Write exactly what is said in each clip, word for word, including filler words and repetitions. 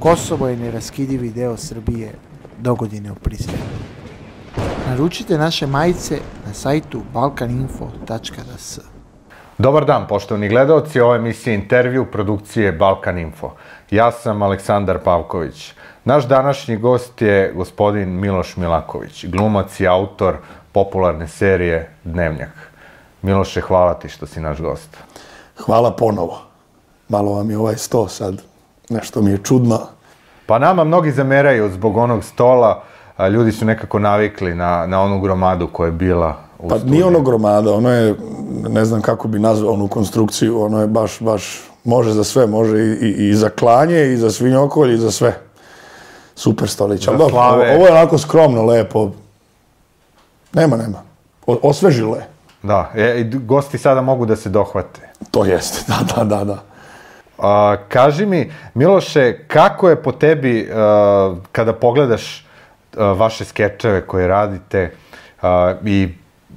Kosovo je neraskidivi deo Srbije, dogodine u Pristinu. Naručite naše majice na sajtu balkaninfo tačka d s. Dobar dan, poštovani gledaoci, ovo je emisija Intervju produkcije Balkan Info. Ja sam Aleksandar Pavković. Naš današnji gost je gospodin Miloš Milaković, glumac i autor popularne serije Dnevnjak. Miloše, hvala ti što si naš gost. Hvala ponovo. Malo vam je ovaj sto sad, nešto mi je čudno. Pa nama mnogi zameraju zbog onog stola, ljudi su nekako navikli na, na onu gromadu koja je bila u Pa studiju. nije ono gromada, ono je, ne znam kako bi nazvao onu konstrukciju, ono je baš, baš, može za sve, može i, i, i za klanje, i za svinjokolj, i za sve. Super stolić. Ali dobro, ovo, ovo je onako skromno, lepo. Nema, nema. O, osvežilo je. Da, e, gosti sada mogu da se dohvate. To jeste, da, da, da, da. A, kaži mi, Miloše, kako je po tebi, a, kada pogledaš a, vaše skečeve koje radite a, i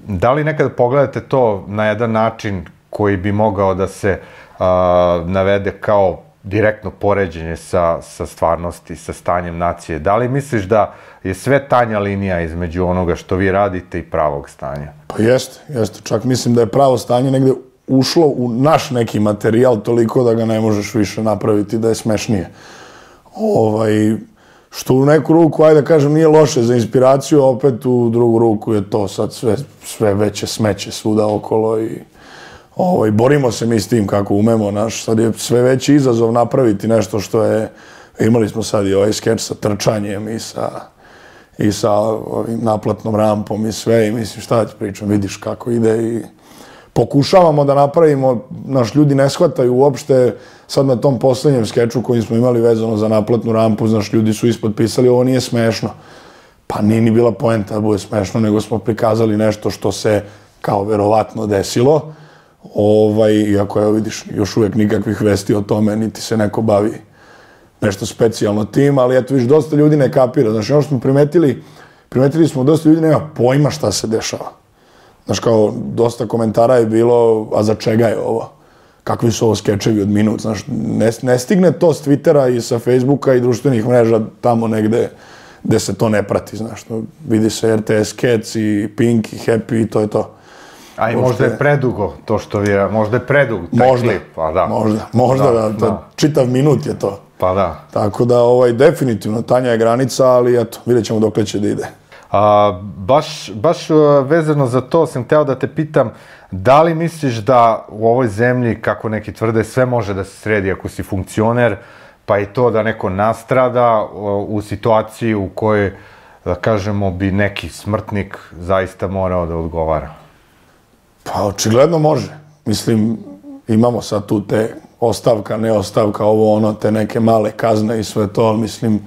da li nekada pogledate to na jedan način koji bi mogao da se a, navede kao direktno poređenje sa, sa stvarnosti, sa stanjem nacije? Da li misliš da je sve tanja linija između onoga što vi radite i pravog stanja? Pa jeste, jeste. Čak mislim da je pravo stanje negde ušlo u naš neki materijal toliko da ga ne možeš više napraviti, da je smešnije. Ovaj, što u neku ruku, ajde da kažem, nije loše za inspiraciju, opet u drugu ruku je to sad sve, sve veće smeće svuda okolo i ovaj, borimo se mi s tim kako umemo. Naš, sad je sve veći izazov napraviti nešto što je, imali smo sad i ovaj skeč sa trčanjem i sa, i sa ovim naplatnom rampom i sve, i mislim šta ti pričam, vidiš kako ide i pokušavamo da napravimo, naš ljudi ne shvataju uopšte, sad na tom poslednjem skeču koji smo imali vezano za naplatnu rampu, znaš, ljudi su ispod pisali, ovo nije smešno. Pa nije ni bila poenta da bude smešno, nego smo prikazali nešto što se kao verovatno desilo. Ovaj, iako, evo vidiš, još uvijek nikakvih vesti o tome, niti se neko bavi nešto specijalno tim, ali eto, viš, dosta ljudi ne kapira. Znaš, ono što smo primetili, primetili smo dosta ljudi nema pojma šta se dešava. Znaš, kao, dosta komentara je bilo, a za čega je ovo? Kakvi su ovo skečevi od minut? Znaš, ne, ne stigne to s Twittera i sa Facebooka i društvenih mreža tamo negde gde se to ne prati, znaš. No, vidi se R T S Cats i Pink i Happy i to je to. A i možda je predugo to što vi, možda je predug taj možda, klip, pa da. Možda, možda da, da, da, čitav minut je to. Pa da. Tako da, ovaj, definitivno, tanja je granica, ali eto, vidjet ćemo dokle će da ide. A, baš, baš vezano za to sam hteo da te pitam, da li misliš da u ovoj zemlji, kako neki tvrde, sve može da se sredi ako si funkcioner, pa i to da neko nastrada u situaciji u kojoj, da kažemo, bi neki smrtnik zaista morao da odgovara? Pa očigledno može. Mislim, imamo sad tu te ostavka, neostavka, ovo ono, te neke male kazne i sve to, ali mislim,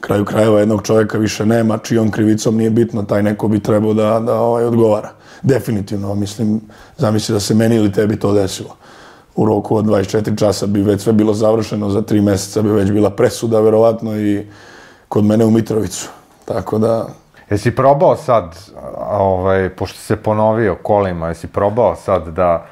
kraju krajeva jednog čovjeka više nema, čijom krivicom nije bitno, taj neko bi trebao da, da ovaj, odgovara. Definitivno, mislim, zamisli da se meni ili tebi to desilo. U roku od dvadeset četiri časa bi već sve bilo završeno, za tri mjeseca bi već bila presuda, verovatno, i kod mene u Mitrovicu. Tako da... Jesi probao sad, ovaj, pošto se ponovio kolima, jesi probao sad da,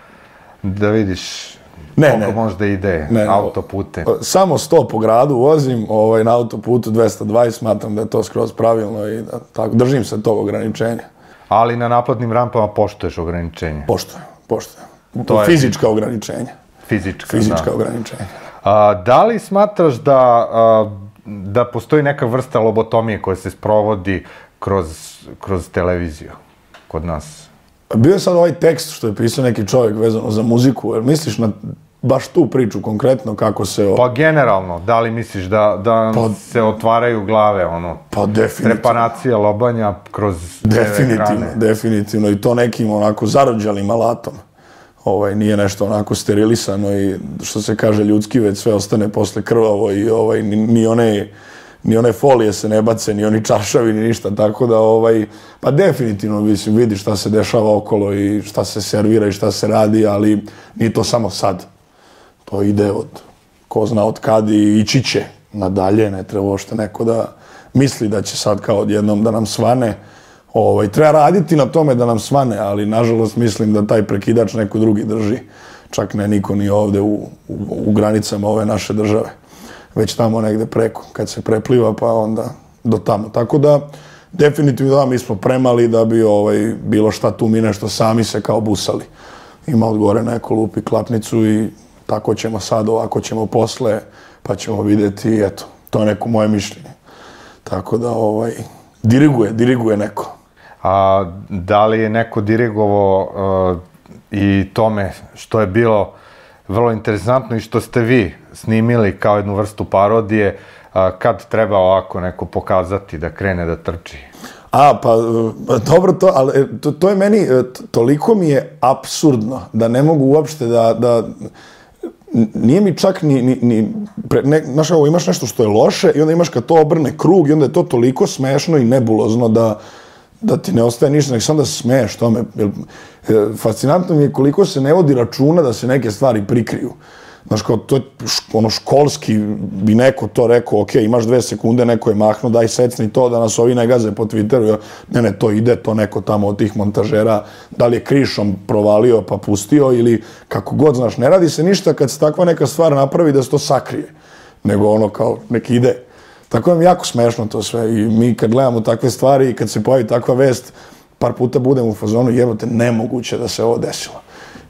da vidiš ne, koliko ne, možda ide ne, autopute? Samo sto po gradu vozim, ovaj, na autoputu dvesta dvadeset, smatram da je to skroz pravilno i da, tako, držim se tog ograničenja. Ali na naplatnim rampama poštuješ ograničenje? Poštujem, poštujem. To fizička je... ograničenja. Fizička, Fizička da. ograničenja. A, da li smatraš da, a, da postoji neka vrsta lobotomije koja se sprovodi kroz, kroz televiziju kod nas? Bio je sad ovaj tekst što je pisao neki čovjek vezano za muziku, jer misliš na baš tu priču konkretno kako se... O... Pa generalno, da li misliš da, da pa, se otvaraju glave, ono, pa definitivno. Trepanacija, lobanja kroz definitivno, ekrane? Definitivno, i to nekim onako zarođalim alatom. Ovaj, nije nešto onako sterilisano i što se kaže ljudski, već sve ostane posle krvavo i ovaj, ni, ni one... ni one folije se ne bace, ni oni čaršavi, ni ništa, tako da, ovaj, pa definitivno, mislim, vidi šta se dešava okolo i šta se servira i šta se radi, ali nije to samo sad. To ide od, ko zna od kad i ići će nadalje, ne treba uopšte neko da misli da će sad kao odjednom da nam svane. Ovaj, treba raditi na tome da nam svane, ali nažalost mislim da taj prekidač neko drugi drži, čak ne niko ni ovde u, u, u granicama ove naše države. već tamo negde preko, kad se prepliva, pa onda do tamo. Tako da, definitivno da, mi smo premali da bi ovaj, bilo šta tu mi nešto sami se kao busali. Ima od gore neko lupi klapnicu i tako ćemo sad, ovako ćemo posle, pa ćemo vidjeti, eto, to je neko moje mišljenje. Tako da, ovaj, diriguje, diriguje neko. A da li je neko dirigovao uh, i tome što je bilo vrlo interesantno i što ste vi snimili kao jednu vrstu parodije, uh, kad treba ovako neko pokazati da krene da trči? A, pa, dobro to, ali to, to je meni, toliko mi je apsurdno da ne mogu uopšte da, da nije mi čak ni, ni, ni pre, ne, znaš, ovo, imaš nešto što je loše i onda imaš kad to obrne krug i onda je to toliko smešno i nebulozno da, da ti ne ostaje ništa, nek sam da se smeješ tome. Fascinantno mi je koliko se ne vodi računa da se neke stvari prikriju. Znaš, kao, to je ono školski, bi neko to rekao, ok, imaš dve sekunde, neko je mahno, daj secni to da nas ovi ne gaze po Twitteru. Ne, ne, to ide, to neko tamo od tih montažera, da li je krišom provalio pa pustio ili kako god, znaš, ne radi se ništa kad se takva neka stvar napravi da se to sakrije, nego ono kao neki ide. Tako je mi jako smešno to sve i mi kad gledamo takve stvari i kad se pojavi takva vest, par puta budemo u fazonu, jebote, nemoguće da se ovo desilo.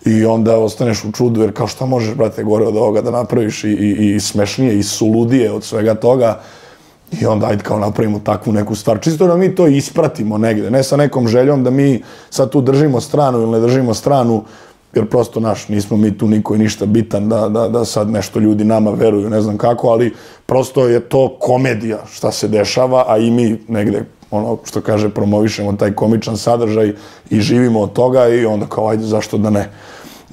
I onda ostaneš u čudu, jer kao šta možeš, brate, gore od ovoga da napraviš i, i, i smešnije i suludije od svega toga. I onda ajde kao napravimo takvu neku stvar. Čisto da mi to ispratimo negde, ne sa nekom željom da mi sad tu držimo stranu ili ne držimo stranu, jer prosto naš, nismo mi tu niko i ništa bitan da, da, da sad nešto ljudi nama veruju, ne znam kako, ali prosto je to komedija šta se dešava, a i mi negde, ono što kaže, promovišemo taj komičan sadržaj i živimo od toga i onda kao ajde, zašto da ne.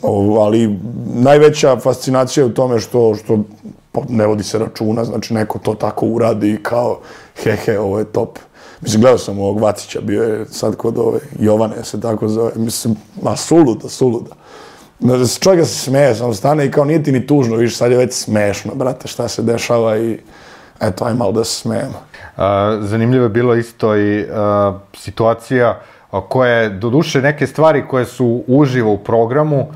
O, ali najveća fascinacija je u tome što, što ne vodi se računa, znači neko to tako uradi i kao he he, ovo je top. Mislim, gledao sam ovog Vacića, bio je sad kod ove Jovane, se tako zove, mislim, ma suluda, suluda. Čovjek se smeje, samo stane i kao nije ti ni tužno, viš, sad je već smešno, brate, šta se dešava i eto, aj malo da se smejemo. Zanimljivo je bilo isto i situacija koja je, doduše, neke stvari koje su uživo u programu,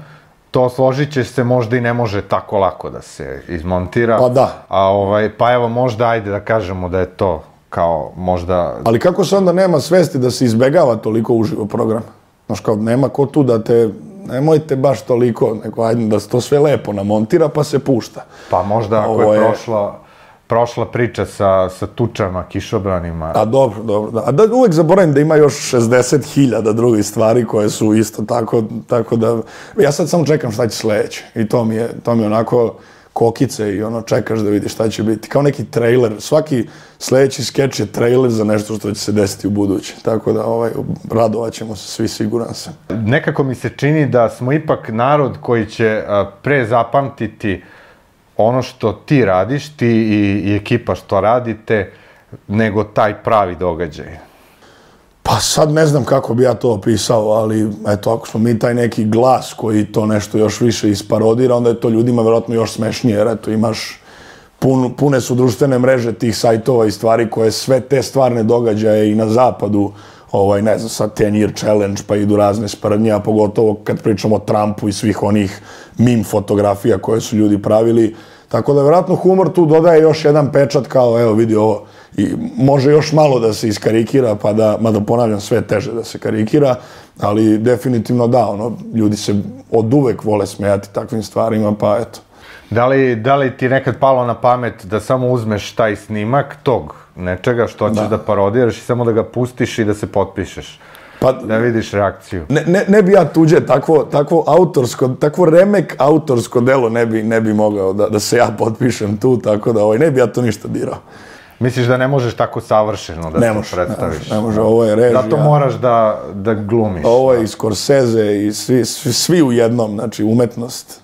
to složit će se možda i ne može tako lako da se izmontira. Pa da. A ovaj, pa evo možda ajde da kažemo da je to kao možda... Ali kako se onda nema svesti da se izbegava toliko uživo program? Znaš, kao nema ko tu da te... Nemojte baš toliko, nego ajde da se to sve lepo namontira pa se pušta. Pa možda ako je prošla... prošla priča sa, sa tučama, kišobranima. A dobro, dobro. Da. A da uvek zaboravim da ima još šezdeset hiljada drugih stvari koje su isto tako, tako da... Ja sad samo čekam šta će sledeće. I to mi je, to mi je onako kokice i ono čekaš da vidiš šta će biti. Kao neki trailer. Svaki sledeći skeč je trailer za nešto što će se desiti u buduće. Tako da ovaj, radovat ćemo se svi, siguran sam. Nekako mi se čini da smo ipak narod koji će pre zapamtiti ono što ti radiš, ti i, i ekipa što radite, nego taj pravi događaj. Pa sad ne znam kako bi ja to opisao, ali eto, ako smo mi taj neki glas koji to nešto još više isparodira, onda je to ljudima verovatno još smešnije, jer eto, imaš, pun, pune su društvene mreže tih sajtova i stvari koje sve te stvarne događaje i na zapadu, ovaj, ne znam, sad ten year challenge, pa idu razne sprdnje, a pogotovo kad pričamo o Trumpu i svih onih meme fotografija koje su ljudi pravili. Tako da, vjerojatno, humor tu dodaje još jedan pečat kao, evo, vidi ovo, i može još malo da se iskarikira, pa da, mada ponavljam, sve teže da se karikira, ali definitivno da, ono, ljudi se od uvek vole smejati takvim stvarima, pa eto. Da li, da li ti nekad palo na pamet da samo uzmeš taj snimak tog nečega što ćeš da, da parodiraš i samo da ga pustiš i da se potpišeš? Pa, da vidiš reakciju. Ne, ne, ne bi ja tuđe takvo, takvo autorsko, takvo remek autorsko delo ne bi, ne bi mogao da, da se ja potpišem tu, tako da ovaj, ne bi ja to ništa dirao. Misliš da ne možeš tako savršeno da ne to predstaviš? Ne može, ovo je režija. Zato moraš da, da glumiš. Ovo je i Scorsese i svi, svi, svi u jednom, znači umetnost,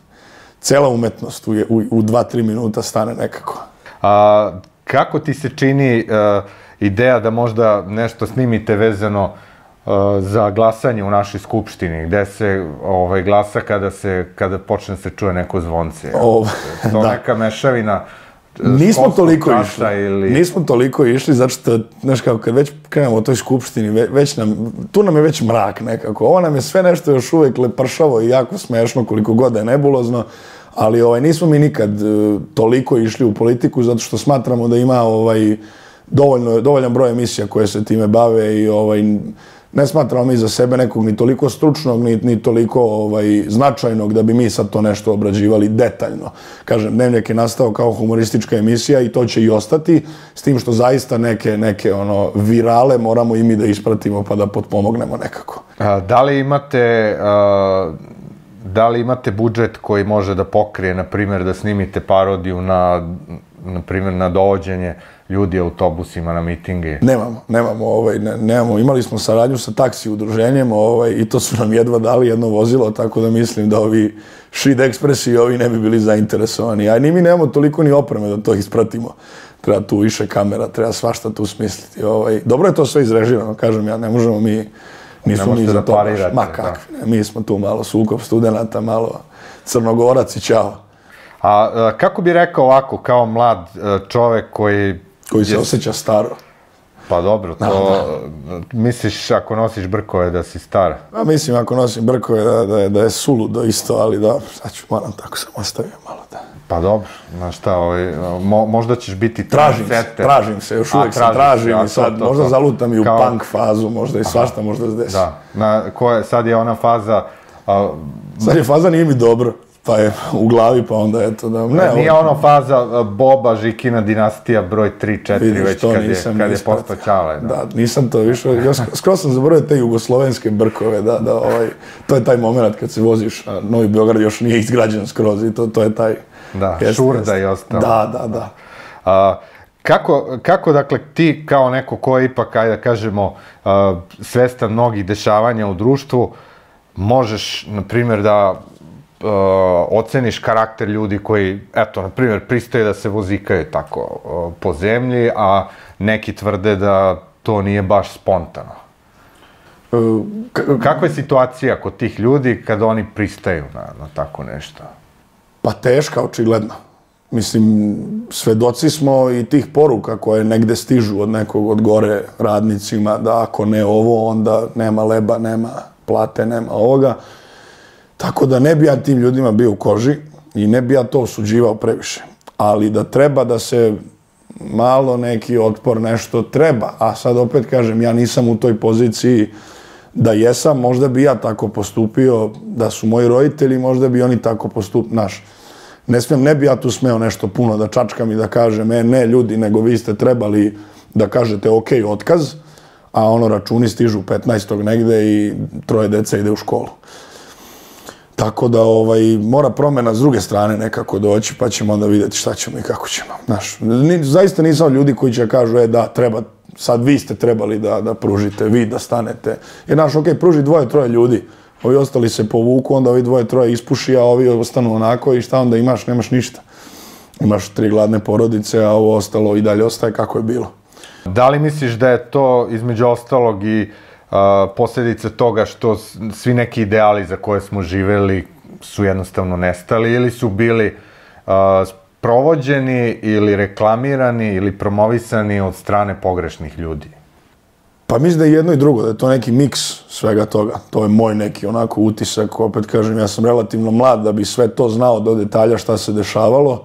cela umetnost u, u, u dva, tri minuta stane nekako. A, kako ti se čini uh, ideja da možda nešto snimite vezano za glasanje u našoj skupštini, gde se ovaj, glasa kada, se, kada počne se čuje neko zvonce. O, to da. Neka mešavina nismo toliko išli. Ili... Nismo toliko išli, zato što, znaš kako, kad već krenemo o toj skupštini, već nam, tu nam je već mrak nekako. Ovo nam je sve nešto još uvek lepršavo i jako smešno, koliko god je nebulozno, Ali ovaj, nismo mi nikad toliko išli u politiku zato što smatramo da ima ovaj, dovoljno, dovoljan broj emisija koje se time bave i ovaj, ne smatramo mi za sebe nekog ni toliko stručnog, ni, ni toliko ovaj, značajnog da bi mi sad to nešto obrađivali detaljno. Kažem, Dnevnjak je nastao kao humoristička emisija i to će i ostati, s tim što zaista neke, neke ono, virale moramo i mi da ispratimo pa da potpomognemo nekako. A, da li imate... A... Da li imate budžet koji može da pokrije, na primjer, da snimite parodiju na, na primjer, na dovođenje ljudi autobusima na mitinge? Nemamo, nemamo, ovaj, ne, nemamo. Imali smo saradnju sa taksi udruženjem ovaj, i to su nam jedva dali jedno vozilo, tako da mislim da ovi Šid Ekspresi i ovi ne bi bili zainteresovani. A ni mi nemamo toliko ni opreme da to ispratimo. Treba tu više kamera, treba svašta tu smisliti. Ovaj. Dobro je to sve izrežirano, kažem ja, ne možemo mi... Nismo mi za to baš, ma kakvi, ne, mi smo tu malo sukob studenata, malo Crnogorac i čao. A, a kako bi rekao ovako, kao mlad čovek koji... Koji se je... osjeća staro. Pa dobro, to... Da, da. Misliš ako nosiš brkove da si star? Pa mislim ako nosim brkove da, da, je, da je suludo isto, ali dobro, sad ću, moram tako sam ostavio malo da... Pa dobro, znaš šta, ovaj, mo, možda ćeš biti... Tražim se, tražim se, još uvijek se tražim i sad to, to, možda zalutam i u kao... punk fazu, možda i svašta možda se desi. Da, na, koje, sad je ona faza... A... Sad je faza nije mi dobro, pa je u glavi, pa onda eto da... Ne, nije ovo... ono faza Boba, Žikina dinastija, broj tri četiri, već kad je, kad je postao Ćale. Da. da, nisam to više, ja skroz sam zaboravio te jugoslovenske brkove, da, da, ovaj, to je taj moment kad se voziš, a Novi Beograd još nije izgrađen skroz i to, to je taj... Da, jest, Šurda jest. I ostalo. Da, da, da. A, kako, kako, dakle, ti kao neko ko je ipak, ajde da kažemo, a, svestan mnogih dešavanja u društvu, možeš, na primjer, da a, oceniš karakter ljudi koji, eto, na primjer, pristaje da se vozikaju tako a, po zemlji, a neki tvrde da to nije baš spontano. Uh, Kakva je situacija kod tih ljudi kada oni pristaju na, na tako nešto? Pa teška, očigledno. Mislim, svedoci smo i tih poruka koje negde stižu od nekog od gore radnicima, da ako ne ovo, onda nema leba, nema plate, nema ovoga. Tako da ne bi ja tim ljudima bio u koži i ne bi ja to osuđivao previše. Ali da treba da se malo neki otpor nešto treba, a sad opet kažem, ja nisam u toj poziciji da jesam, možda bi ja tako postupio, da su moji roditelji, možda bi oni tako postupili, znaš. Ne smijem, ne bi ja tu smeo nešto puno da čačkam i da kažem, e, ne ljudi, nego vi ste trebali da kažete ok, otkaz, a ono računi stižu petnaestog negde i troje deca ide u školu. Tako da ovaj, mora promjena s druge strane nekako doći, pa ćemo onda vidjeti šta ćemo i kako ćemo. Znaš, ni, zaista nisam ljudi koji će kažu, e da, treba, sad vi ste trebali da, da pružite, vi da stanete. Jer, znaš, ok, pruži dvoje, troje ljudi, ovi ostali se povuku, onda ovi dvoje, troje ispuši, a ovi ostanu onako i šta onda imaš, nemaš ništa. Imaš tri gladne porodice, a ovo ostalo i dalje ostaje kako je bilo. Da li misliš da je to između ostalog i Uh, posljedice toga što svi neki ideali za koje smo živeli su jednostavno nestali ili su bili uh, provođeni ili reklamirani ili promovisani od strane pogrešnih ljudi? Pa mislim da je jedno i drugo, da je to neki miks svega toga. To je moj neki onako utisak, opet kažem, ja sam relativno mlad da bi sve to znao do detalja šta se dešavalo,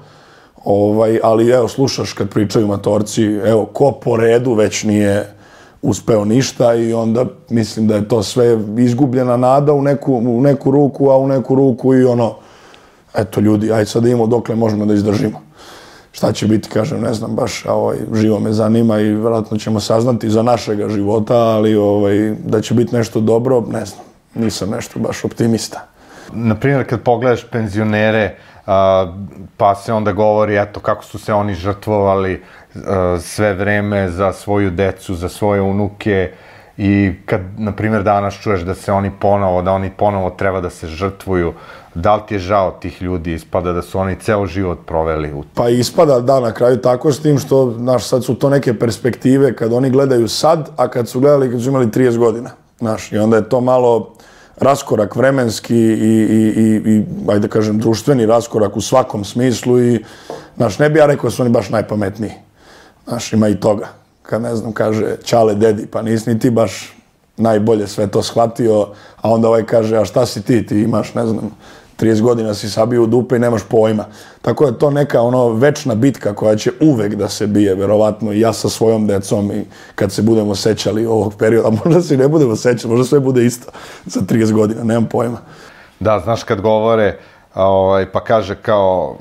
ovaj, ali evo slušaš kad pričaju matorci, evo ko po redu već nije uspeo ništa i onda mislim da je to sve izgubljena nada u neku, u neku ruku, a u neku ruku i ono, eto ljudi, ajde sad imamo dokle možemo da izdržimo. Šta će biti, kažem, ne znam baš, a ovaj, živo me zanima i vjerojatno ćemo saznati za našega života, ali ovaj, da će biti nešto dobro, ne znam, nisam nešto baš optimista. Naprimjer, kad pogledaš penzionere, a, pa se onda govori, eto, kako su se oni žrtvovali a, sve vreme za svoju decu, za svoje unuke i kad, na primjer, danas čuješ da se oni ponovo, da oni ponovo treba da se žrtvuju, da li ti je žao tih ljudi, ispada da su oni ceo život proveli u... Pa ispada, da, na kraju tako s tim što, znaš, sad su to neke perspektive kad oni gledaju sad, a kad su gledali kad su imali trideset godina, znaš, i onda je to malo raskorak vremenski i, i, i, i ajde da kažem, društveni raskorak u svakom smislu i, znaš, ne bi ja rekao da su oni baš najpametniji. Znaš, ima i toga. Kad, ne znam, kaže Ćale dedi, pa nisi ni ti baš najbolje sve to shvatio, a onda ovaj kaže, a šta si ti, ti imaš, ne znam, trideset godina si sabio u dupe i nemaš pojma. Tako da je to neka ono večna bitka koja će uvek da se bije, verovatno i ja sa svojom decom i kad se budemo sećali ovog perioda, možda se i ne budemo sećali, možda sve bude isto za trideset godina, nemam pojma. Da, znaš kad govore, ovaj, pa kaže kao,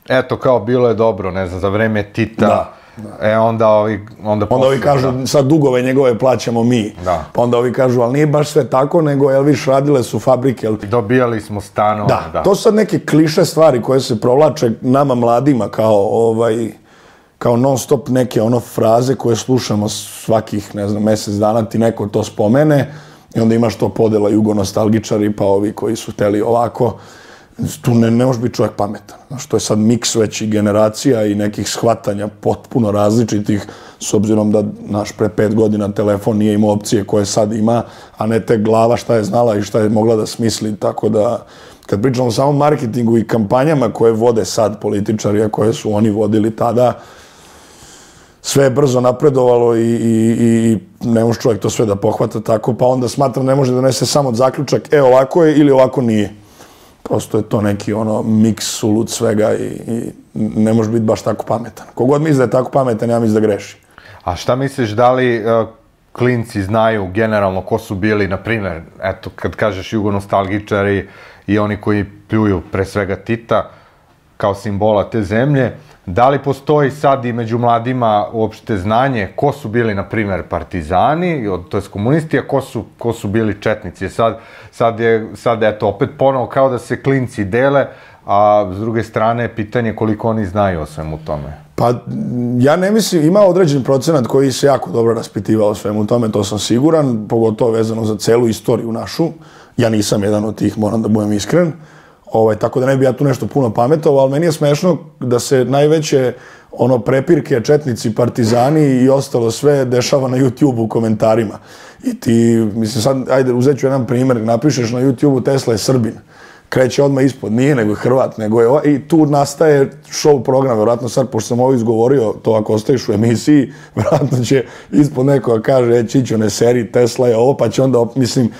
eto kao bilo je dobro, ne znam, za vreme Tita, da. Da. E, onda ovi... Onda, onda ovi kažu, da. Sad dugove njegove plaćamo mi. Da. Pa onda ovi kažu, ali nije baš sve tako, nego, jel viš, radile su fabrike. Jel... Dobijali smo stanove. Da. da, to su sad neke kliše stvari koje se provlače nama mladima kao, ovaj, kao non stop neke ono fraze koje slušamo svakih, ne znam, mesec dana ti neko to spomene i onda imaš to podela jugonostalgičari pa ovi koji su hteli ovako. Tu ne, ne može biti čovjek pametan. Znaš, to je sad miks većih generacija i nekih shvatanja potpuno različitih, s obzirom da naš pre pet godina telefon nije imao opcije koje sad ima, a ne te glava šta je znala i šta je mogla da smisli. Tako da, kad pričamo o samom marketingu i kampanjama koje vode sad političari, a koje su oni vodili tada, sve je brzo napredovalo i, i, i ne može čovjek to sve da pohvata tako, pa onda smatram ne može da donese samo zaključak, e ovako je ili ovako nije. Prosto je to neki ono miks sulud svega i, i ne može biti baš tako pametan. Kogod misli da je tako pametan, ja mislim da greši. A šta misliš, da li uh, klinci znaju generalno ko su bili, na primjer, eto, kad kažeš jugonostalgičari i oni koji pljuju pre svega Tita kao simbola te zemlje, da li postoji sad i među mladima uopšte znanje ko su bili, na primjer, partizani, to je komunisti, a ko su, ko su bili četnici? Sad, sad je, sad eto, opet ponovo kao da se klinci dele, a s druge strane pitanje koliko oni znaju o svemu tome. Pa ja ne mislim, ima određen procenat koji se jako dobro raspitivao o svemu tome, to sam siguran, pogotovo vezano za celu istoriju našu. Ja nisam jedan od tih, moram da budem iskren. Ovaj, tako da ne bi ja tu nešto puno pametovao, ali meni je smešno da se najveće ono prepirke, četnici, partizani i ostalo sve dešava na YouTube-u u komentarima. I ti, mislim sad, ajde, uzet ću jedan primjer, napišeš na YouTube-u Tesla je Srbin. Kreće odmah ispod, nije nego je Hrvat, nego je, i tu nastaje show program, vjerojatno sad, pošto sam ovo izgovorio, to ako ostaješ u emisiji, vjerojatno će ispod nekoga kaže, e, Čićo, ne seri, Tesla je ovo, pa će onda, mislim,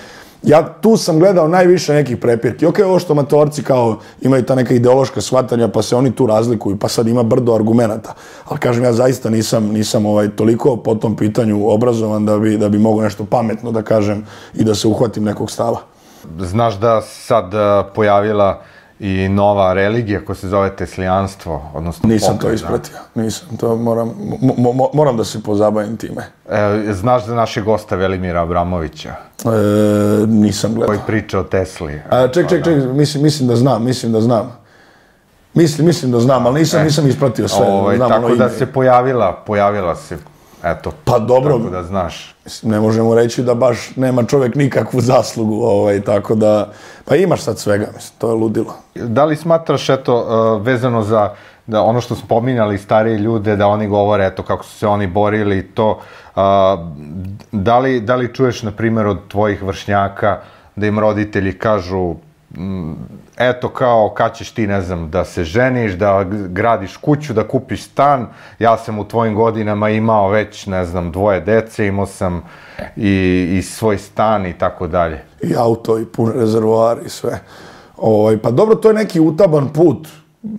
ja tu sam gledao najviše nekih prepirki. Ok, ovo što matorci kao imaju ta neka ideološka shvatanja, pa se oni tu razlikuju, pa sad ima brdo argumenata. Ali kažem, ja zaista nisam, nisam ovaj, toliko po tom pitanju obrazovan da bi, da bi mogo nešto pametno da kažem i da se uhvatim nekog stava. Znaš da sad pojavila i nova religija koja se zove teslijanstvo, odnosno nisam pokret, to ispratio, nisam, to moram, mo, mo, moram da se pozabavim time. E, znaš za našeg gosta Velimira Abramovića? E, nisam gledao. Koji priča o Tesli. A, ček, ček, ček, mislim, mislim da znam, mislim da znam. Mislim, mislim da znam, ali nisam, e, nisam ispratio sve. Ovaj, znam tako ono da ime. se pojavila, pojavila se, eto, pa dobro, tako da znaš. Ne možemo reći da baš nema čovjek nikakvu zaslugu, ovaj, tako da, pa imaš sad svega, mislim, to je ludilo. Da li smatraš, eto, vezano za da ono što spominjali stariji ljude, da oni govore, eto, kako su se oni borili i to, da li, da li čuješ, na primjer, od tvojih vršnjaka da im roditelji kažu, eto, kao, kad ćeš ti, ne znam, da se ženiš, da gradiš kuću, da kupiš stan, ja sam u tvojim godinama imao već, ne znam, dvoje dece, imao sam i, i svoj stan i tako dalje. I auto, i pun rezervoar i sve. Ovaj, pa dobro, to je neki utaban put,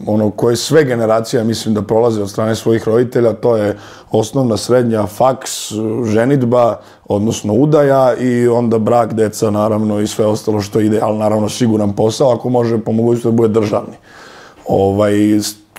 ono koje sve generacije, mislim, da prolaze od strane svojih roditelja, to je osnovna, srednja, faks, ženidba, odnosno udaja i onda brak, deca, naravno, i sve ostalo što ide, ali naravno siguran posao, ako može po mogućnosti da bude državni. Ovaj,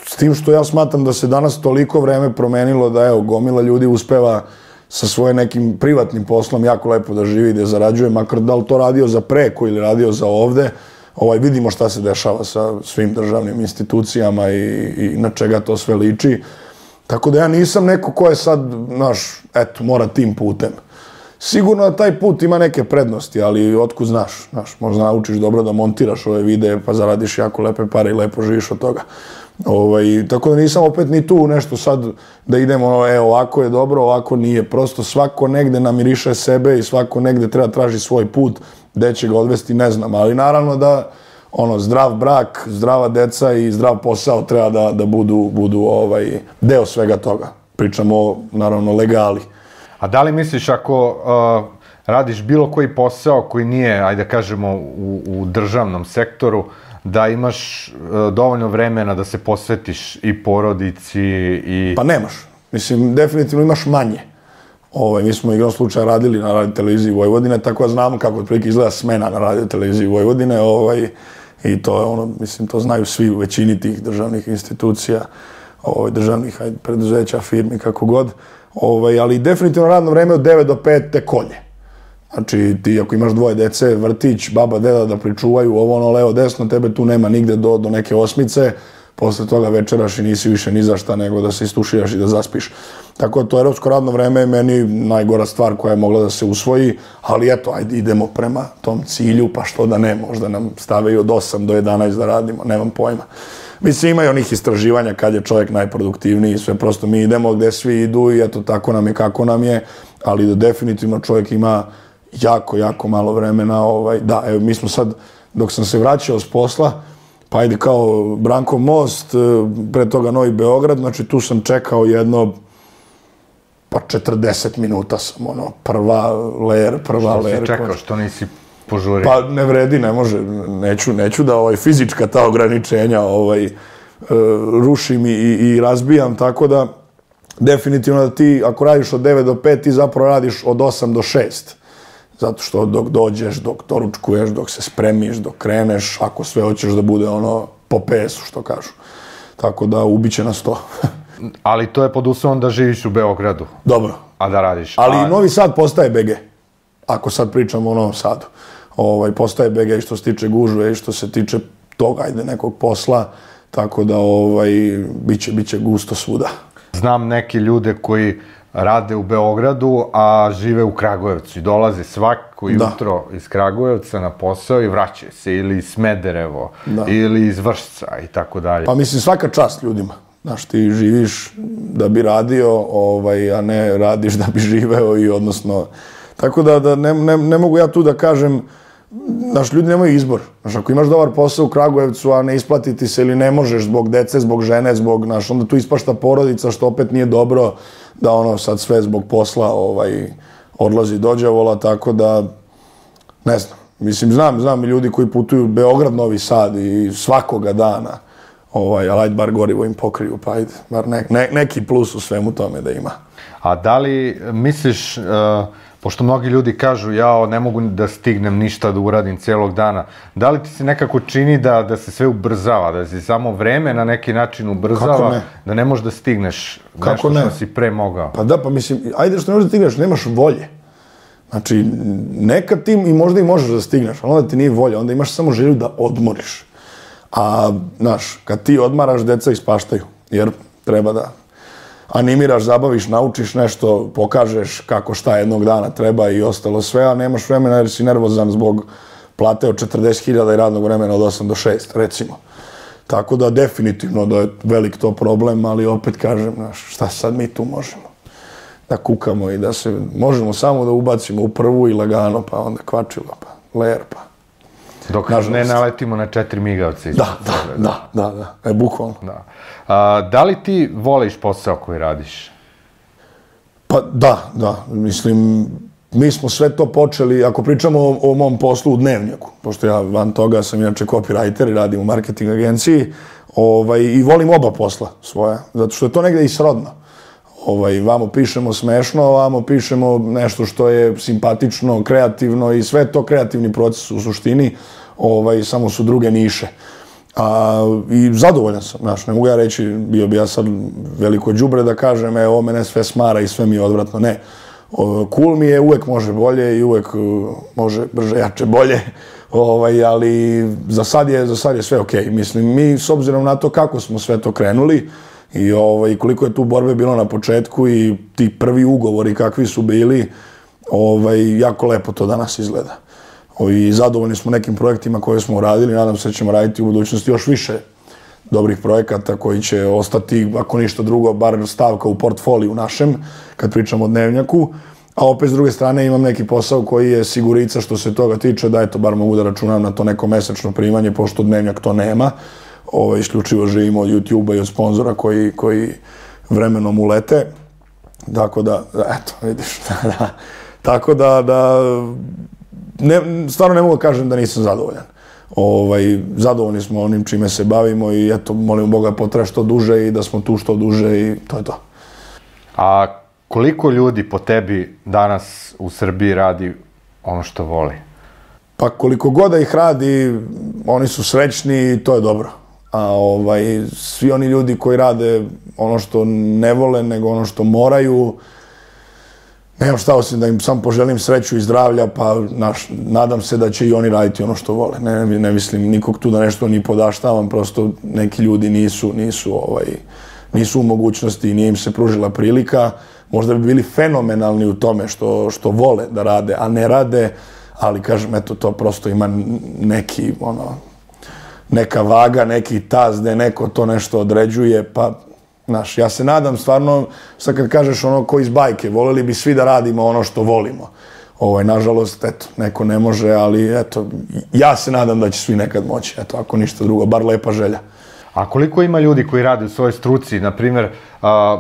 s tim što ja smatram da se danas toliko vreme promenilo da, evo, gomila ljudi uspeva sa svojim nekim privatnim poslom jako lepo da živi i da zarađuje, makar da li to radio za preko ili radio za ovde, ovaj, vidimo šta se dešava sa svim državnim institucijama i, i na čega to sve liči. Tako da ja nisam neko ko je sad, znaš, eto, mora tim putem. Sigurno da taj put ima neke prednosti, ali otkud znaš, znaš, možda naučiš dobro da montiraš ove videe pa zaradiš jako lepe pare i lepo živiš od toga. Ovaj, tako da nisam opet ni tu nešto sad da idemo, e, ovako je dobro, ovako nije. Prosto svako negde namiriše sebe i svako negde treba traži svoj put, gde će ga odvesti, ne znam. Ali naravno da ono, zdrav brak, zdrava deca i zdrav posao treba da, da budu, budu ovaj, deo svega toga. Pričamo o, naravno, legali. A da li misliš ako uh, radiš bilo koji posao koji nije, ajde da kažemo, u, u državnom sektoru, da imaš dovoljno vremena da se posvetiš i porodici i... Pa nemaš. Mislim, definitivno imaš manje. Ovaj, mi smo igrom slučaja radili na radio televiziji Vojvodine, tako da znamo kako otprilike izgleda smena na radio televiziji Vojvodine. Ovaj, I to je ono, mislim, to znaju svi u većini tih državnih institucija, ovaj, državnih ajde, preduzeća, firmi, kako god. Ovaj, ali definitivno radno vreme od devet do pet te kolje. Znači, ti ako imaš dvoje dece, vrtić, baba, deda da pričuvaju ovo, ono, levo, desno, tebe tu nema nigde do, do neke osmice, posle toga večeraš i nisi više ni za šta nego da se istuširaš i da zaspiš. Tako da to evropsko radno vreme je meni najgora stvar koja je mogla da se usvoji, ali eto, ajde, idemo prema tom cilju, pa što da ne, možda nam stave i od osam do jedanaest da radimo, nemam pojma. Mislim, ima i onih istraživanja kad je čovjek najproduktivniji, sve prosto mi idemo gde svi idu i eto, tako nam je kako nam je, ali da definitivno čovjek ima jako, jako malo vremena. Ovaj, da, evo, mi smo sad, dok sam se vraćao s posla, pa ajde kao Brankov most, pre toga Novi Beograd, znači tu sam čekao jedno, pa četrdeset minuta sam, ono, prva ler, prva ler. Što si čekao, što nisi požurio? Pa ne vredi, ne može, neću, neću da ovaj, fizička ta ograničenja ovaj, rušim i, i razbijam, tako da definitivno da ti, ako radiš od devet do pet, ti zapravo radiš od osam do šest. Zato što dok dođeš, dok doručkuješ, dok se spremiš, dok kreneš, ako sve hoćeš da bude ono po pe esu, što kažu. Tako da ubiće nas to. Ali to je pod uslovom da živiš u Beogradu. Dobro. A da radiš. Ali a... Novi Sad postaje be ge. Ako sad pričamo o Novom Sadu. Ovaj, postaje be ge i što se tiče gužve i što se tiče toga, ajde, nekog posla. Tako da ovaj, biće, biće gusto svuda. Znam neke ljude koji rade u Beogradu, a žive u Kragujevcu i dolaze svako jutro iz Kragujevca na posao i vraćaju se ili iz Smederevo ili iz Vršca i tako dalje. Pa mislim, svaka čast ljudima. Znaš, ti živiš da bi radio, ovaj, a ne radiš da bi živeo i odnosno... Tako da, da ne, ne, ne mogu ja tu da kažem, znaš, ljudi nemaju izbor. Znaš, ako imaš dobar posao u Kragujevcu, a ne isplatiti se ili ne možeš zbog dece, zbog žene, zbog, znaš, onda tu ispašta porodica, što opet nije dobro, da ono sad sve zbog posla ovaj, odlazi do đavola, tako da, ne znam. Mislim, znam, znam i ljudi koji putuju Beograd, Novi Sad i svakoga dana, ovaj, ali ajde bar gorivo im pokriju, pa ajde, bar ne, ne, neki plus u svemu tome da ima. A da li misliš, uh, pošto mnogi ljudi kažu ja ne mogu da stignem ništa da uradim cijelog dana, da li ti se nekako čini da, da se sve ubrzava, da se samo vreme na neki način ubrzava, ne? Da ne možeš da stigneš Kako nešto ne? što si pre mogao? Pa da, pa mislim, ajde što ne možeš da stigneš, nemaš volje. Znači, nekad ti i možda i možeš da stigneš, ali onda ti nije volja, onda imaš samo želju da odmoriš. A, znaš, kad ti odmaraš, deca ispaštaju, jer treba da animiraš, zabaviš, naučiš nešto, pokažeš kako šta jednog dana treba i ostalo sve, a nemaš vremena jer si nervozan zbog plate od četrdeset hiljada i radnog vremena od osam do šest, recimo. Tako da definitivno da je velik to problem, ali opet kažem, znaš, šta sad mi tu možemo? Da kukamo i da se, možemo samo da ubacimo u prvu i lagano, pa onda kvačilo, pa ler, pa. Dok ne naletimo na četiri migavce. Da, da, da, da, da, e, bukvalno. Da. A, da li ti voliš posao koji radiš? Pa da, da, mislim, mi smo sve to počeli, ako pričamo o, o mom poslu u Dnevnjaku, pošto ja van toga sam inače copywriter i radim u marketing agenciji, ovaj, i volim oba posla svoja, zato što je to negde i srodno. Ovaj, vamo pišemo smešno, vamo pišemo nešto što je simpatično, kreativno i sve to kreativni proces u suštini, ovaj, samo su druge niše. A, i zadovoljan sam, znaš, ne mogu ja reći, bio bi ja sad veliko đubre da kažem, e, ovo mene sve smara i sve mi je odvratno, ne. O, cool mi je, uvek može bolje i uvek uh, može brže, jače, bolje, ovaj, ali za sad je, za sad je sve okej. Mislim, mi s obzirom na to kako smo sve to krenuli i ovaj, koliko je tu borbe bilo na početku i ti prvi ugovori kakvi su bili, ovaj, jako lepo to danas izgleda. I zadovoljni smo nekim projektima koje smo uradili, nadam se da ćemo raditi u budućnosti još više dobrih projekata koji će ostati, ako ništa drugo, bar stavka u portfoliju našem, kad pričamo o Dnevnjaku. A opet, s druge strane, imam neki posao koji je sigurica što se toga tiče, da eto, bar mogu da računam na to neko mesečno primanje, pošto Dnevnjak to nema. Ovo, isključivo živimo od YouTube-a i od sponzora koji, koji vremenom ulete. Tako da, eto, vidiš, da, tako da, da, ne, stvarno ne mogu da kažem da nisam zadovoljan. ovaj, zadovoljni smo onim čime se bavimo i eto, molimo Boga potraje što duže i da smo tu što duže i to je to. A koliko ljudi po tebi danas u Srbiji radi ono što voli? Pa koliko god da ih radi, oni su srećni i to je dobro. A ovaj, svi oni ljudi koji rade ono što ne vole, nego ono što moraju, nemam šta osim da im sam poželim sreću i zdravlja, pa naš, nadam se da će i oni raditi ono što vole. Ne, ne mislim nikog tu da nešto ni podaštavam, prosto neki ljudi nisu, nisu, ovaj, nisu u mogućnosti i nije im se pružila prilika. Možda bi bili fenomenalni u tome što, što vole da rade, a ne rade, ali kažem, eto, to prosto ima neki, ono, neka vaga, neki taz gde neko to nešto određuje, pa, znaš, ja se nadam stvarno, sad kad kažeš ono ko iz bajke, voleli bi svi da radimo ono što volimo. Ovaj, nažalost, eto, neko ne može, ali eto, ja se nadam da će svi nekad moći, eto, ako ništa drugo, bar lepa želja. A koliko ima ljudi koji rade u svojoj struci, na primjer,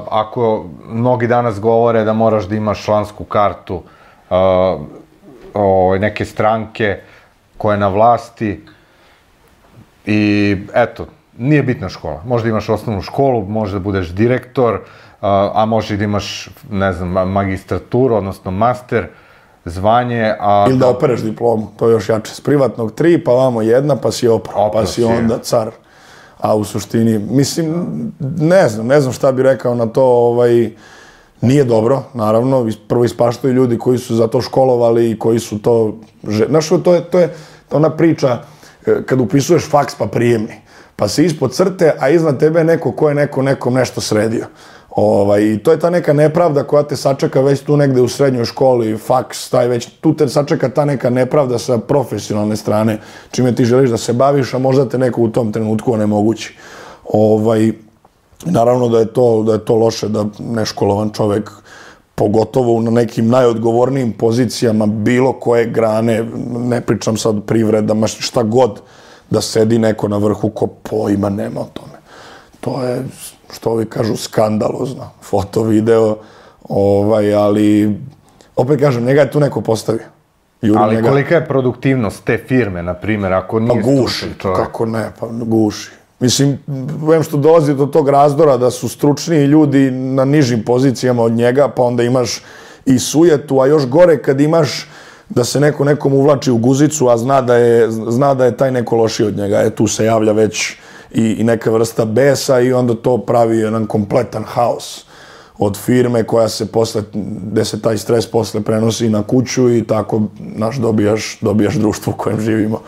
ako mnogi danas govore da moraš da imaš člansku kartu neke stranke koja je na vlasti i eto, nije bitna škola. Možda imaš osnovnu školu, može da budeš direktor, a može i da imaš, ne znam, magistraturu, odnosno master, zvanje, a... Ili da opereš diplomu, to je još jače. S privatnog tri, pa vamo jedna, pa si opro, pa si onda car. A u suštini, mislim, ne znam, ne znam šta bi rekao na to, ovaj, nije dobro, naravno, prvo ispaštaju ljudi koji su za to školovali i koji su to... Znaš, to je, to je ona priča, kad upisuješ faks pa prijemni, pa si ispod crte, a iznad tebe je neko ko je neko nekom nešto sredio. Ovaj, i to je ta neka nepravda koja te sačeka već tu negde u srednjoj školi, faks, taj već, tu te sačeka ta neka nepravda sa profesionalne strane, čime ti želiš da se baviš, a možda te neko u tom trenutku onemogući. Ovaj, naravno da je to, da je to loše da neškolovan čovek, pogotovo na nekim najodgovornijim pozicijama bilo koje grane, ne pričam sad privredama, šta god, da sedi neko na vrhu ko pojma nema o tome. To je, što ovi kažu, skandalozno. Foto, video, ovaj, ali opet kažem, njega je tu neko postavio. Ali kolika je produktivnost te firme, na primjer, ako nije stručan čovjek? Kako ne, pa guši. Mislim, vem što dolazi do tog razdora da su stručniji ljudi na nižim pozicijama od njega, pa onda imaš i sujetu, a još gore kad imaš da se neko nekom uvlači u guzicu, a zna da je, zna da je taj neko lošiji od njega. E, tu se javlja već i, i neka vrsta besa i onda to pravi jedan kompletan haos od firme koja se posle, gde se taj stres posle prenosi na kuću i tako, naš, dobijaš, dobijaš društvo u kojem živimo.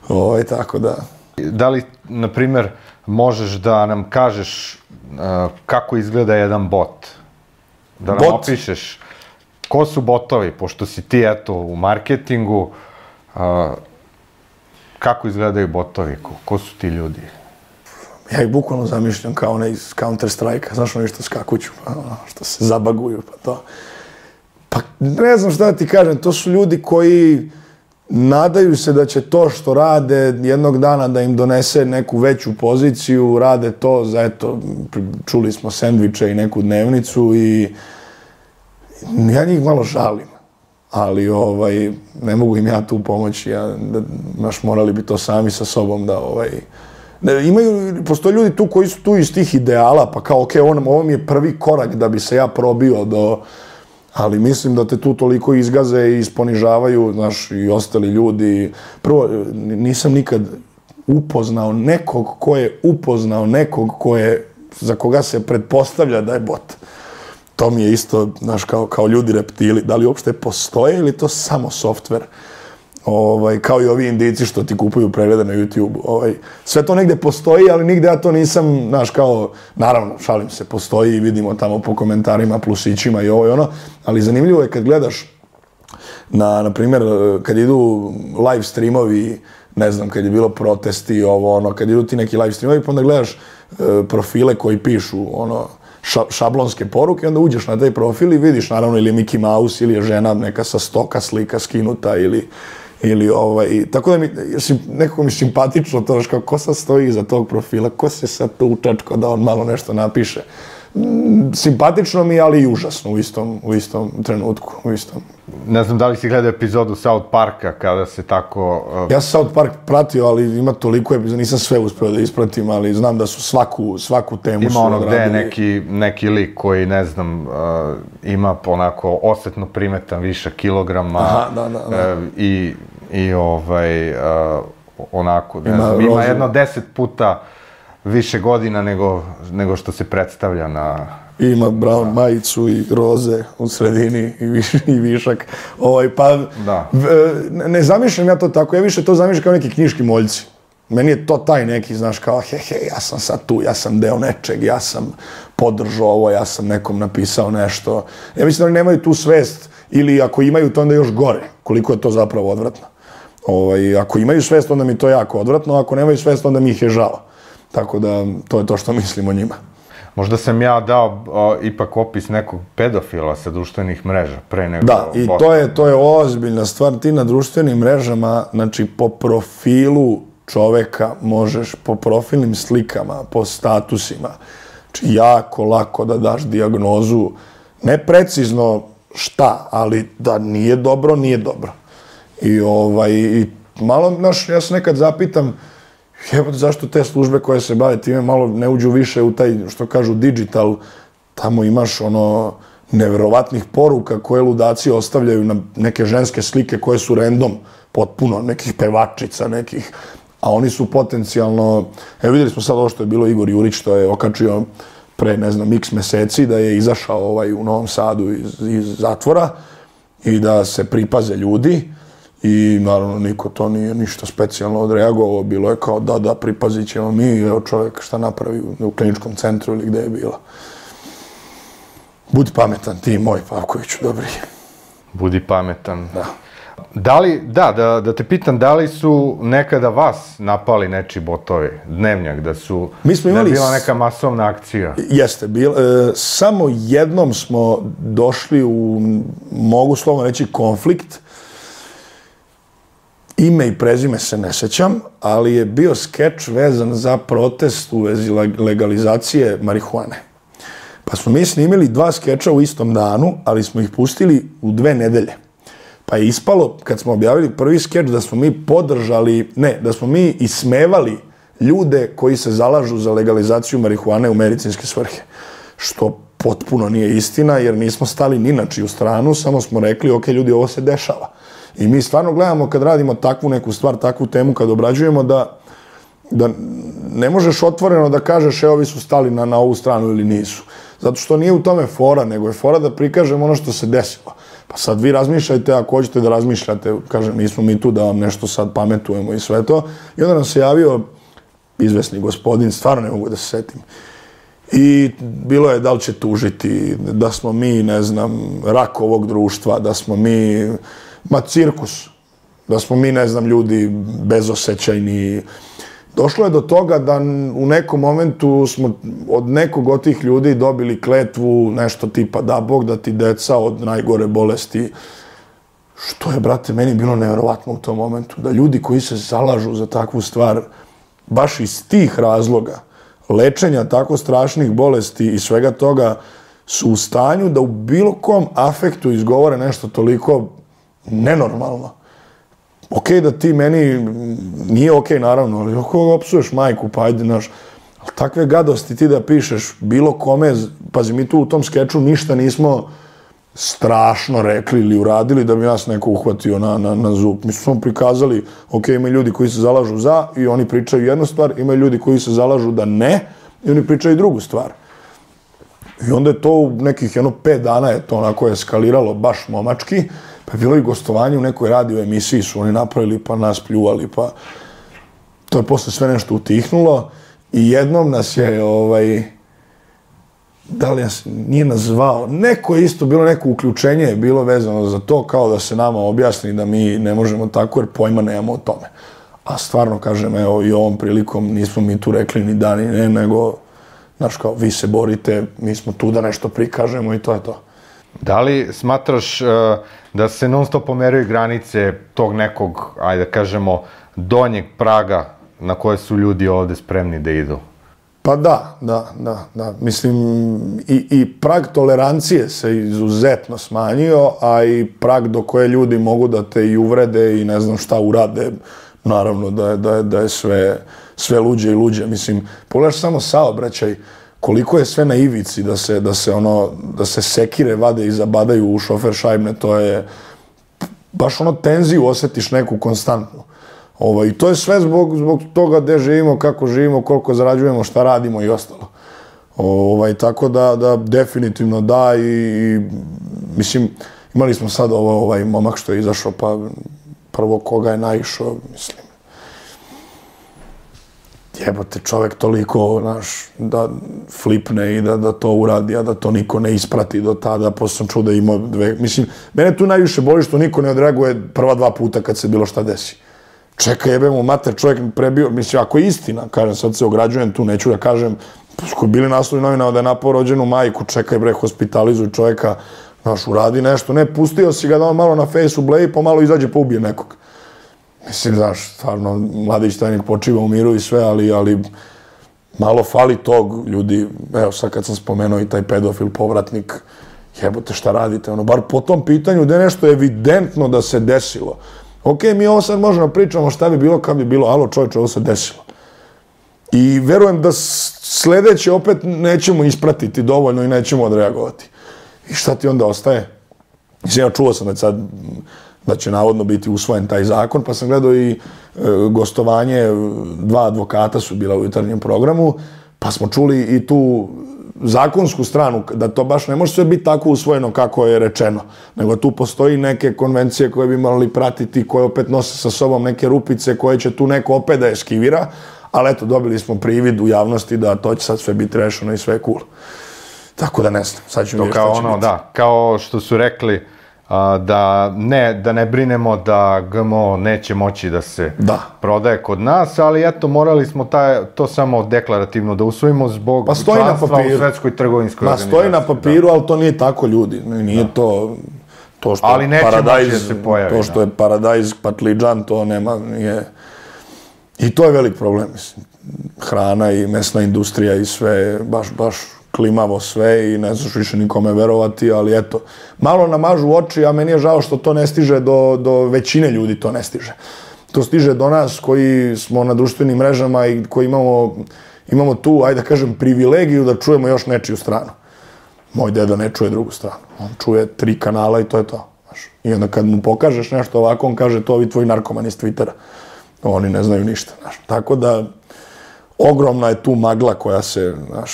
Ovo, tako da... Da li, na primjer, možeš da nam kažeš uh, kako izgleda jedan bot? Da nam Bot? opišeš ko su botovi, pošto si ti, eto, u marketingu, uh, kako izgledaju botovi, ko, ko su ti ljudi? Ja ih bukvalno zamišljam kao one iz Counter-Strike-a, znaš ono što skakuću, pa, ono, što se zabaguju, pa to. Pa ne znam šta da ti kažem, to su ljudi koji nadaju se da će to što rade jednog dana da im donese neku veću poziciju, rade to za, eto, čuli smo sendviče i neku dnevnicu i ja njih malo žalim, ali ovaj, ne mogu im ja tu pomoći, ja, da, naš, morali bi to sami sa sobom da, ovaj, ne, imaju, postoje ljudi tu koji su tu iz tih ideala, pa kao, ok, on, ovo mi je prvi korak da bi se ja probio do, ali mislim da te tu toliko izgaze i isponižavaju, znaš, i ostali ljudi. Prvo, nisam nikad upoznao nekog ko je upoznao nekog ko je, za koga se pretpostavlja da je bot. To mi je isto, znaš, kao, kao ljudi reptili. Da li uopšte postoje ili to samo softver? Ovaj, kao i ovi Indijci što ti kupuju preglede na YouTube. Ovaj, sve to negde postoji, ali nigde ja to nisam, znaš, kao, naravno, šalim se, postoji i vidimo tamo po komentarima, plusićima i ovo i ono, ali zanimljivo je kad gledaš, na, na primjer, kad idu live streamovi, ne znam, kad je bilo protesti, ovo, ono, kad idu ti neki live streamovi, pa onda gledaš e, profile koji pišu, ono, ša, šablonske poruke, onda uđeš na taj profil i vidiš, naravno, ili je Mickey Mouse, ili je žena neka sa stoka slika skinuta, ili ili ovaj, tako da mi, nekako mi simpatično to, kao ko sad stoji iza tog profila, ko se sad tu učačko da on malo nešto napiše. simpatično mi, ali i užasno u istom, u istom trenutku, u istom. Ne znam da li si gledao epizodu South Parka kada se tako... Uh... Ja sam South Park pratio, ali ima toliko epizoda, nisam sve uspeo da ispratim, ali znam da su svaku, svaku temu ima su ono gde je odradili. neki, neki lik koji, ne znam, uh, ima onako osetno primetan viša kilograma. Aha, da, da, da. Uh, i, i ovaj, uh, onako, ne Ima znam, ima rozu. jedno deset puta više godina nego, nego što se predstavlja na... Ima brown majicu i roze u sredini i, viš, i višak. Ovaj, pa, Da. v- ne zamišljam ja to tako, ja više to zamišljam kao neki knjiški moljci. Meni je to taj neki, znaš, kao he, he, ja sam sad tu, ja sam deo nečeg, ja sam podržao ovo, ja sam nekom napisao nešto. Ja mislim da oni nemaju tu svest, ili ako imaju to onda još gore, koliko je to zapravo odvratno. Ovaj, ako imaju svest, onda mi je to jako odvratno, ako nemaju svest, onda mi ih je žao. Tako da, to je to što mislim o njima. Možda sam ja dao o, ipak opis nekog pedofila sa društvenih mreža, pre nego... Da, i to je, to je ozbiljna stvar. Ti na društvenim mrežama, znači po profilu čoveka možeš, po profilnim slikama, po statusima, znači jako lako da daš dijagnozu, ne precizno šta, ali da nije dobro, nije dobro. I ovaj, i malo, znaš, ja se nekad zapitam, jebote, zašto te službe koje se bave time malo ne uđu više u taj, što kažu, digital, tamo imaš ono neverovatnih poruka koje ludaci ostavljaju na neke ženske slike koje su random, potpuno, nekih pevačica, nekih, a oni su potencijalno, evo vidjeli smo sad ovo što je bilo Igor Jurić, što je okačio pre, ne znam, x meseci, da je izašao ovaj u Novom Sadu iz, iz zatvora i da se pripaze ljudi. I naravno niko to nije ništa specijalno odreagovao, bilo je kao da, da, pripazit ćemo mi, evo čovjek šta napravi u kliničkom centru ili gde je bila. Budi pametan ti, moj Pavkoviću, dobri. Budi pametan. Da. Da li, da, da, da te pitam, da li su nekada vas napali nečiji botovi, dnevnjak, da su, Mi smo da imali je bila s- neka masovna akcija? Jeste, bil, e, samo jednom smo došli u, mogu slovno reći, konflikt. Ime i prezime se ne sećam, ali je bio skeč vezan za protest u vezi leg- legalizacije marihuane. Pa smo mi snimili dva skeča u istom danu, ali smo ih pustili u dve nedelje. Pa je ispalo, kad smo objavili prvi skeč, da smo mi podržali, ne, da smo mi ismevali ljude koji se zalažu za legalizaciju marihuane u medicinske svrhe. Što potpuno nije istina, jer nismo stali ni na čiju stranu, samo smo rekli, ok, ljudi, ovo se dešava. I mi stvarno gledamo kad radimo takvu neku stvar, takvu temu, kad obrađujemo, da, da ne možeš otvoreno da kažeš, evo, ovi su stali na, na ovu stranu ili nisu. Zato što nije u tome fora, nego je fora da prikažemo ono što se desilo. Pa sad vi razmišljajte, ako hoćete da razmišljate, kažem, nismo mi tu da vam nešto sad pametujemo i sve to. I onda nam se javio izvesni gospodin, stvarno ne mogu da se setim. I bilo je da li će tužiti, da smo mi, ne znam, rak ovog društva, da smo mi, ma cirkus, da smo mi, ne znam, ljudi bezosećajni. Došlo je do toga da u nekom momentu smo od nekog od tih ljudi dobili kletvu, nešto tipa da Bog da ti deca od najgore bolesti. Što je, brate, meni bilo nevjerovatno u tom momentu. Da ljudi koji se zalažu za takvu stvar, baš iz tih razloga, lečenja tako strašnih bolesti i svega toga, su u stanju da u bilo kom afektu izgovore nešto toliko nenormalno. Ok, da ti meni, nije ok naravno, ali ako opsuješ majku, pa ajde, znaš, ali takve gadosti ti da pišeš bilo kome, pazi, mi tu u tom skeču ništa nismo strašno rekli ili uradili da bi nas neko uhvatio na, na, na zub. Mi smo prikazali, ok, imaju ljudi koji se zalažu za i oni pričaju jednu stvar, imaju ljudi koji se zalažu da ne i oni pričaju drugu stvar. I onda je to u nekih jedno pet dana je to onako eskaliralo baš momački, pa je bilo i gostovanje u nekoj radio emisiji su oni napravili pa nas pljuvali, pa to je posle sve nešto utihnulo i jednom nas je, ovaj, da li nas nije nazvao, neko je isto, bilo neko uključenje je bilo vezano za to, kao da se nama objasni da mi ne možemo tako jer pojma nemamo o tome. A stvarno, kažem, evo i ovom prilikom nismo mi tu rekli ni da ni ne, nego, znaš, kao, vi se borite, mi smo tu da nešto prikažemo i to je to. Da li smatraš uh, da se non stop pomeraju granice tog nekog, ajde da kažemo, donjeg praga na koje su ljudi ovde spremni da idu? Pa da, da, da, da. Mislim, i, i prag tolerancije se izuzetno smanjio, a i prag do koje ljudi mogu da te i uvrede i ne znam šta urade, naravno da je, da je, da je sve, sve luđe i luđe. Mislim, pogledaš samo saobraćaj, koliko je sve na ivici da se, da se, ono, da se sekire vade i zabadaju u šofer šajbne, to je baš ono tenziju osjetiš neku konstantnu. Ovo, i to je sve zbog, zbog toga gde živimo, kako živimo, koliko zarađujemo, šta radimo i ostalo. Ovaj, tako da, da definitivno da i, i mislim, imali smo sad ovo, ovaj momak što je izašao, pa prvo koga je naišao, mislim, jebote, čovek toliko, znaš, da flipne i da, da to uradi, a da to niko ne isprati do tada, posle sam čuo da ima dve, mislim, mene tu najviše boli što niko ne odreaguje prva dva puta kad se bilo šta desi. Čekaj, jebemo, mater, čovjek prebio, mislim, ako je istina, kažem, sad se ograđujem tu, neću da kažem, koji bili naslovi novina da je napao rođenu majku, čekaj bre, hospitalizuj čovjeka, znaš, uradi nešto, ne, pustio si ga da on malo na fejsu bleji, pa malo izađe pa ubije nekog. Mislim, znaš, stvarno, mladić tajnik počiva u miru i sve, ali, ali malo fali tog, ljudi, evo sad kad sam spomenuo i taj pedofil povratnik, jebote šta radite, ono, bar po tom pitanju da je nešto evidentno da se desilo. Ok, mi ovo sad možemo pričamo šta bi bilo kad bi bilo, alo čovječe, ovo se desilo. I verujem da sledeće opet nećemo ispratiti dovoljno i nećemo odreagovati. I šta ti onda ostaje? Mislim, ja čuo sam da sad da će navodno biti usvojen taj zakon, pa sam gledao i e, gostovanje, dva advokata su bila u jutarnjem programu, pa smo čuli i tu zakonsku stranu, da to baš ne može sve biti tako usvojeno kako je rečeno, nego tu postoji neke konvencije koje bi morali pratiti, koje opet nose sa sobom neke rupice koje će tu neko opet da eskivira, ali eto, dobili smo privid u javnosti da to će sad sve biti rešeno i sve je cool. Tako da ne znam, sad ću vidjeti šta će ono, biti. Da, kao što su rekli, a, da, ne, da ne brinemo da G M O neće moći da se da. prodaje kod nas, ali eto, morali smo taj, to samo deklarativno da usvojimo zbog pa članstva u Svetskoj trgovinskoj Ma, organizaciji. stoji na papiru, da. Ali to nije tako, ljudi. Nije da. to... To što ali neće paradajz, moći da se pojavi. To što da. je paradajz, patliđan, to nema, nije... I to je velik problem, mislim. Hrana i mesna industrija i sve, baš, baš klimavo sve i ne znaš više nikome verovati, ali eto, malo namažu oči, a meni je žao što to ne stiže do, do većine ljudi, to ne stiže. To stiže do nas koji smo na društvenim mrežama i koji imamo, imamo tu, ajde da kažem, privilegiju da čujemo još nečiju stranu. Moj deda ne čuje drugu stranu. On čuje tri kanala i to je to. I onda kad mu pokažeš nešto ovako, on kaže to ovi tvoji narkomani iz Twittera. Oni ne znaju ništa. Znaš. Tako da, ogromna je tu magla koja se, znaš,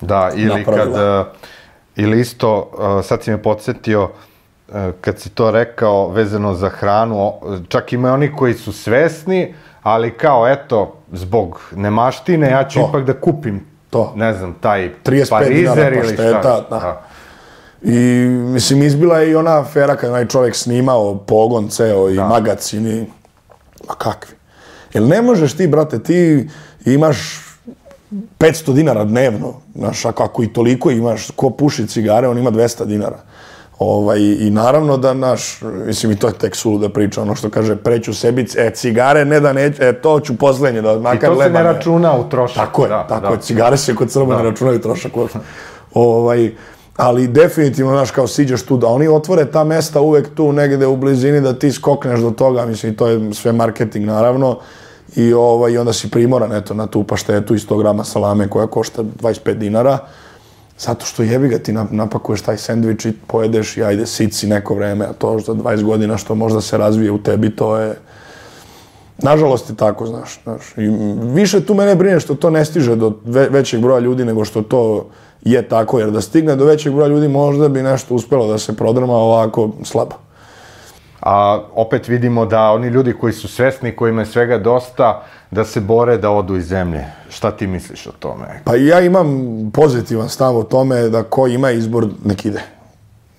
da, ili napravila. Kad, ili isto, sad si me podsjetio, kad si to rekao vezano za hranu, čak ima oni koji su svesni, ali kao, eto, zbog nemaštine, ja ću to. ipak da kupim, to. ne znam, taj parizer ili šta. Da. Da. I, mislim, izbila je i ona afera kad onaj čovjek snimao pogon ceo i da. magacin i... Ma kakvi? Jel ne možeš ti, brate, ti imaš petsto dinara dnevno, znaš, ako i toliko imaš, ko puši cigare, on ima dvesta dinara. Ovaj, i naravno da, naš, mislim, i to je tek sulu da priča, ono što kaže, preću sebi, e, cigare, ne da neću, e, to ću poslednje, da makar lebane. I to se ne računa u trošak. Tako je, da, tako da. je, cigare se kod Srba ne računaju trošak. ovaj, ali definitivno, znaš, kao siđeš tu, da oni otvore ta mesta uvek tu negde u blizini, da ti skokneš do toga, mislim, to je sve marketing, naravno, i ovaj, onda si primoran, eto, na tu paštetu i sto grama salame koja košta dvadeset pet dinara, zato što jebi ga, ti napakuješ taj sendvič i pojedeš i ajde, sit si neko vreme, a to za dvadeset godina što možda se razvije u tebi, to je... Nažalost je tako, znaš, znaš. I više tu mene brine što to ne stiže do ve većeg broja ljudi nego što to je tako, jer da stigne do većeg broja ljudi možda bi nešto uspjelo da se prodrma ovako slabo. A opet vidimo da oni ljudi koji su svesni, kojima je svega dosta, da se bore da odu iz zemlje. Šta ti misliš o tome? Pa ja imam pozitivan stav o tome da ko ima izbor, nek ide.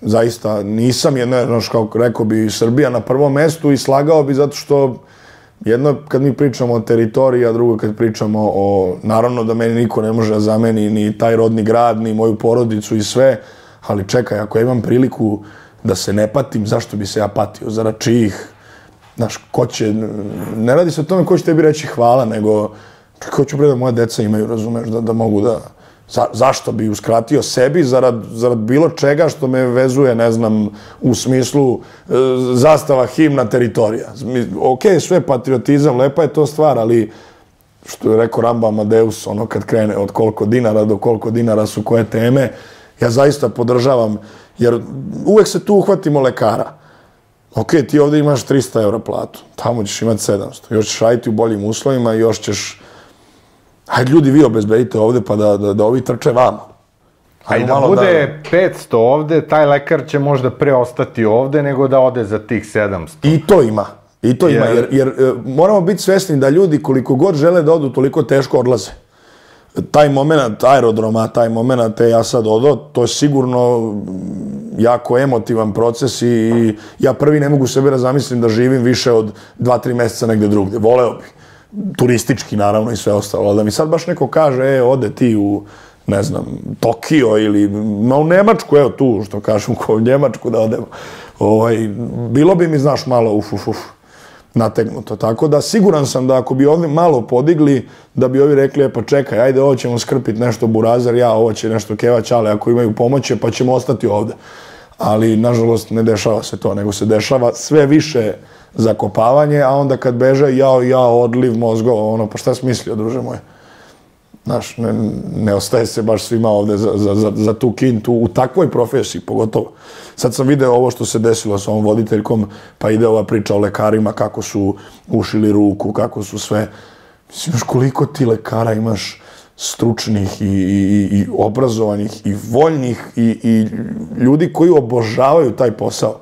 Zaista nisam jedno, znaš, kao rekao bi Srbija na prvom mestu i slagao bi zato što jedno kad mi pričamo o teritoriji, a drugo kad pričamo o, naravno da meni niko ne može da zameni ni taj rodni grad, ni moju porodicu i sve, ali čekaj, ako ja imam priliku da se ne patim, zašto bi se ja patio? Zarad čijih? Znaš, ko će... Ne radi se o tome ko će tebi reći hvala, nego Kako ću bre da moja deca imaju, razumeš, da, da mogu da... Za, zašto bi uskratio sebi zarad, zarad bilo čega što me vezuje, ne znam, u smislu e, zastava, himna, teritorija. Ok, sve patriotizam, lepa je to stvar, ali što je rekao Ramba Amadeus, ono kad krene od koliko dinara do koliko dinara su koje teme, ja zaista podržavam, jer uvek se tu uhvatimo lekara. Ok, ti ovdje imaš trista eura platu, tamo ćeš imati sedamsto, još ćeš raditi u boljim uslovima i još ćeš... Hajde ljudi, vi obezbedite ovde pa da, da, da ovi trče vama. A i da bude da... petsto ovde, taj lekar će možda pre ostati ovde nego da ode za tih sedamsto. I to ima. I to jer... ima, jer, jer moramo biti svesni da ljudi koliko god žele da odu, toliko teško odlaze. Taj moment aerodroma, taj moment ja sad odo, to je sigurno jako emotivan proces i ja prvi ne mogu sebe da zamislim da živim više od dva tri meseca negde drugde. Voleo bih. Turistički naravno i sve ostalo, ali da mi sad baš neko kaže, e, ode ti u, ne znam, Tokio ili ma u Nemačku, evo tu, što kažem, ko u Njemačku da odemo, ovaj, bilo bi mi, znaš, malo uf, uf, uf, nategnuto. Tako da siguran sam da ako bi ovdje malo podigli, da bi ovi rekli, e, pa čekaj, ajde, ovo ćemo skrpiti nešto burazer, ja, ovo će nešto kevać, ali ako imaju pomoće, pa ćemo ostati ovdje. Ali, nažalost, ne dešava se to, nego se dešava sve više zakopavanje, a onda kad beže, jao, jao, odliv mozgova, ono, pa šta si mislio, druže moje? Znaš, ne, ne ostaje se baš svima ovde za, za, za, za tu kintu, u takvoj profesiji, pogotovo. Sad sam video ovo što se desilo sa ovom voditeljkom, pa ide ova priča o lekarima, kako su ušili ruku, kako su sve... Mislim, još koliko ti lekara imaš stručnih i, i, i obrazovanih i voljnih i, i ljudi koji obožavaju taj posao.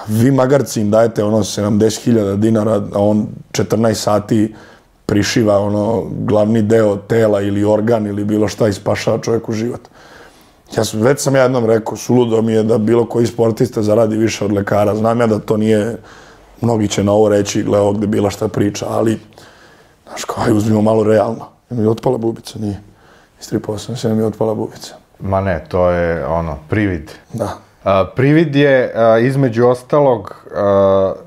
Vi magarci im dajete ono sedamdeset hiljada dinara, a on četrnaest sati prišiva ono glavni deo tela ili organ ili bilo šta i spašava čovjeku život. Ja sam, već sam ja jednom rekao, suludo mi je da bilo koji sportista zaradi više od lekara. Znam ja da to nije, mnogi će na ovo reći, gle ovdje gde bila šta priča, ali, znaš kao, aj uzmimo malo realno. Je mi otpala bubica? Nije. Istripao sam se, je mi otpala bubica. Ma ne, to je ono, privid. Da. Uh, privid je, uh, između ostalog, uh,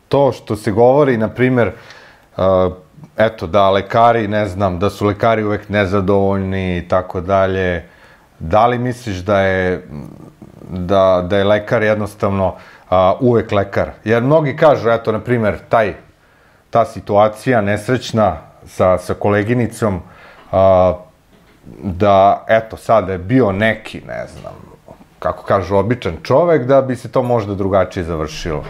to što se govori, na primjer, uh, eto, da lekari, ne znam, da su lekari uvek nezadovoljni i tako dalje. Da li misliš da je, da, da je lekar jednostavno uh, uvek lekar? Jer mnogi kažu, eto, na primjer, taj, ta situacija nesrećna sa, sa koleginicom, uh, da, eto, sada je bio neki, ne znam, kako kažu, običan čovek, da bi se to možda drugačije završilo.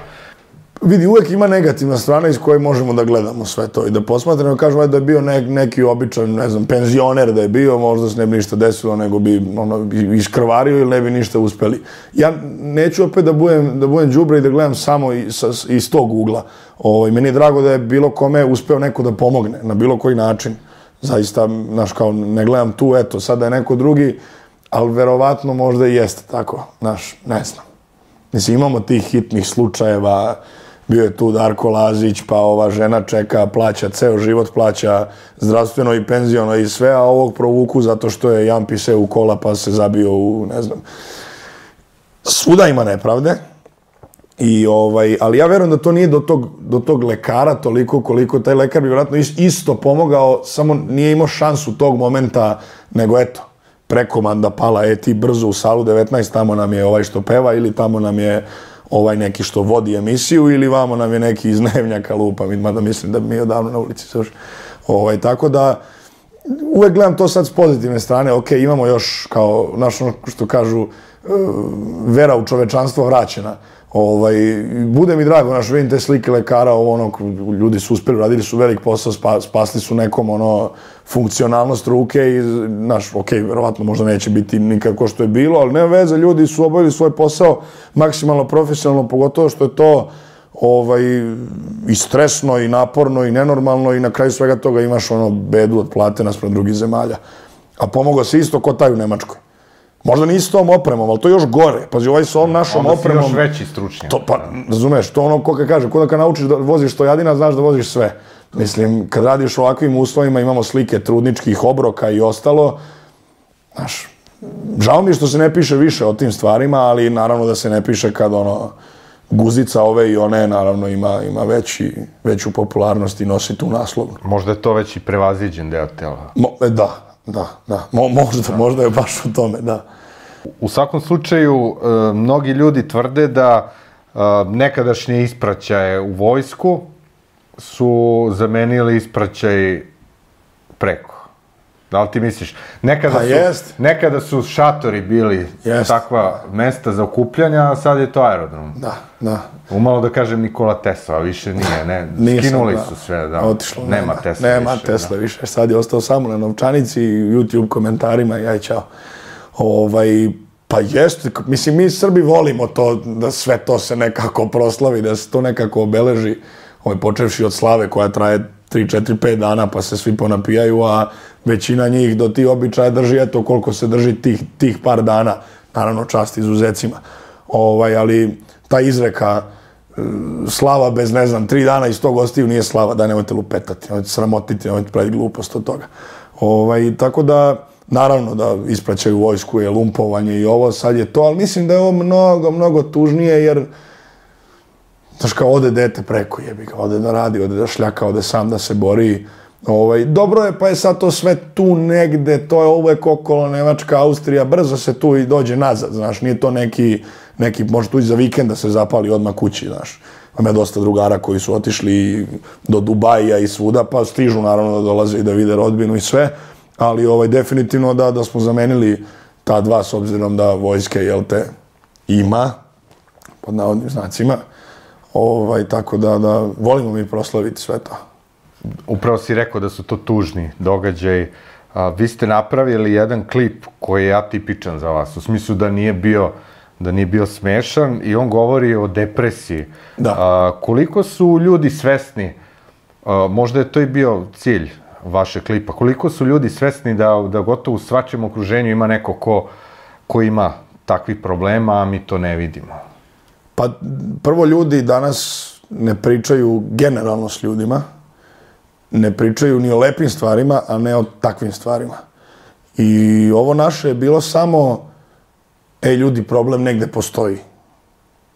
Vidi, uvek ima negativna strana iz koje možemo da gledamo sve to i da posmatramo, kažemo da je bio ne, neki običan, ne znam, penzioner da je bio, možda se ne bi ništa desilo, nego bi ono, iskrvario ili ne bi ništa uspeli. Ja neću opet da budem, da budem đubre i da gledam samo iz, iz tog ugla. Ovo, meni je drago da je bilo kome uspeo neko da pomogne, na bilo koji način. Zaista, znaš, kao, ne gledam tu, eto, sada je neko drugi, ali verovatno možda i jeste tako, znaš, ne znam. Mislim, imamo tih hitnih slučajeva, bio je tu Darko Lazić, pa ova žena čeka, plaća, ceo život plaća zdravstveno i penziono i sve, a ovog provuku zato što je jampi se u kola pa se zabio u, ne znam. Svuda ima nepravde, i, ovaj, ali ja verujem da to nije do tog, do tog lekara toliko koliko taj lekar bi vjerojatno isto pomogao, samo nije imao šansu tog momenta, nego eto, prekomanda pala, e ti brzo u salu devetnaest, tamo nam je ovaj što peva ili tamo nam je ovaj neki što vodi emisiju ili vamo nam je neki iz Dnevnjaka lupa, mada mislim da bi mi odavno na ulici suš. Ovaj, tako da uvek gledam to sad s pozitivne strane, ok, imamo još kao, znaš ono što kažu, vera u čovečanstvo vraćena. Ovaj, bude mi drago, znaš, vidim te slike lekara, ovo ono, ljudi su uspeli, radili su velik posao, spa, spasli su nekom ono, funkcionalnost ruke i, znaš, ok, verovatno možda neće biti nikako što je bilo, ali nema veze, ljudi su obavili svoj posao maksimalno profesionalno, pogotovo što je to ovaj, i stresno, i naporno, i nenormalno, i na kraju svega toga imaš ono bedu od plate naspram drugih zemalja. A pomogao se isto ko taj u Nemačkoj. Možda nije s tom opremom, ali to je još gore. Pazi, ovaj sa ovom našom opremom... Onda si još veći stručnjak. To, pa, razumeš, to ono ko kad kaže, ko da kad naučiš da voziš stojadina, znaš da voziš sve. Mislim, kad radiš u ovakvim uslovima, imamo slike trudničkih obroka i ostalo, znaš, žao mi što se ne piše više o tim stvarima, ali naravno da se ne piše kad ono, guzica ove i one, naravno, ima, ima veći, veću popularnost i nosi tu naslovnu. Možda je to već i prevaziđen deo tela. Mo, e, da, da, da. Mo, možda, možda je baš u tome, da. U svakom slučaju, e, mnogi ljudi tvrde da e, nekadašnje ispraćaje u vojsku su zamenili ispraćaj preko. Da li ti misliš? Nekada, pa su, jest. nekada su šatori bili jest. takva mesta za okupljanja, a sad je to aerodrom. Da, da. Umalo da kažem Nikola Tesla, a više nije, ne. Nisam, skinuli da. su sve, da. Otišlo, nema, nema Tesla nema više. Tesla da. više. Sad je ostao samo na novčanici i YouTube komentarima i aj čao. Ovaj, pa jeste, mislim, mi Srbi volimo to, da sve to se nekako proslavi, da se to nekako obeleži, ovaj, počevši od slave koja traje tri, četiri, pet dana, pa se svi ponapijaju, a većina njih do tih običaja drži, eto koliko se drži tih, tih par dana, naravno čast izuzecima. Ovaj, ali ta izreka slava bez, ne znam, tri dana i sto gostiju nije slava, da nemojte lupetati, nemojte sramotiti, nemojte praviti glupost od toga. Ovaj, tako da, naravno da ispraćaju vojsku je lumpovanje i ovo, sad je to, ali mislim da je ovo mnogo, mnogo tužnije, jer znaš kao, ode dete preko, jebi ga, ode da radi, ode da šljaka, ode sam da se bori. Ovaj, dobro je, pa je sad to sve tu negde, to je uvek okolo Nemačka, Austrija, brzo se tu i dođe nazad, znaš, nije to neki, neki može tu i za vikend da se zapali odmah kući, znaš. Ima dosta drugara koji su otišli do Dubaija i svuda, pa stižu naravno da dolaze i da vide rodbinu i sve, ali ovaj, definitivno da, da smo zamenili ta dva, s obzirom da vojske, jel te, ima, pod navodnim znacima. Ovaj, tako da, da volimo mi proslaviti sve to. Upravo si rekao da su to tužni događaj. A, vi ste napravili jedan klip koji je atipičan za vas, u smislu da nije bio, da nije bio smešan i on govori o depresiji. Da. A, koliko su ljudi svesni, a, možda je to i bio cilj vašeg klipa, koliko su ljudi svesni da, da gotovo u svačem okruženju ima neko ko, ko ima takvih problema, a mi to ne vidimo? Pa prvo, ljudi danas ne pričaju generalno s ljudima, ne pričaju ni o lepim stvarima, a ne o takvim stvarima. I ovo naše je bilo samo, ej ljudi, problem negde postoji.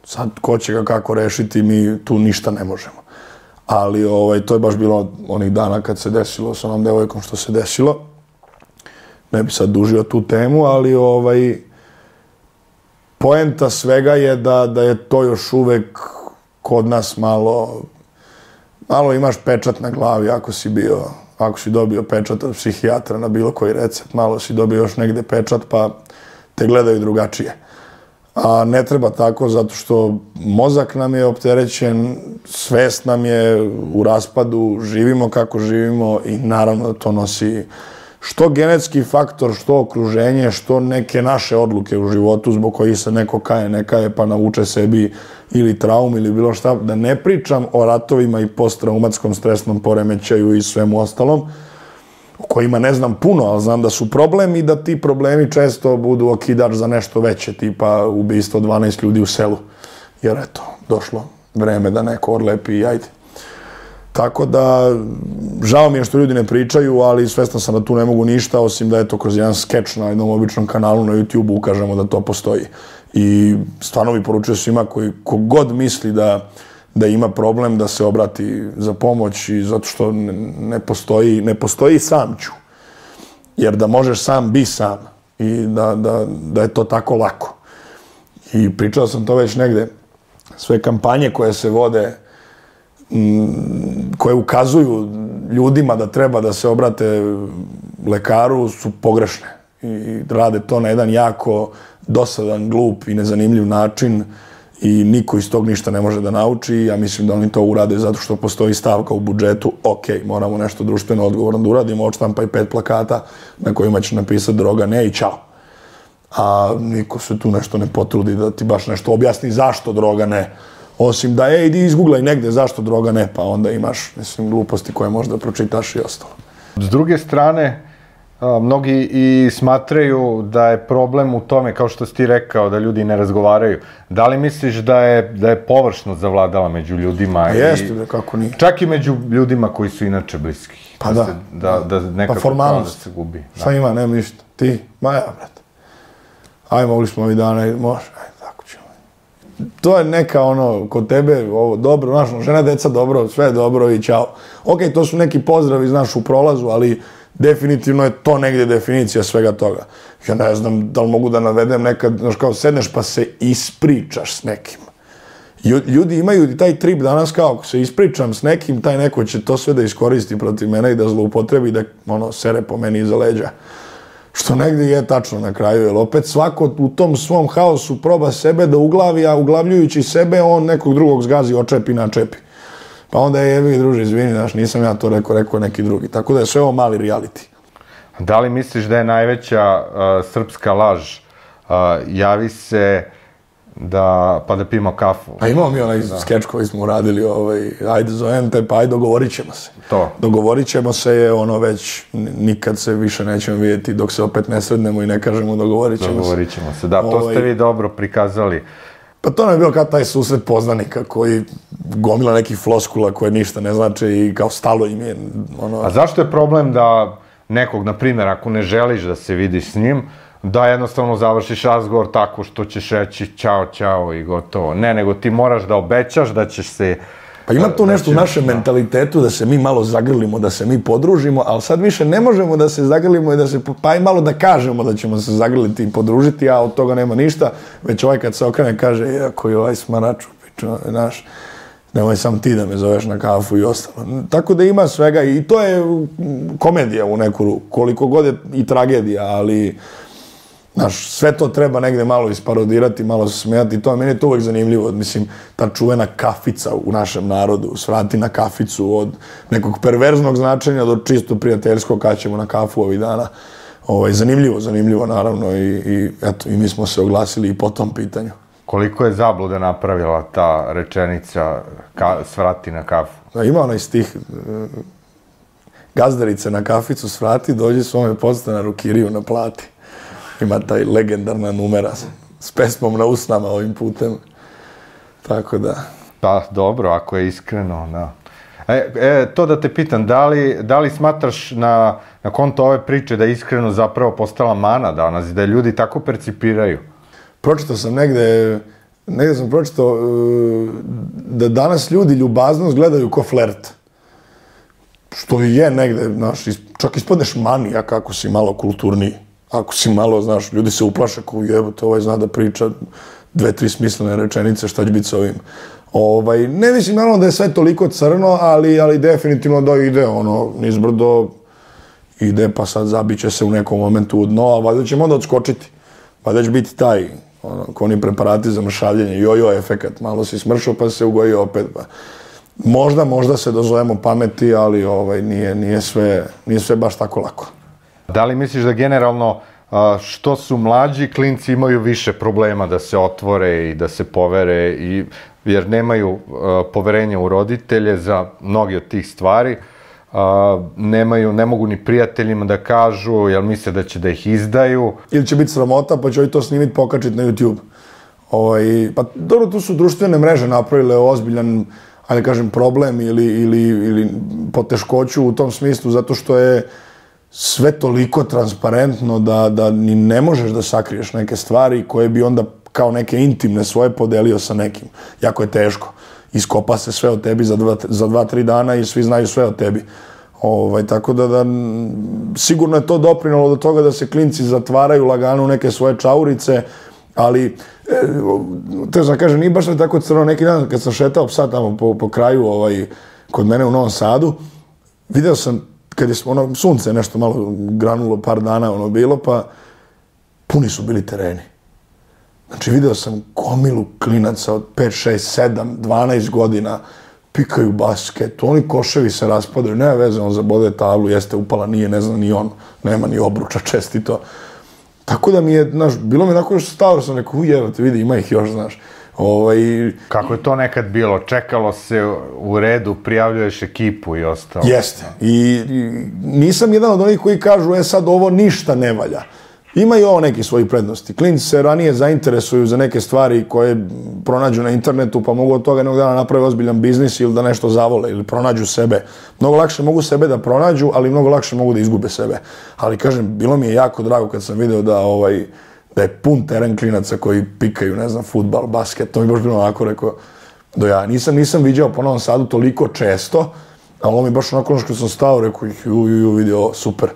Sad, ko će ga kako rešiti, mi tu ništa ne možemo. Ali ovaj, to je baš bilo onih dana kad se desilo sa onom devojkom što se desilo. Ne bi sad dužio tu temu, ali ovaj, poenta svega je da, da je to još uvek kod nas malo, malo imaš pečat na glavi ako si bio, ako si dobio pečat od psihijatra na bilo koji recept, malo si dobio još negde pečat pa te gledaju drugačije. A ne treba tako, zato što mozak nam je opterećen, svest nam je u raspadu, živimo kako živimo i naravno da to nosi što genetski faktor, što okruženje, što neke naše odluke u životu zbog kojih se neko kaje, ne kaje, pa navuče sebi ili traum ili bilo šta. Da ne pričam o ratovima i posttraumatskom stresnom poremećaju i svemu ostalom, o kojima ne znam puno, ali znam da su problem i da ti problemi često budu okidač za nešto veće, tipa ubistvo dvanaest ljudi u selu. Jer eto, došlo vreme da neko odlepi i ajde. Tako da, žao mi je što ljudi ne pričaju, ali svestan sam da tu ne mogu ništa, osim da eto kroz jedan skeč na jednom običnom kanalu na YouTube ukažemo da to postoji. I stvarno bi poručio svima koji kogod misli da, da ima problem da se obrati za pomoć, i zato što ne, ne postoji, ne postoji samću. Jer da možeš sam, bi sam. I da, da, da je to tako lako. I pričao sam to već negde. Sve kampanje koje se vode, koje ukazuju ljudima da treba da se obrate lekaru, su pogrešne. I rade to na jedan jako dosadan, glup i nezanimljiv način i niko iz tog ništa ne može da nauči. Ja mislim da oni to urade zato što postoji stavka u budžetu, ok, moramo nešto društveno odgovorno da uradimo, odštampaj pet plakata na kojima će napisati droga ne i čao. A niko se tu nešto ne potrudi da ti baš nešto objasni zašto droga ne. Osim da, ej, idi izguglaj negde zašto droga ne, pa onda imaš, mislim, gluposti koje možda pročitaš i ostalo. S druge strane, a, mnogi i smatraju da je problem u tome, kao što si ti rekao, da ljudi ne razgovaraju. Da li misliš da je, da je površnost zavladala među ljudima? A jeste, bre, kako nije. Čak i među ljudima koji su inače bliski. Pa da. Se, da, da nekako pa formalnost. Da se gubi. Šta da. Ima, nema ništa. Ti, ma ja, brate. Aj, mogli smo ovih dana, može, aj, tako ćemo. to je neka ono, kod tebe, ovo, dobro, znaš, žena, deca, dobro, sve je dobro i ćao. Ok, to su neki pozdravi, znaš, u prolazu, ali definitivno je to negdje definicija svega toga. Ja ne znam da li mogu da navedem nekad, znaš, kao sedneš pa se ispričaš s nekim. Ljudi imaju taj trip danas kao, ako se ispričam s nekim, taj neko će to sve da iskoristi protiv mene i da zloupotrebi, da ono, sere po meni iza leđa. Što negdje je tačno na kraju, jer opet svako u tom svom haosu proba sebe da uglavi, a uglavljujući sebe on nekog drugog zgazi, očepi, načepi. Pa onda je jebi, druže, izvini, znaš, nisam ja to rekao, rekao neki drugi. Tako da je sve ovo mali reality. Da li misliš da je najveća uh, srpska laž? Uh, javi se da, pa da pijemo kafu. A imamo mi onaj skeč koji smo uradili, ovaj, ajde zovem te, pa ajde dogovorit ćemo se. To. Dogovorit ćemo se je ono već, nikad se više nećemo vidjeti dok se opet ne srednemo i ne kažemo dogovorit ćemo se. Dogovorit ćemo se, da, to ovaj, ste vi dobro prikazali. Pa to nam je bilo kao taj susret poznanika koji gomila nekih floskula koje ništa ne znače i kao stalo im je. Ono... A zašto je problem da nekog, na primjer, ako ne želiš da se vidiš s njim, da jednostavno završiš razgovor tako što ćeš reći ćao, ćao i gotovo. Ne, nego ti moraš da obećaš da ćeš se... Pa ima tu nešto u našem mentalitetu da se mi malo zagrlimo, da se mi podružimo, ali sad više ne možemo da se zagrlimo i da se... Pa i malo da kažemo da ćemo se zagrliti i podružiti, a od toga nema ništa. Već ovaj kad se okrene kaže, iako je ovaj smaraču, pičo, znaš, nemoj sam ti da me zoveš na kafu i ostalo. Tako da ima svega i to je komedija u neku ruku, koliko god je i tragedija, ali... Znaš, sve to treba negde malo isparodirati, malo se smijati i to, meni je to uvijek zanimljivo. Mislim, ta čuvena kafica u našem narodu, svrati na kaficu od nekog perverznog značenja do čisto prijateljskog, kad ćemo na kafu ovih dana. Ovaj, zanimljivo, zanimljivo naravno i, i eto, i mi smo se oglasili i po tom pitanju. Koliko je zablude napravila ta rečenica ka, svrati na kafu? Da, ima onaj stih, gazdarice na kaficu svrati, dođi svome podstanaru Kiriju na plati. Ima taj legendarna numera s pesmom na usnama ovim putem. Tako da... Pa dobro, ako je iskreno, da. E, e, to da te pitam, da li, da li smatraš na, na konto ove priče da je iskreno zapravo postala mana danas i da ljudi tako percipiraju? Pročitao sam negde, negde sam pročitao da danas ljudi ljubaznost gledaju ko flert. Što je negde, znaš, čak ispadneš manijak ako si malo kulturniji. Ako si malo, znaš, ljudi se uplaše kao jebote, ovaj zna da priča dve, tri smislene rečenice, šta će biti s ovim. Ovaj, ne mislim naravno da je sve toliko crno, ali, ali definitivno da ide, ono, nizbrdo ide, pa sad zabiće se u nekom momentu u dno, a valjda ćemo onda odskočiti. Valjda će biti taj, ono, ko oni preparati za mršavljenje, jojo efekat, malo si smršao pa se ugojio opet, pa. Možda, možda se dozovemo pameti, ali ovaj, nije, nije, sve, nije sve baš tako lako. Da li misliš da generalno što su mlađi, klinci imaju više problema da se otvore i da se povere, i, jer nemaju poverenja u roditelje za mnogi od tih stvari, nemaju, ne mogu ni prijateljima da kažu, jer misle da će da ih izdaju. Ili će biti sramota, pa će oni to snimiti, pokačiti na YouTube. Ovaj, pa dobro, tu su društvene mreže napravile ozbiljan, ajde kažem, problem ili, ili, ili poteškoću u tom smislu, zato što je sve toliko transparentno da, da ni ne možeš da sakriješ neke stvari koje bi onda kao neke intimne svoje podelio sa nekim. Jako je teško. Iskopa se sve o tebi za dva, za dva, tri dana i svi znaju sve o tebi. Ovaj, tako da, da sigurno je to doprinalo do toga da se klinci zatvaraju lagano u neke svoje čaurice, ali e, te znam kažem, nije baš ne tako crno. Neki dan kad sam šetao psa tamo po, po kraju ovaj, kod mene u Novom Sadu, video sam kad je ono, sunce nešto malo granulo, par dana ono bilo, pa puni su bili tereni. Znači, video sam gomilu klinaca od pet, šest, sedam, dvanaest godina, pikaju basket, oni koševi se raspadaju, nema veze, on zabode tablu, jeste upala, nije, ne zna ni on, nema ni obruča, čestito. Tako da mi je, znaš, bilo mi onako još stalo, sam rekao, ujevate, vidi, ima ih još, znaš. Ovaj... Kako je to nekad bilo? Čekalo se u redu, prijavljuješ ekipu i ostalo. Jeste. I, i nisam jedan od onih koji kažu, e sad ovo ništa ne valja. Ima i ovo neki svoji prednosti. Klinci se ranije zainteresuju za neke stvari koje pronađu na internetu, pa mogu od toga jednog dana napravi ozbiljan biznis ili da nešto zavole ili pronađu sebe. Mnogo lakše mogu sebe da pronađu, ali mnogo lakše mogu da izgube sebe. Ali kažem, bilo mi je jako drago kad sam video da ovaj da je pun teren klinaca koji pikaju, ne znam, fudbal, basket, to mi baš bilo onako rekao, do ja nisam, nisam viđao po Novom Sadu toliko često, ali ovo mi baš onako što sam stao, rekao, ju, ju, ju, vidio, super.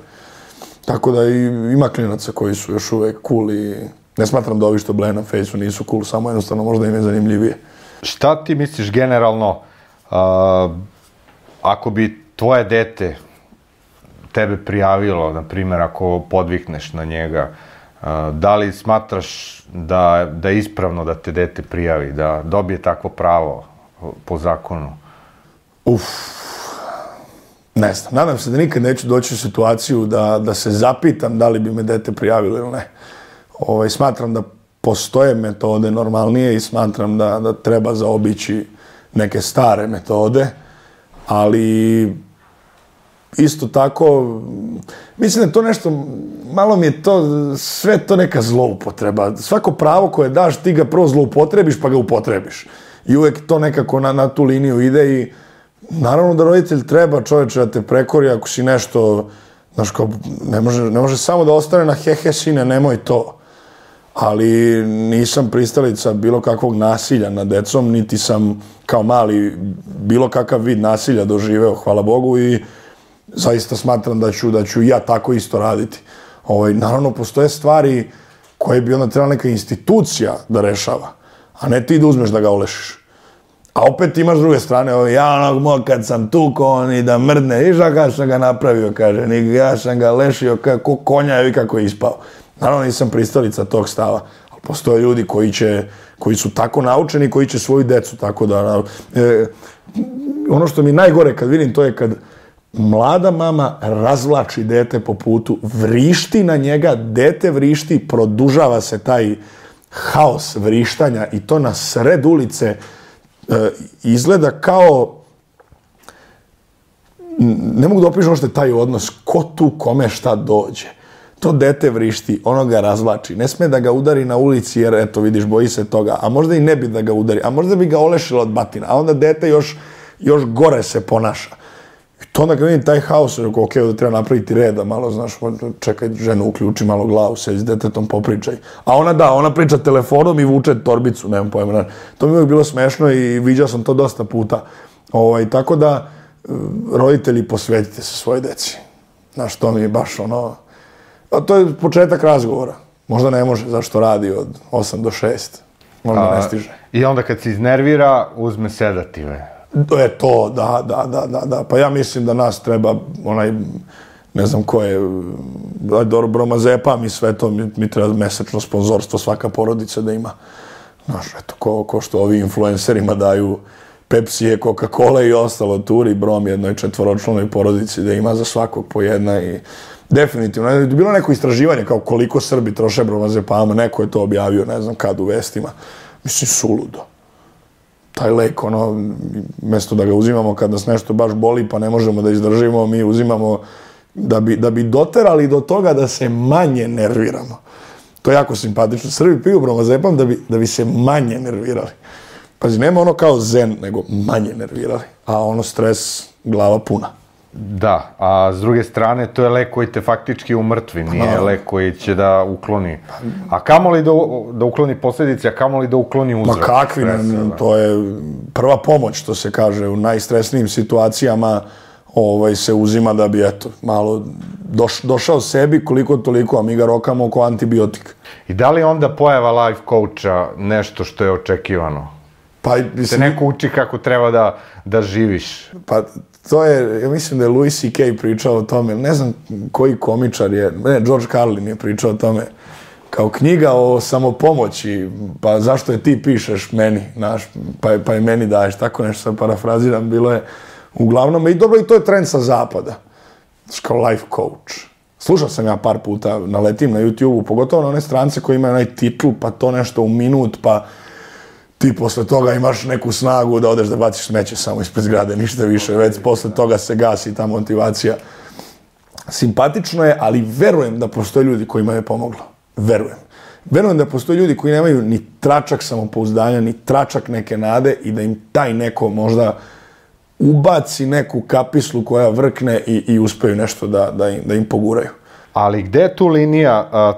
Tako da i, ima klinaca koji su još uvek cool i ne smatram da ovi što bleje na fejsu nisu cool, samo jednostavno možda im je zanimljivije. Šta ti misliš generalno, uh, ako bi tvoje dete tebe prijavilo, na primjer, ako podvikneš na njega, uh, da li smatraš da, da je ispravno da te dete prijavi, da dobije takvo pravo po zakonu? Uf, ne znam. Nadam se da nikad neću doći u situaciju da, da se zapitam da li bi me dete prijavilo ili ne. Ovaj, smatram da postoje metode normalnije i smatram da, da treba zaobići neke stare metode, ali isto tako, mislim da je to nešto, malo mi je to, sve to neka zloupotreba. Svako pravo koje daš, ti ga prvo zloupotrebiš pa ga upotrebiš. I uvek to nekako na, na tu liniju ide i naravno da roditelj treba, čoveče, da te prekori ako si nešto, znaš, kao, ne može, ne može samo da ostane na hehe sine, nemoj to. Ali nisam pristalica bilo kakvog nasilja nad decom, niti sam kao mali bilo kakav vid nasilja doživeo, hvala Bogu, i zaista smatram da ću, da ću ja tako isto raditi. Ovaj, naravno, postoje stvari koje bi onda trebala neka institucija da rešava, a ne ti da uzmeš da ga olešiš. A opet imaš s druge strane, ovaj, ja onog moj kad sam tukao, on i da mrdne, i kada sam ga napravio, kaže, ja sam ga lešio kako konja i kako je ispao. Naravno, nisam pristalica tog stava, ali postoje ljudi koji će, koji su tako naučeni, koji će svoju decu tako da... E, ono što mi najgore kad vidim, to je kad mlada mama razvlači dete po putu, vrišti na njega, dete vrišti, produžava se taj haos vrištanja i to na sred ulice e, izgleda kao... Ne mogu da opišem što je taj odnos, ko tu kome šta dođe. To dete vrišti, ono ga razvlači. Ne sme da ga udari na ulici jer, eto, vidiš, boji se toga. A možda i ne bi da ga udari. A možda bi ga olešilo od batina. A onda dete još, još gore se ponaša. I to onda kad vidim taj haos, rekao, ok, da treba napraviti reda malo, znaš, čekaj, ženu, uključi malo glavu, sedi s detetom, popričaj. A ona da, ona priča telefonom i vuče torbicu, nemam pojma. To mi je uvijek bilo smešno i viđao sam to dosta puta. Ovaj, tako da, roditelji, posvetite se svoje deci. Znaš, to mi je baš ono... A to je početak razgovora. Možda ne može, zašto radi od osam do šest. Možda ne stiže. I onda kad se iznervira, uzme sedative. To je to, da, da, da, da, da. Pa ja mislim da nas treba, onaj, ne znam ko je, dobro, bromazepam i sve to, mi, mi treba mesečno sponzorstvo svaka porodica da ima. Znaš, eto, ko, ko što ovi influencerima daju Pepsije, Coca-Cola i ostalo, turi brom jednoj četvoročlanoj porodici da ima za svakog po jedna i... Definitivno. Je bilo neko istraživanje kao koliko Srbi troše bromazepama, neko je to objavio, ne znam kad, u vestima. Mislim, suludo. Taj lek, ono, mjesto da ga uzimamo kad nas nešto baš boli pa ne možemo da izdržimo, mi uzimamo da bi, da bi doterali do toga da se manje nerviramo. To je jako simpatično. Srbi piju bromazepam da bi, da bi se manje nervirali. Pazi, nema ono kao zen, nego manje nervirali. A ono stres, glava puna. Da, a s druge strane, to je lek koji te faktički umrtvi, nije lek koji će da ukloni. A kamo li da, da ukloni posljedice, a kamo li da ukloni uzrok? Ma kakvi, stresa, to je prva pomoć, što se kaže, u najstresnijim situacijama ovaj, se uzima da bi, eto, malo doš, došao sebi koliko toliko, a mi ga rokamo oko antibiotika. I da li onda pojava life coacha nešto što je očekivano? Pa, mislim, se neko uči kako treba da, da živiš? Pa, to je, ja mislim da je Louis C K pričao o tome, ne znam koji komičar je, ne, George Carlin je pričao o tome, kao knjiga o samopomoći, pa zašto je ti pišeš meni, znaš, pa, pa je meni daješ, tako nešto sad parafraziram, bilo je uglavnom, i dobro, i to je trend sa zapada, znaš, kao life coach. Slušao sam ja par puta, naletim na YouTube-u, pogotovo na one strance koji imaju onaj titl, pa to nešto u minut, pa ti posle toga imaš neku snagu da odeš da baciš smeće samo ispred zgrade, ništa više, već posle toga se gasi ta motivacija. Simpatično je, ali verujem da postoje ljudi kojima je pomoglo. Verujem. Verujem da postoje ljudi koji nemaju ni tračak samopouzdanja, ni tračak neke nade i da im taj neko možda ubaci neku kapislu koja vrkne i, i uspeju nešto da, da, im, da im poguraju. Ali gde je tu linija? A,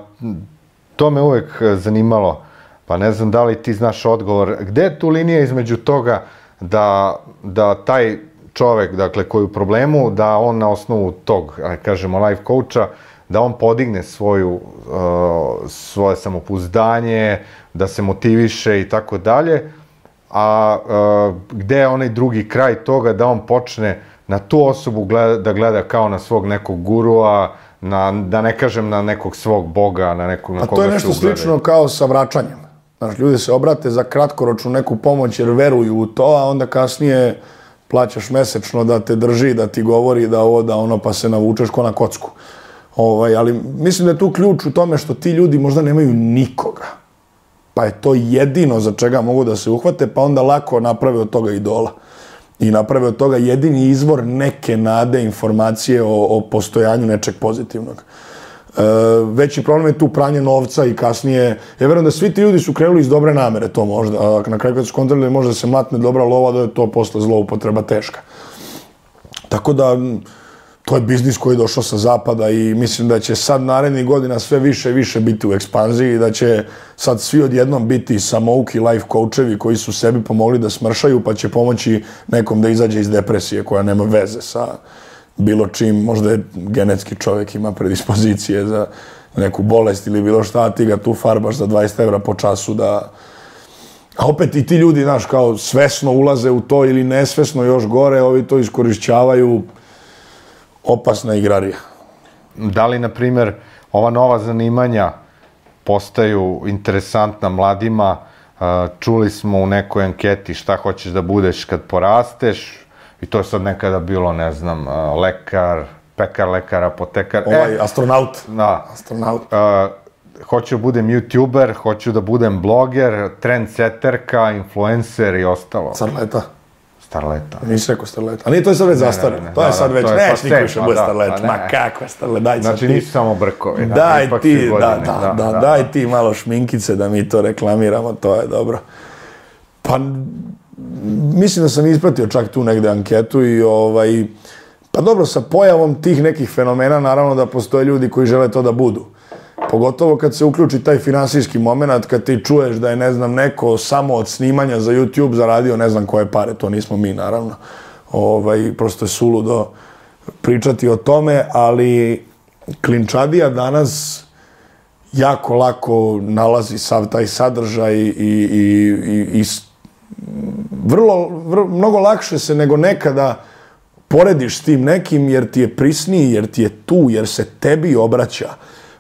to me uvek zanimalo, pa ne znam da li ti znaš odgovor, gde je tu linija između toga da, da taj čovek, dakle, koji je u problemu, da on na osnovu tog, kažemo, life coacha, da on podigne svoju, uh, svoje samopouzdanje, da se motiviše i tako dalje, a uh, gde je onaj drugi kraj toga da on počne na tu osobu gleda, da gleda kao na svog nekog gurua, na, da ne kažem na nekog svog boga, na nekog na koga se ugledaju. A to je nešto slično kao sa vraćanjem. Znaš, ljudi se obrate za kratkoročnu neku pomoć jer veruju u to, a onda kasnije plaćaš mesečno da te drži, da ti govori da ovo, da ono, pa se navučeš ko na kocku. Ovaj, ali mislim da je tu ključ u tome što ti ljudi možda nemaju nikoga. Pa je to jedino za čega mogu da se uhvate, pa onda lako naprave od toga idola. I naprave od toga jedini izvor neke nade, informacije o, o postojanju nečeg pozitivnog. E, veći problem je tu pranje novca i kasnije, ja verujem da svi ti ljudi su krenuli iz dobre namere to možda, a na kraju kad su kontrolili možda se matne dobra lova, da je to posle zloupotreba teška. Tako da, to je biznis koji je došao sa zapada i mislim da će sad narednih godina sve više i više biti u ekspanziji i da će sad svi odjednom biti samouki life coachevi koji su sebi pomogli da smršaju pa će pomoći nekom da izađe iz depresije koja nema veze sa bilo čim, možda je genetski čovjek ima predispozicije za neku bolest ili bilo šta, a ti ga tu farbaš za dvadeset evra po času da... A opet i ti ljudi, znaš, kao svesno ulaze u to ili nesvesno još gore, ovi to iskorišćavaju, opasna igrarija. Da li, na primjer, ova nova zanimanja postaju interesantna mladima? Čuli smo u nekoj anketi šta hoćeš da budeš kad porasteš i to je sad nekada bilo, ne znam, lekar, pekar, lekar, apotekar. Ovaj, e, astronaut. Da. Astronaut. Uh, hoću da budem youtuber, hoću da budem bloger, trendseterka, influencer i ostalo. Starleta. Starleta. Nisi rekao starleta. A nije, to je sad već zastarno. To je sad već, neš niko više bude starleta. Ma kakva starleta, daj sad ti. Znači nisu samo brkovi. Daj ti, da, da, da, daj ti malo šminkice da mi to reklamiramo, to je dobro. Pa, mislim da sam ispratio čak tu negde anketu i ovaj, pa dobro, sa pojavom tih nekih fenomena, naravno da postoje ljudi koji žele to da budu. Pogotovo kad se uključi taj finansijski moment, kad ti čuješ da je, ne znam, neko samo od snimanja za YouTube zaradio ne znam koje pare, to nismo mi, naravno. Ovaj, prosto je suludo pričati o tome, ali klinčadija danas jako lako nalazi sav taj sadržaj i, i, i, i vrlo, vrlo, mnogo lakše se nego nekada porediš s tim nekim jer ti je prisniji, jer ti je tu, jer se tebi obraća.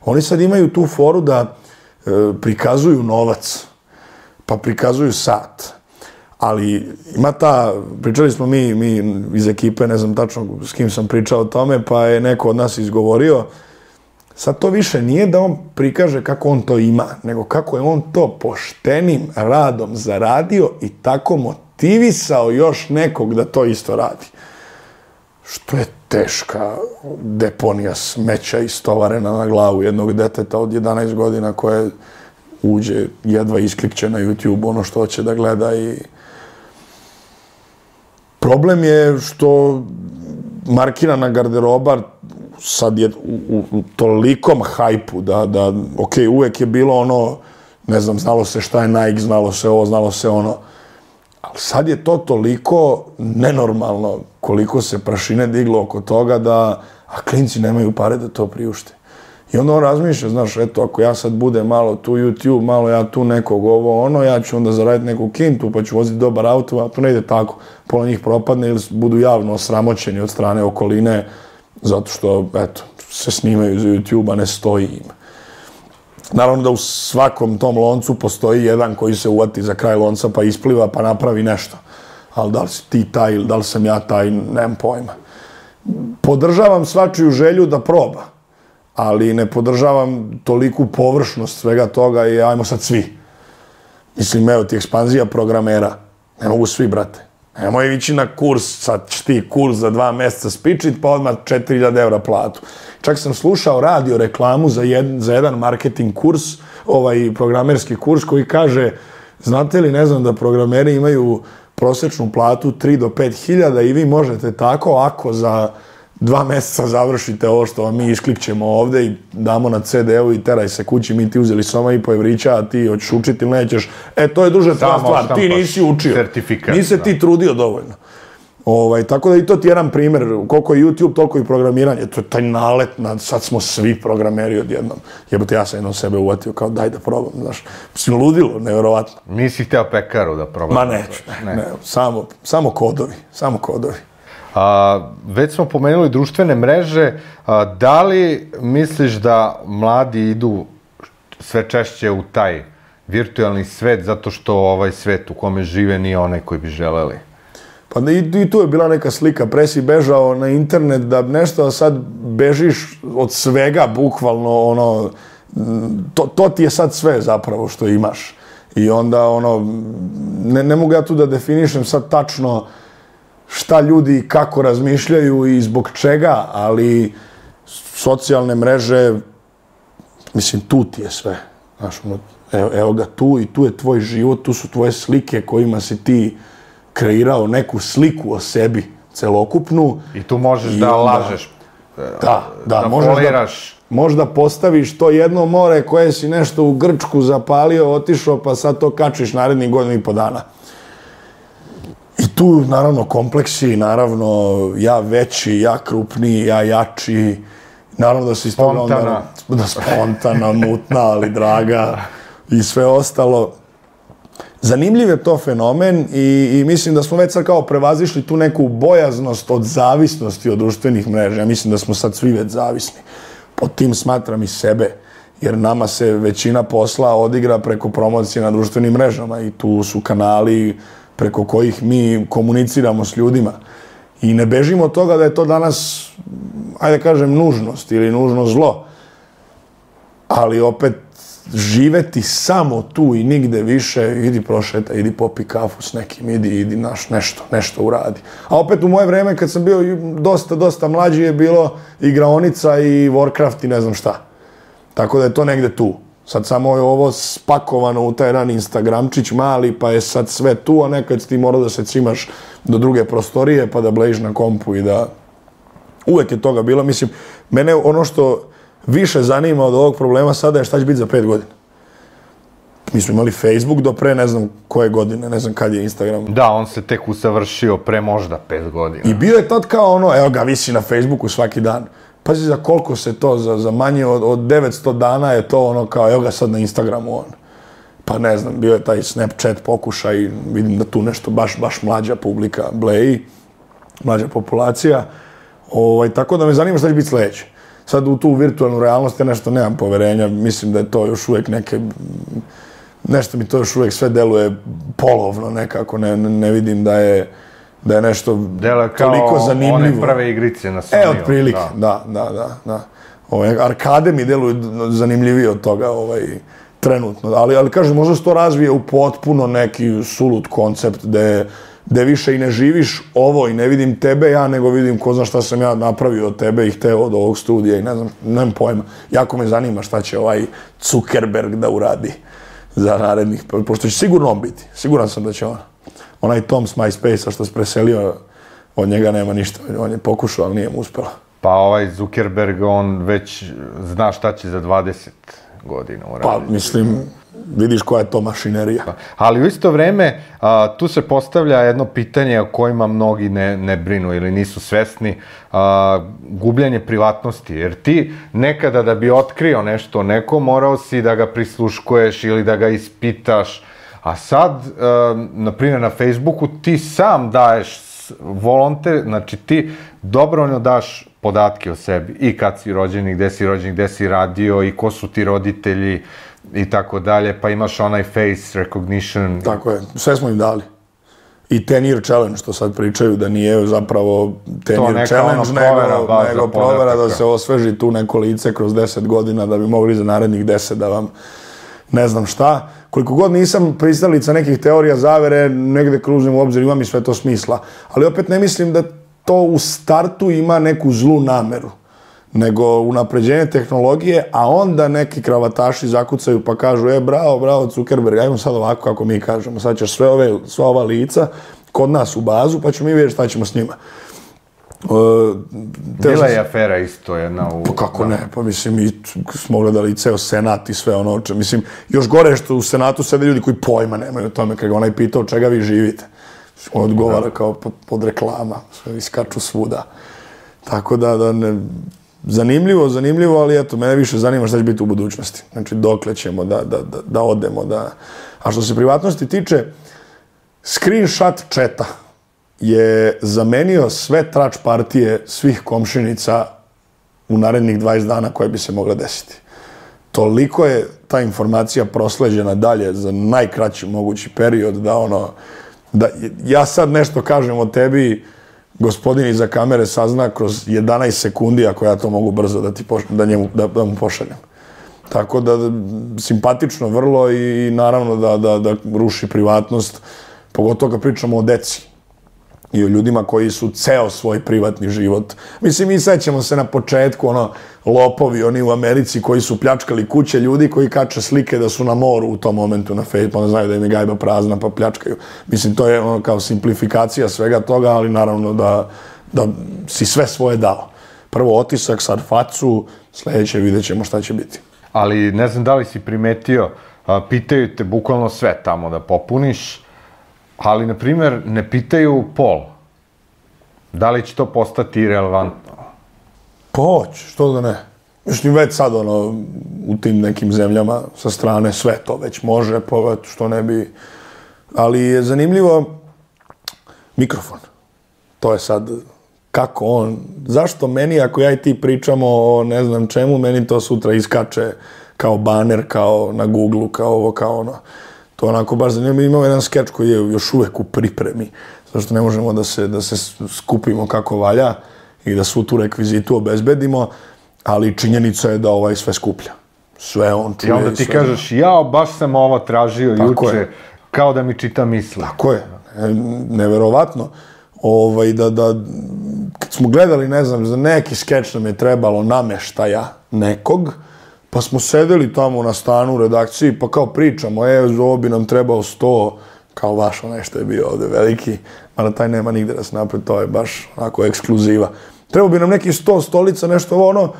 Oni sad imaju tu foru da e, prikazuju novac, pa prikazuju sat. Ali ima ta, pričali smo mi, mi iz ekipe, ne znam tačno s kim sam pričao o tome, pa je neko od nas izgovorio, sad to više nije da on prikaže kako on to ima, nego kako je on to poštenim radom zaradio i tako motivisao još nekog da to isto radi. Što je teška deponija smeća istovarena na glavu jednog deteta od jedanaest godina koje uđe, jedva isklikće na YouTube ono što hoće da gleda i problem je što markirana garderoba sad je u, u, u tolikom hajpu da, da, ok, uvek je bilo ono, ne znam, znalo se šta je Nike, znalo se ovo, znalo se ono, ali sad je to toliko nenormalno koliko se prašine diglo oko toga da, a klinci nemaju pare da to priušte. I onda on razmišlja, znaš, eto, ako ja sad budem malo tu YouTube, malo ja tu nekog ovo, ono, ja ću onda zaraditi neku kintu, pa ću voziti dobar auto, a to ne ide tako. Pola njih propadne ili budu javno osramoćeni od strane okoline, zato što, eto, se snimaju za YouTube, a ne stoji im. Naravno da u svakom tom loncu postoji jedan koji se uvati za kraj lonca, pa ispliva, pa napravi nešto. Ali da li si ti taj ili da li sam ja taj, nemam pojma. Podržavam svačiju želju da proba, ali ne podržavam toliku površnost svega toga i ajmo sad svi. Mislim, evo ti ekspanzija programera. Ne mogu svi, brate. Nemoj ići na kurs, sad ćeš ti kurs za dva mjeseca spičit, pa odmah četiri hiljade evra platu. Čak sam slušao radio reklamu za, jed, za jedan marketing kurs, ovaj programerski kurs koji kaže, znate li, ne znam, da programeri imaju prosječnu platu tri do pet hiljada i vi možete tako, ako za dva meseca završite ovo što vam mi isklikćemo ovde i damo na ce de u i teraj se kući, mi ti uzeli soma i po evrića, a ti hoćeš učiti ili nećeš. E, to je duže tvoja stvar, ti nisi učio, nisi se ti trudio dovoljno. Ovaj, tako da i to ti je jedan primjer, koliko je YouTube, toliko i programiranje, to je taj nalet, na, sad smo svi programeri odjednom. Jebote, ja sam jednom sebe uvatio kao daj da probam, znaš, si ludilo, nevjerovatno. Nisi hteo pekaru da probam? Ma neću, ne, ne, samo, samo kodovi, samo kodovi. A, već smo pomenuli društvene mreže, a, da li misliš da mladi idu sve češće u taj virtualni svet zato što ovaj svet u kome žive nije onaj koji bi želeli? Pa i, i tu je bila neka slika, pre si bežao na internet da nešto, a sad bežiš od svega, bukvalno, ono, to, to ti je sad sve zapravo što imaš. I onda, ono, ne, ne mogu ja tu da definišem sad tačno šta ljudi i kako razmišljaju i zbog čega, ali socijalne mreže, mislim, tu ti je sve. Znaš, ono, evo, evo ga tu i tu je tvoj život, tu su tvoje slike kojima si ti kreirao neku sliku o sebi celokupnu. I tu možeš da onda lažeš, da, da, da možeš foliraš. Da, možda postaviš to jedno more koje si nešto u Grčku zapalio, otišao, pa sad to kačiš narednih godinu i po dana. I tu, naravno, kompleksi, naravno, ja veći, ja krupniji, ja jači, naravno da si spontana, onda, da spontana, mutna, ali draga i sve ostalo. Zanimljiv je to fenomen i, i mislim da smo već sad kao prevazišli tu neku bojaznost od zavisnosti od društvenih mreža. Ja mislim da smo sad svi već zavisni. Pod tim smatram i sebe, jer nama se većina posla odigra preko promocije na društvenim mrežama i tu su kanali preko kojih mi komuniciramo s ljudima. I ne bežimo od toga da je to danas, ajde kažem, nužnost ili nužno zlo. Ali opet, živeti samo tu i nigde više, idi prošeta, idi popi kafu s nekim, idi, idi naš nešto, nešto uradi. A opet u moje vreme, kad sam bio dosta, dosta mlađi, je bilo igraonica i Warcraft i ne znam šta. Tako da je to negde tu. Sad samo je ovo spakovano u taj ran Instagramčić mali, pa je sad sve tu, a nekad ti morao da se cimaš do druge prostorije, pa da blejiš na kompu i da... Uvek je toga bilo. Mislim, mene ono što više zanima od ovog problema sada je šta će biti za pet godina. Mi smo imali Facebook do pre ne znam koje godine, ne znam kad je Instagram. Da, on se tek usavršio pre možda pet godina. I bio je tad kao ono, evo ga, visi na Facebooku svaki dan. Pazi za koliko se to, za, za manje od, od devetsto dana je to ono kao, evo ga sad na Instagramu on. Pa ne znam, bio je taj Snapchat pokušaj, vidim da tu nešto baš, baš mlađa publika bleji, mlađa populacija. Ovaj, tako da me zanima šta će biti sledeće. Sad u tu virtualnu realnost ja nešto nemam poverenja, mislim da je to još uvijek neke, nešto mi to još uvijek sve deluje polovno nekako, ne, ne vidim da je, da je nešto Dele kao toliko zanimljivo. One prve igrice na Sony. E, otprilike, da, da, da, da. Ove, arkade mi deluju zanimljivije od toga ovaj, trenutno, ali, ali kažem, možda se to razvije u potpuno neki sulut koncept gde gde više i ne živiš ovo i ne vidim tebe ja, nego vidim ko zna šta sam ja napravio od tebe i hteo od ovog studija i ne znam, nemam pojma. Jako me zanima šta će ovaj Zuckerberg da uradi za narednih, pošto će sigurno on biti. Siguran sam da će on. Onaj Tom s MySpace-a što se preselio, od njega nema ništa. On je pokušao, ali nije mu uspelo. Pa ovaj Zuckerberg, on već zna šta će za dvadeset godina uraditi. Pa, mislim, vidiš koja je to mašinerija. Ali u isto vreme, a, tu se postavlja jedno pitanje o kojima mnogi ne, ne brinu ili nisu svesni, a, gubljenje privatnosti. Jer ti nekada da bi otkrio nešto neko, morao si da ga prisluškuješ ili da ga ispitaš. A sad, a, na primjer na Facebooku, ti sam daješ volonter, znači ti dobrovoljno daš podatke o sebi. I kad si rođen, i gde si rođen, gde si radio, i ko su ti roditelji, i tako dalje, pa imaš onaj face recognition. Tako je, sve smo im dali. I ten year challenge, što sad pričaju, da nije zapravo ten year challenge, nego, nego provera da se osveži tu neko lice kroz deset godina, da bi mogli za narednih deset da vam ne znam šta. Koliko god nisam pristalica nekih teorija zavere, negde kruzim u obzir, ima mi sve to smisla. Ali opet ne mislim da to u startu ima neku zlu nameru, nego unapređenje tehnologije, a onda neki kravataši zakucaju pa kažu, e, bravo, bravo, Zuckerberg, ajmo sad ovako kako mi kažemo, sad ćeš sve ove, sva ova lica kod nas u bazu, pa ćemo mi vidjeti šta ćemo s njima. Bila je afera isto jedna u... Pa kako ne, pa mislim i smo gledali ceo senat i sve ono oče. Mislim, još gore je što u senatu sede ljudi koji pojma nemaju o tome, kada ga onaj pitao čega vi živite. On odgovara kao pod reklama, sve iskaču svuda. Tako da, da ne... Zanimljivo, zanimljivo, ali eto, mene više zanima šta će biti u budućnosti. Znači, dokle ćemo da, da, da, da odemo, da... A što se privatnosti tiče, screenshot četa je zamenio sve trač partije svih komšinica u narednih dvadeset dana koje bi se mogla desiti. Toliko je ta informacija prosleđena dalje za najkraći mogući period da ono... Da ja sad nešto kažem o tebi, gospodin iza kamere sazna kroz jedanaest sekundi ako ja to mogu brzo da, ti poš, da, njemu, da, da mu pošaljem. Tako da, simpatično vrlo i naravno da, da, da ruši privatnost, pogotovo kad pričamo o deci i o ljudima koji su ceo svoj privatni život. Mislim, mi sećamo se na početku, ono, lopovi, oni u Americi koji su pljačkali kuće, ljudi koji kače slike da su na moru u tom momentu na Facebook, pa ne znaju da im je gajba prazna, pa pljačkaju. Mislim, to je ono kao simplifikacija svega toga, ali naravno da, da si sve svoje dao. Prvo otisak, sad facu, sledeće vidjet ćemo šta će biti. Ali ne znam da li si primetio, pitaju te bukvalno sve tamo da popuniš, ali, na primjer, ne pitaju pol. Da li će to postati irelevantno? Pa hoće, što da ne. Mislim, već sad, ono, u tim nekim zemljama sa strane sve to već može, pa što ne bi... Ali je zanimljivo mikrofon. To je sad kako on... Zašto meni, ako ja i ti pričamo o ne znam čemu, meni to sutra iskače kao baner, kao na Google-u, kao ovo, kao ono... To onako baš zanimljivo. Imamo jedan skeč koji je još uvek u pripremi, zašto ne možemo da se, da se skupimo kako valja i da svu tu rekvizitu obezbedimo, ali činjenica je da ovaj sve skuplja. Sve on čuje. I onda ti kažeš, jao, baš sam ovo tražio juče, kao da mi čita misli. Tako je. Neverovatno. Ovaj, da, da, kad smo gledali, ne znam, za neki skeč nam je trebalo nameštaja nekog, pa smo sedeli tamo na stanu u redakciji, pa kao pričamo, e, ovo bi nam trebao sto, kao vaš onaj što je bio ovde veliki, mada taj nema nigde da se napred, to je baš onako ekskluziva. Trebao bi nam neki sto stolica, nešto ono,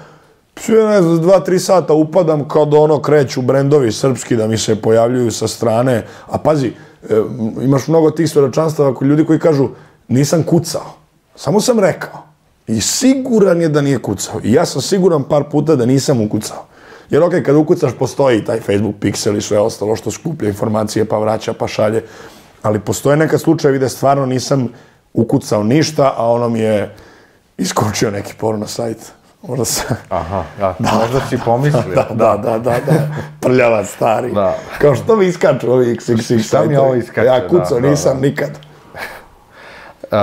sve ne znam, dva, tri sata upadam kad ono kreću brendovi srpski da mi se pojavljuju sa strane, a pazi, e, imaš mnogo tih svedočanstava kod ljudi koji kažu, nisam kucao, samo sam rekao. I siguran je da nije kucao. I ja sam siguran par puta da nisam ukucao. Jer okej, kad ukucaš, postoji taj Facebook Pixel i sve ostalo što skuplja informacije, pa vraća, pa šalje. Ali postoje neka slučajevi da stvarno nisam ukucao ništa, a ono mi je iskočio neki porno sajt. Možda se... Aha, ja, da, možda si pomislio. Da, da, da, da, da. Prljava stari. Da. Kao što mi iskaču ovi iks iks iks sajtovi. Šta mi ovo iskače? Ja kucao da, nisam da, da. nikad. Uh,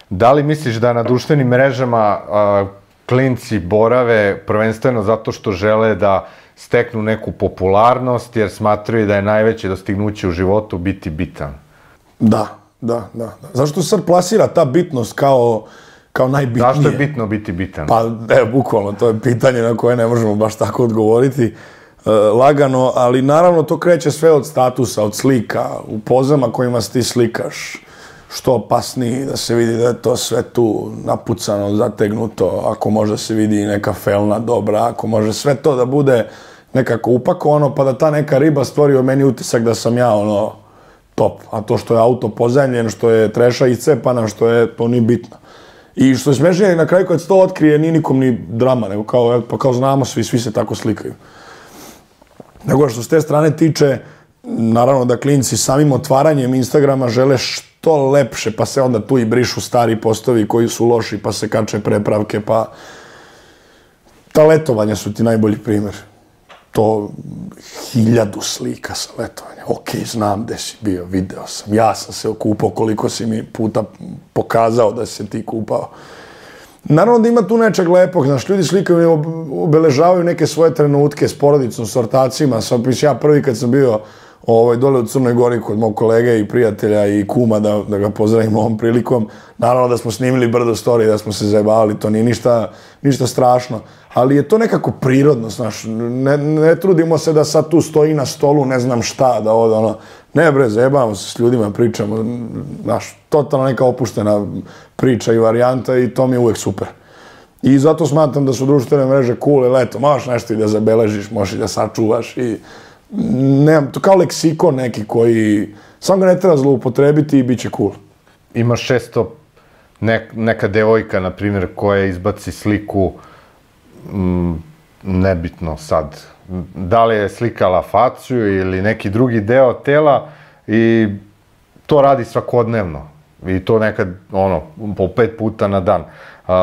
da li misliš da na društvenim mrežama uh, klinci borave prvenstveno zato što žele da steknu neku popularnost, jer smatraju da je najveće dostignuće u životu biti bitan? Da, da, da. da. Zašto se sad plasira ta bitnost kao, kao najbitnije? Zašto je bitno biti bitan? Pa, evo, bukvalno, to je pitanje na koje ne možemo baš tako odgovoriti e, lagano, ali naravno to kreće sve od statusa, od slika, u pozama kojima se ti slikaš, što opasniji, da se vidi da je to sve tu napucano, zategnuto, ako može se vidi neka felna dobra, ako može sve to da bude nekako upakovano, pa da ta neka riba stvori o meni utisak da sam ja ono top. A to što je auto pozemljen, što je treša iscepana, što je, to nije bitno. I što je smešnije, na kraju kad se to otkrije, nije nikom ni drama, nego kao, pa kao znamo svi, svi se tako slikaju. Nego što s te strane tiče, naravno da klinci samim otvaranjem Instagrama žele što lepše, pa se onda tu i brišu stari postovi koji su loši, pa se kače prepravke, pa... Ta letovanja su ti najbolji primjer. To hiljadu slika sa letovanja. Ok, znam gde si bio, video sam. Ja sam se okupao, koliko si mi puta pokazao da si se ti kupao. Naravno da ima tu nečeg lepog, znaš, ljudi slikaju, obeležavaju neke svoje trenutke s porodicom, s ortacima. Sam, ja prvi kad sam bio ovaj, dole u Crnoj Gori kod mog kolege i prijatelja i kuma, da, da ga pozdravim ovom prilikom. Naravno da smo snimili brdo story, da smo se zajebavali, to nije ništa, ništa strašno. Ali je to nekako prirodno, znaš, ne, ne trudimo se da sad tu stoji na stolu, ne znam šta, da od, ono, Ne bre, zajebamo se s ljudima, pričamo, znaš, totalno neka opuštena priča i varijanta i to mi je uvek super. I zato smatram da su društvene mreže cool, jer eto, možeš nešto i da zabeležiš, možeš i da sačuvaš i nemam, to kao leksikon neki koji, samo ga ne treba zloupotrebiti i bit će cool. Imaš često nek, neka devojka, na primjer, koja izbaci sliku, m, nebitno sad, da li je slikala facu ili neki drugi deo tela i to radi svakodnevno. I to nekad, ono, po pet puta na dan. Uh,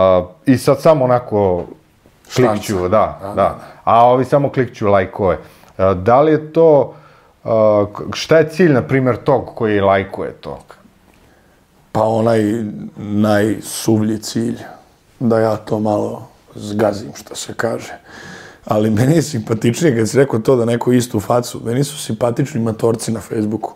I sad samo onako klikću, da, da, da. A ovi samo klikću lajkove. Uh, da li je to, uh, šta je cilj, na primjer, tog koji lajkuje to? Pa onaj najsuvlji cilj, da ja to malo zgazim, što se kaže. Ali meni je simpatičnije kad si rekao to da neko istu facu. Meni su simpatični matorci na Facebooku.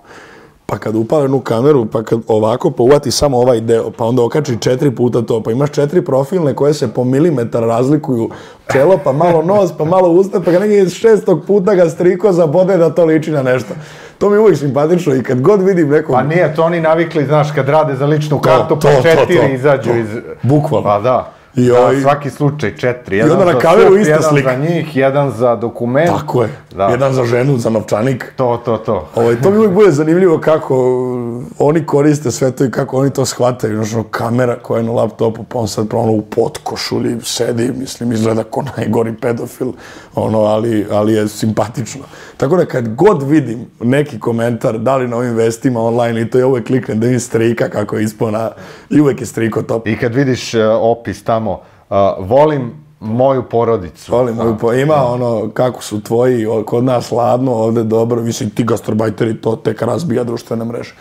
Pa kad upale jednu kameru, pa kad ovako pouvati samo ovaj deo, pa onda okači četiri puta to, pa imaš četiri profilne koje se po milimetar razlikuju čelo, pa malo nos, pa malo usta, pa kad neki šestog puta ga striko zabode da to liči na nešto. To mi je uvijek simpatično i kad god vidim nekog... Pa nije, to oni navikli, znaš, kad rade za ličnu kartu, to, pa to, četiri to, to, izađu to. iz... Bukvalno. Pa da. I da, ovaj... svaki slučaj četiri. I Jedan onda na za kameru sup, ista jedan slika. za njih, jedan za dokument. Tako je. Da. Jedan za ženu, za novčanik. To, to, to. Ovaj, to mi uvijek bude zanimljivo kako oni koriste sve to i kako oni to shvataju. Znaš, ono, kamera koja je na laptopu, pa on sad ono u potkošulji sedi, mislim, izgleda ko najgori pedofil, ono, ali, ali je simpatično. Tako da kad god vidim neki komentar, da li na ovim vestima online, i to ja uvijek kliknem da vidim strika kako je ispao na... I uvijek je striko top. I kad vidiš uh, opis tamo, uh, volim moju porodicu. Volim moju porodicu. Ima ono, kako su tvoji, kod nas ladno, ovde dobro, mislim, ti gastarbajteri to tek razbija društvene mreže.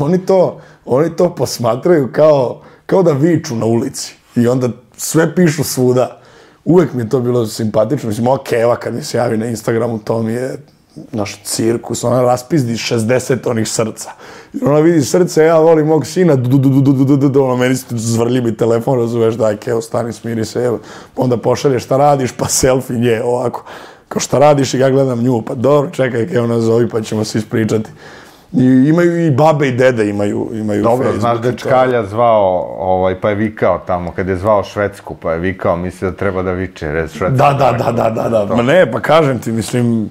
Oni to, oni to posmatraju kao, kao da viču na ulici. I onda sve pišu svuda. Uvek mi je to bilo simpatično. Mislim, ova Keva kad mi se javi na Instagramu, to mi je naš cirkus. Ona raspizdi šezdeset onih srca. I ona vidi srce, ja volim mog sina, du, du, du, du, du, du, du, ono, meni se zvrlji mi telefon, razumeš, daj, Kevo, stani, smiri se, evo. Onda pošalje šta radiš, pa selfie nje, ovako. Kao šta radiš i ja gledam nju, pa dobro, čekaj, Kevo, nazovi, pa ćemo se ispričati. I imaju i babe i dede imaju, imaju Dobro, Facebook. znaš da je Čkalja zvao, ovaj, pa je vikao tamo, kad je zvao Švedsku, pa je vikao, misli da treba da viče, red Švedska. Da, da, da, da, da, da. Ma ne, pa kažem ti, mislim,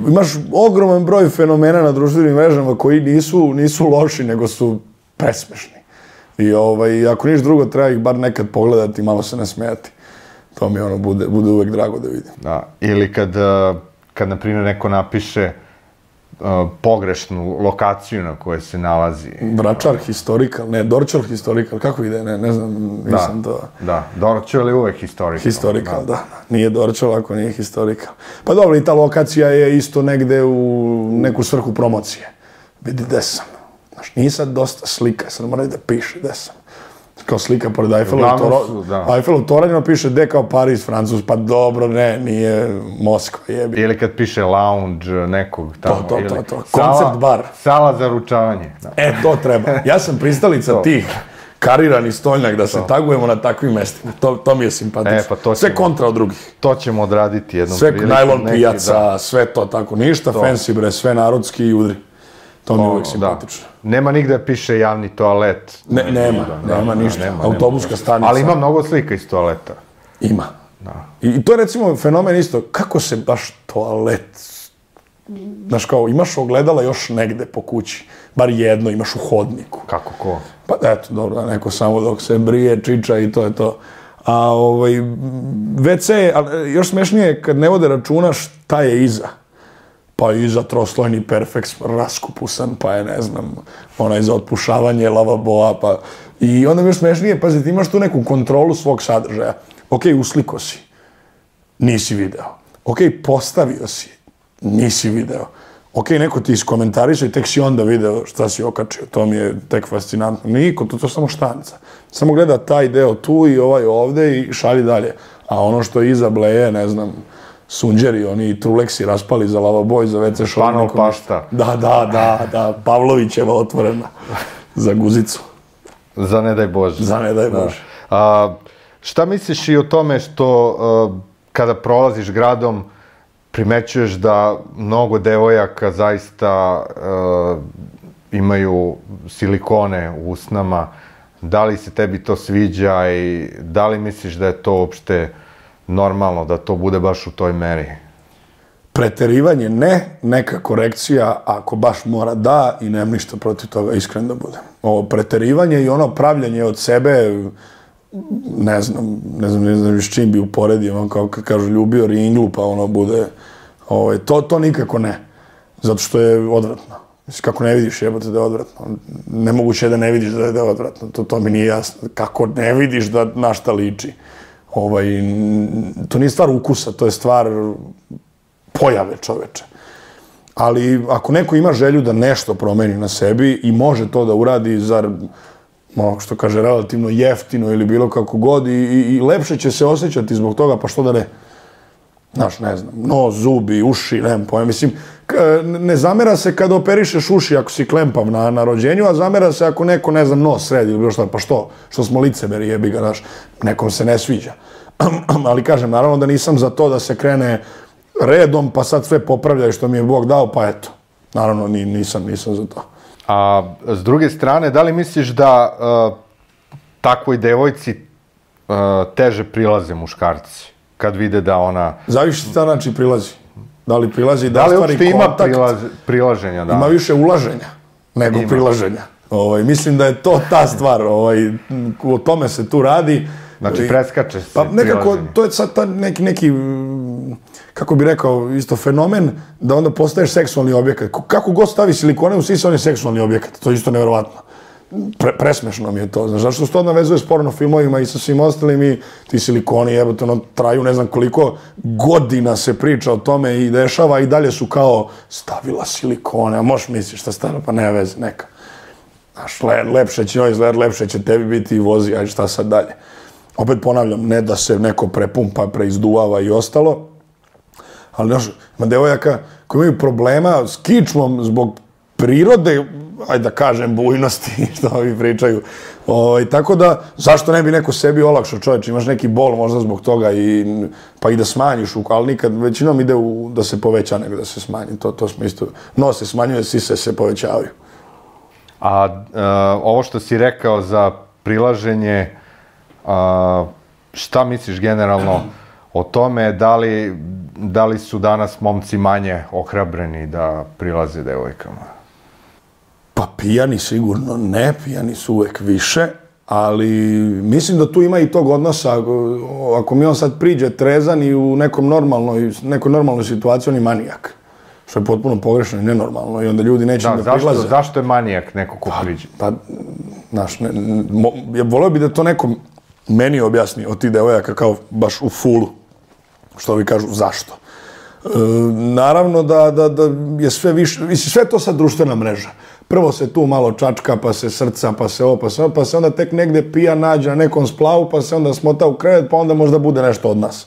imaš ogroman broj fenomena na društvenim mrežama koji nisu, nisu loši, nego su presmešni. I ovaj, ako niš drugo, treba ih bar nekad pogledati i malo se nasmejati. To mi ono bude, bude uvek drago da vidim. Da, ili kad, kad na primjer, neko napiše uh, pogrešnu lokaciju na kojoj se nalazi. Vračar historikal, ne, Dorčar historikal, kako ide, ne, ne znam, nisam da, to... Da, Dorčar je uvek historikal. Historikal, da. da. Nije Dorčar ako nije historikal. Pa dobro, i ta lokacija je isto negde u neku svrhu promocije. Vidi gde sam. Znaš, nije sad dosta slika, sad moraju da piše gde sam. Kao slika pored Eiffelovog tornja. Eiffelov tornja piše gde kao Pariz, Francus, pa dobro, ne, nije Moskva, jebi. Ili kad piše lounge nekog tamo. To, to, ili to, to. Koncept bar. Sala za ručavanje. Da. E, to treba. Ja sam pristalica tih karirani stoljnjak da se to. Tagujemo na takvim mestima. To, to mi je simpatično. E, pa to sve ćemo, kontra od drugih. To ćemo odraditi jednom sve prilikom. Sve najlon pijaca, da. sve to tako. Ništa to. Fancy bre, sve narodski i udri. To mi je uvijek simpatično. Da. Nema nigde piše javni toalet. Ne, nema, da, nema da, ništa. Da, nema, autobuska nema. Stanica. Ali ima mnogo slika iz toaleta. Ima. Da. I, I to je recimo fenomen isto. Kako se baš toalet... Znaš kao, imaš ogledala još negde po kući. Bar jedno imaš u hodniku. Kako ko? Pa eto, dobro, neko samo dok se brije, čiča i to je to. A ovaj, ve ce, još smešnije kad ne vode računa šta je iza. Pa iza troslojni perfeks raskupusan, pa je, ne znam, onaj za otpušavanje lavaboa, pa... I onda mi još smešnije, pazi, ti imaš tu neku kontrolu svog sadržaja. Ok, usliko si, nisi video. Ok, postavio si, nisi video. Ok, neko ti iskomentariše i tek si onda video šta si okačio. To mi je tek fascinantno. Niko, to je samo štanca. Samo gleda taj deo tu i ovaj ovde i šalji dalje. A ono što je iza bleje, ne znam, sunđeri, oni truleksi raspali za lavaboj, za ve ce šolj. Panol pašta. Da, da, da, da, Pavlovićeva otvorena za guzicu. Za ne daj Bože. Za ne daj Bože. Da. A, šta misliš i o tome što a, kada prolaziš gradom primećuješ da mnogo devojaka zaista imaju silikone u usnama. Da li se tebi to sviđa i da li misliš da je to uopšte normalno, da to bude baš u toj meri? Preterivanje ne, neka korekcija, ako baš mora da, i nemam ništa protiv toga, iskren da budem. Ovo preterivanje i ono pravljanje od sebe, ne znam, ne znam, ne znam s čim bi uporedio, on kao kad kažu ljubio ringlu, pa ono bude, ovaj, to, to nikako ne, zato što je odvratno. Mislim, kako ne vidiš, jebote da je odvratno. Nemoguće je da ne vidiš da je odvratno, to, to mi nije jasno. Kako ne vidiš da na šta liči? Ovaj, to nije stvar ukusa, to je stvar pojave čoveče. Ali ako neko ima želju da nešto promeni na sebi i može to da uradi, zar, ono što kaže, relativno jeftino ili bilo kako god, i, i, i lepše će se osjećati zbog toga, pa što da ne? Znaš, ne znam, nos, zubi, uši, nemam pojma. Mislim, ne zamera se kada operišeš uši ako si klempav na, na rođenju, a zamera se ako neko, ne znam, nos sredi ili bilo šta, pa što? Što smo licemeri, jebi ga, znaš, nekom se ne sviđa. Ali kažem, naravno da nisam za to da se krene redom, pa sad sve popravljaju što mi je Bog dao, pa eto. Naravno, nisam, nisam za to. A s druge strane, da li misliš da uh, takvoj devojci uh, teže prilaze muškarci? Kad vide da ona... Zavisi šta znači prilazi. Da li prilazi da, da li ostvari ima kontakt? Prilaz, prilaženja, da. Ima više ulaženja nego ima. Prilaženja. Ovaj, mislim da je to ta stvar. Ovaj, o tome se tu radi. Znači, preskače se pa nekako, prilaženje. To je sad ta neki, neki, kako bi rekao, isto fenomen, da onda postaješ seksualni objekat. Kako god stavi silikone u sisa, on je seksualni objekat. To je isto nevjerovatno. Pre, presmešno mi je to, znaš, zašto se to navezuje s porno filmovima i sa svim ostalim i ti silikoni, jebote, ono, traju ne znam koliko godina se priča o tome i dešava i dalje su kao stavila silikone, a možeš misliš šta stavila, pa ne veze, neka. Znaš, le, lepše će njoj izgled, lepše će tebi biti i vozi, ajde šta sad dalje. Opet ponavljam, ne da se neko prepumpa, preizduvava i ostalo, ali, znaš, ima devojaka koji imaju problema s kičmom zbog prirode, ajde da kažem, bujnosti, što ovi pričaju. O, tako da, zašto ne bi neko sebi olakšao, čovječ, imaš neki bol možda zbog toga, i, pa i da smanjiš, ali nikad, većinom ide u, da se poveća nego da se smanji. To, to smo isto, no se smanjuje, sise se povećavaju. A uh, ovo što si rekao za prilaženje, uh, šta misliš generalno o tome, da li, da li su danas momci manje ohrabreni da prilaze devojkama? Pa pijani sigurno ne, pijani su uvek više, ali mislim da tu ima i tog odnosa. Ako mi on sad priđe trezan i u nekom normalnoj, nekoj normalnoj situaciji, on je manijak. Što je potpuno pogrešno i nenormalno i onda ljudi neće da, da zašto, prilaze. Zašto je manijak neko ko pa, priđe? Pa, znaš, ne, mo, ja voleo bi da to neko meni objasni od tih devojaka kao baš u fulu. Što vi kažu, zašto? E, naravno da, da, da je sve više, mislim, sve to sad društvena mreža. Prvo se tu malo čačka, pa se srca, pa se ovo, pa se ovo, pa se onda tek negde pija nađe na nekom splavu, pa se onda smota u krevet, pa onda možda bude nešto od nas.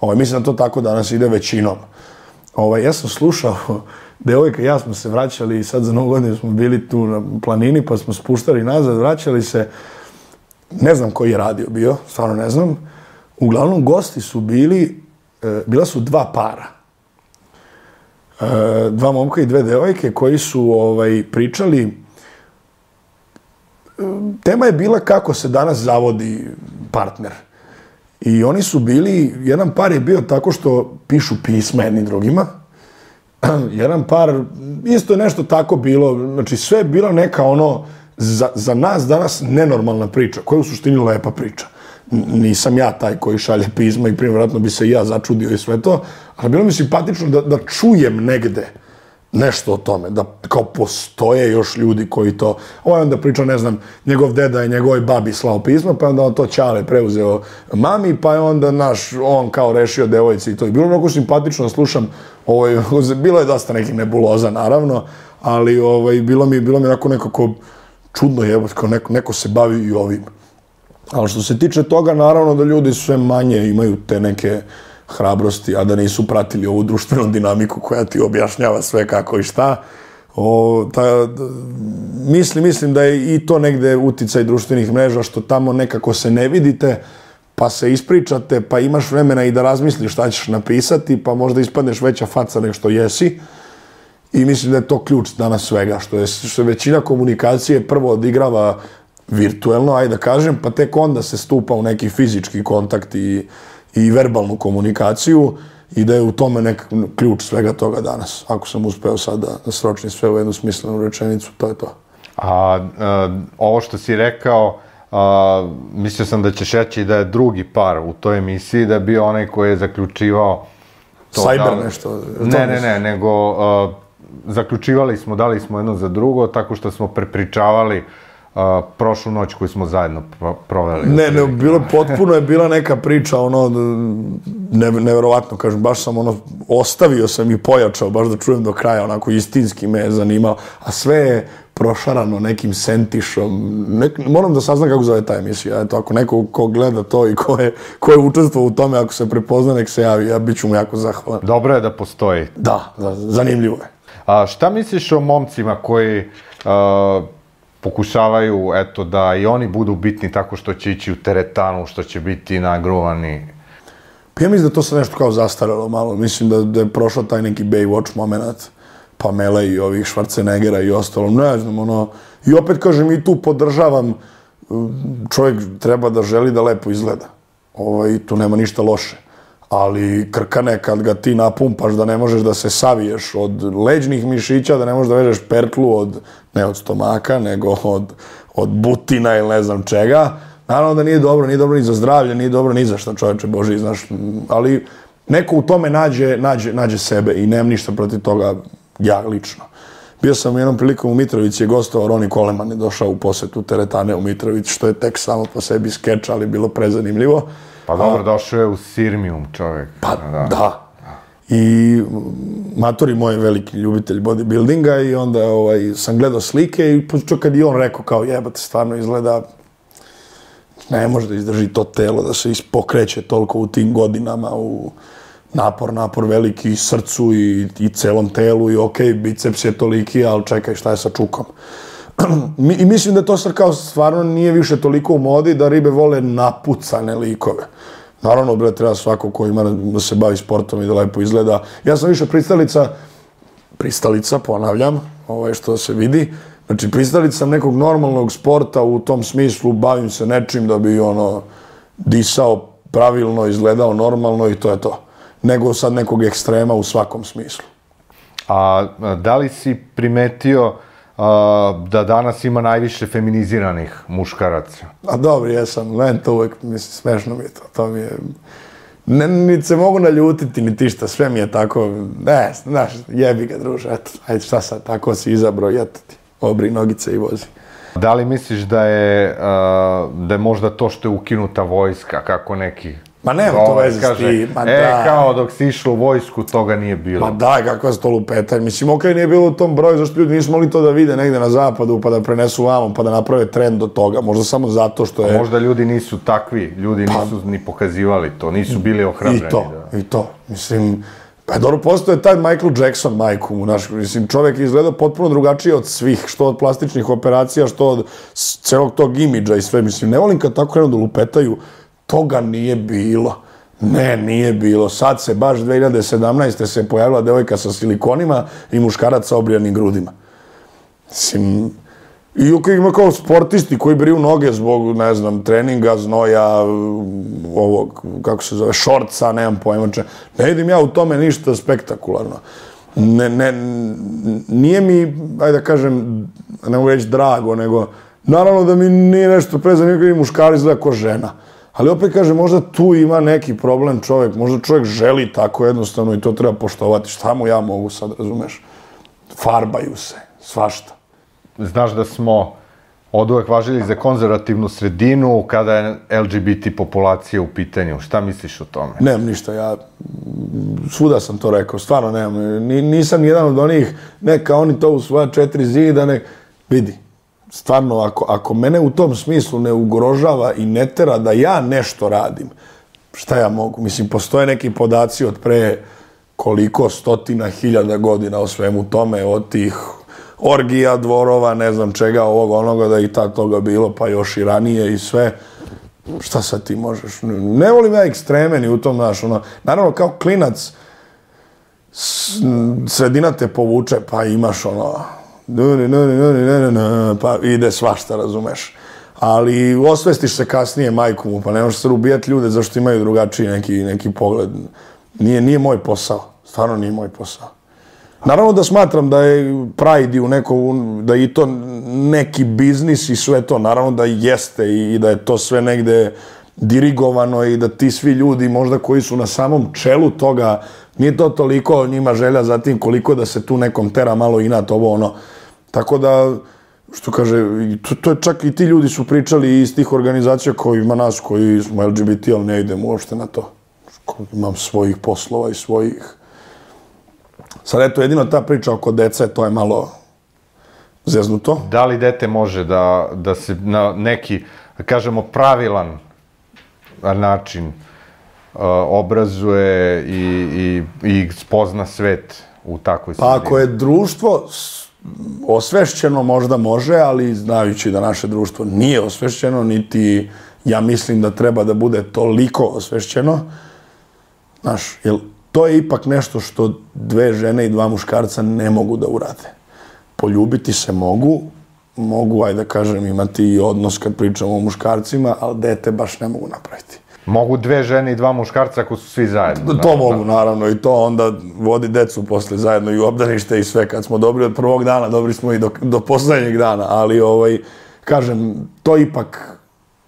Ovaj, mislim da to tako danas ide većinom. Ovaj, ja sam slušao, devojka i ja smo se vraćali, sad za novu godinu smo bili tu na planini, pa smo spuštali nazad, vraćali se, ne znam koji je radio bio, stvarno ne znam. Uglavnom, gosti su bili, bila su dva para. Dva momka i dve devojke koji su ovaj, pričali. Tema je bila kako se danas zavodi partner. I oni su bili, jedan par je bio tako što pišu pisma jednim drugima. Jedan par, isto je nešto tako bilo, znači sve je bila neka ono, za, za nas danas nenormalna priča, koja je u suštini lepa priča. Nisam ja taj koji šalje pisma i primjeratno bi se i ja začudio i sve to, ali bilo mi simpatično da, da čujem negde nešto o tome, da kao postoje još ljudi koji to, ovaj onda priča, ne znam, njegov deda je njegovoj babi slao pisma, pa onda on to Ćale preuzeo mami, pa je onda naš, on kao rešio devojci i to. I bilo mnogo simpatično da slušam, ovaj, bilo je dosta nekih nebuloza, naravno, ali ovaj, bilo mi, bilo mi onako nekako čudno je, kao neko, neko se bavi i ovim. Ali što se tiče toga, naravno da ljudi sve manje imaju te neke hrabrosti, a da nisu pratili ovu društvenu dinamiku koja ti objašnjava sve kako i šta. O, ta, mislim, mislim da je i to negde uticaj društvenih mreža, što tamo nekako se ne vidite, pa se ispričate, pa imaš vremena i da razmisliš šta ćeš napisati, pa možda ispadneš veća faca nego što jesi. I mislim da je to ključ danas svega, što je, što je većina komunikacije prvo odigrava virtuelno, ajde da kažem, pa tek onda se stupa u neki fizički kontakt i, i verbalnu komunikaciju i da je u tome nek ključ svega toga danas. Ako sam uspeo sad da sročim sve u jednu smislenu rečenicu, to je to. A, a ovo što si rekao, a, mislio sam da ćeš reći da je drugi par u toj emisiji, da je bio onaj koji je zaključivao to. Cyber da, nešto. Ne, ne, ne, nego a, zaključivali smo, dali smo jedno za drugo, tako što smo prepričavali Uh, prošlu noć koju smo zajedno pro proveli. Ne, ne, bilo, potpuno je bila neka priča, ono, ne, neverovatno, kažem, baš sam, ono, ostavio sam i pojačao, baš da čujem do kraja, onako, istinski me je zanimao, a sve je prošarano nekim sentišom, nek, moram da saznam kako zove ta emisija, eto, ako neko ko gleda to i ko je, ko je učestvovao u tome, ako se prepozna, nek se javi, ja bit ću mu jako zahvalan. Dobro je da postoji. Da, da, zanimljivo je. A šta misliš o momcima koji uh, pokušavaju, eto, da i oni budu bitni tako što će ići u teretanu, što će biti nagruvani? Pa ja mislim da to se nešto kao zastaralo malo. Mislim da, da je prošao taj neki Baywatch moment Pamele i ovih Schwarzeneggera i ostalo. Ne znam, ono... I opet, kažem, i tu podržavam. Čovjek treba da želi da lepo izgleda. Ovaj, tu nema ništa loše. Ali krkane, kad ga ti napumpaš da ne možeš da se saviješ od leđnih mišića, da ne možeš da vežeš pertlu od, ne od stomaka, nego od, od butina ili ne znam čega, naravno da nije dobro, nije dobro ni za zdravlje, nije dobro ni za šta, čovječe Boži, znaš, ali neko u tome nađe, nađe, nađe sebe i nemam ništa protiv toga ja lično. Bio sam u jednom prilikom u Mitrovici, je gostovao Ronnie Coleman, je došao u posetu teretane u Mitrovici, što je tek samo po sebi skeč, ali bilo prezanimljivo. Pa dobro, došao je u Sirmium čovjek. Pa da. da. I matori moj je veliki ljubitelj bodybuildinga i onda ovaj, sam gledao slike i počeo kad i on rekao kao jebate, stvarno izgleda, ne može da izdrži to telo, da se ispokreće toliko u tim godinama, u napor, napor veliki i srcu i, i celom telu i okej, okay, biceps je toliki, ali čekaj šta je sa čukom. I mislim da to sad kao stvarno nije više toliko u modi da ribe vole napucane likove. Naravno, bre, treba svako ko ima da se bavi sportom i da lepo izgleda. Ja sam više pristalica, pristalica, ponavljam, ovaj što se vidi, znači pristalica sam nekog normalnog sporta u tom smislu, bavim se nečim da bi ono disao pravilno, izgledao normalno i to je to. Nego sad nekog ekstrema u svakom smislu. A da li si primetio Uh, da danas ima najviše feminiziranih muškaraca? A dobro, jesam, meni to uvek, mislim, smešno mi je to, to mi je... Ne, niti se mogu naljutiti, niti šta, sve mi je tako, ne, znaš, jebi ga, druže, eto, ajde, šta sad, tako si izabro, eto ti, obri nogice i vozi. Da li misliš da je, uh, da je možda to što je ukinuta vojska, kako neki... Ma nema to veze s ti, ma e, da. kao dok si išlo u vojsku, toga nije bilo. Ma daj, kakva se to lupeta. Mislim, okej, nije bilo u tom broju, zašto ljudi nisu mogli to da vide negde na zapadu, pa da prenesu vamo, pa da naprave trend do toga. Možda samo zato što je... A možda ljudi nisu takvi, ljudi pa, nisu ni pokazivali to, nisu bili ohrabreni. I to, da. i to. Mislim, pa dobro, postoje taj Michael Jackson, majku mu, naš, mislim, čovjek izgleda potpuno drugačije od svih, što od plastičnih operacija, što od celog tog imidža i sve. Mislim, ne volim kad tako krenu da lupetaju, toga nije bilo. Ne, nije bilo. Sad se baš dve hiljade sedamnaeste. se pojavila devojka sa silikonima i muškarac sa obrijanim grudima. Mislim, i ok, ima kao sportisti koji briju noge zbog, ne znam, treninga, znoja, ovog, kako se zove, šorca, nemam pojma če. Ne vidim ja u tome ništa spektakularno. Ne, ne, nije mi, ajde da kažem, ne mogu reći drago, nego, naravno da mi nije nešto prezanimljivo kada muškar izgleda ko žena. Ali opet kaže, možda tu ima neki problem čovjek, možda čovjek želi tako jednostavno i to treba poštovati. Šta mu ja mogu sad, razumeš? Farbaju se, svašta. Znaš da smo oduvek važili za konzervativnu sredinu kada je L G B T populacija u pitanju. Šta misliš o tome? Nemam ništa, ja svuda sam to rekao, stvarno nemam. Nisam jedan od onih, neka oni to u svoja četiri zida, nek... Vidi. Stvarno, ako, ako mene u tom smislu ne ugrožava i ne tera da ja nešto radim, šta ja mogu? Mislim, postoje neki podaci od pre koliko stotina hiljada godina o svemu tome, od tih orgija, dvorova, ne znam čega, ovog, onoga, da i tad toga bilo, pa još i ranije i sve. šta sad ti možeš? Ne volim ja ekstreme ni u tom, znaš, ono, naravno kao klinac, sredina te povuče, pa imaš ono, pa ide svašta, razumeš. Ali osvestiš se kasnije majku mu, pa ne možeš se ubijati ljude zašto imaju drugačiji neki, neki pogled. Nije, nije moj posao, stvarno nije moj posao. Naravno da smatram da je Pride u neko, da je i to neki biznis i sve to, naravno da jeste i da je to sve negde dirigovano i da ti svi ljudi možda koji su na samom čelu toga, nije to toliko njima želja za tim koliko da se tu nekom tera malo inat ovo ono. Tako da, što kaže, to, to je čak i ti ljudi su pričali iz tih organizacija koji ima nas koji smo L G B T, ali ne idemo uopšte na to. Imam svojih poslova i svojih. Sad eto, jedino ta priča oko dece, to je malo zeznuto. Da li dete može da, da se na neki, da kažemo, pravilan način uh, obrazuje i, i, i spozna svet u takvoj sredini? Pa ako je društvo osvešćeno možda može, ali znajući da naše društvo nije osvešćeno, niti ja mislim da treba da bude toliko osvešćeno, znaš, jer to je ipak nešto što dve žene i dva muškarca ne mogu da urade. Poljubiti se mogu, mogu, ajde da kažem, imati i odnos kad pričamo o muškarcima, ali dete baš ne mogu napraviti. Mogu dve žene i dva muškarca ako su svi zajedno. To mogu, naravno, i to onda vodi decu posle zajedno i u obdanište i sve. Kad smo dobri od prvog dana, dobri smo i do, do poslednjeg dana, ali, ovaj, kažem, to ipak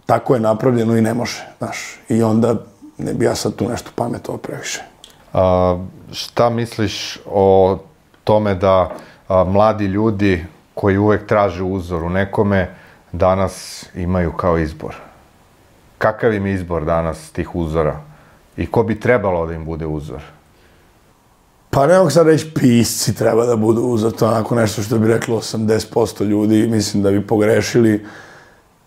tako je napravljeno i ne može, znaš. I onda ne bi ja sad tu nešto pametovao previše. A, šta misliš o tome da a, mladi ljudi koji uvek traže uzor u nekome danas imaju kao izbor? Kakav im je izbor danas tih uzora? I ko bi trebalo da im bude uzor? Pa ne mogu sad reći pisci treba da budu uzor, to je onako nešto što bi reklo osamdeset posto ljudi, mislim da bi pogrešili.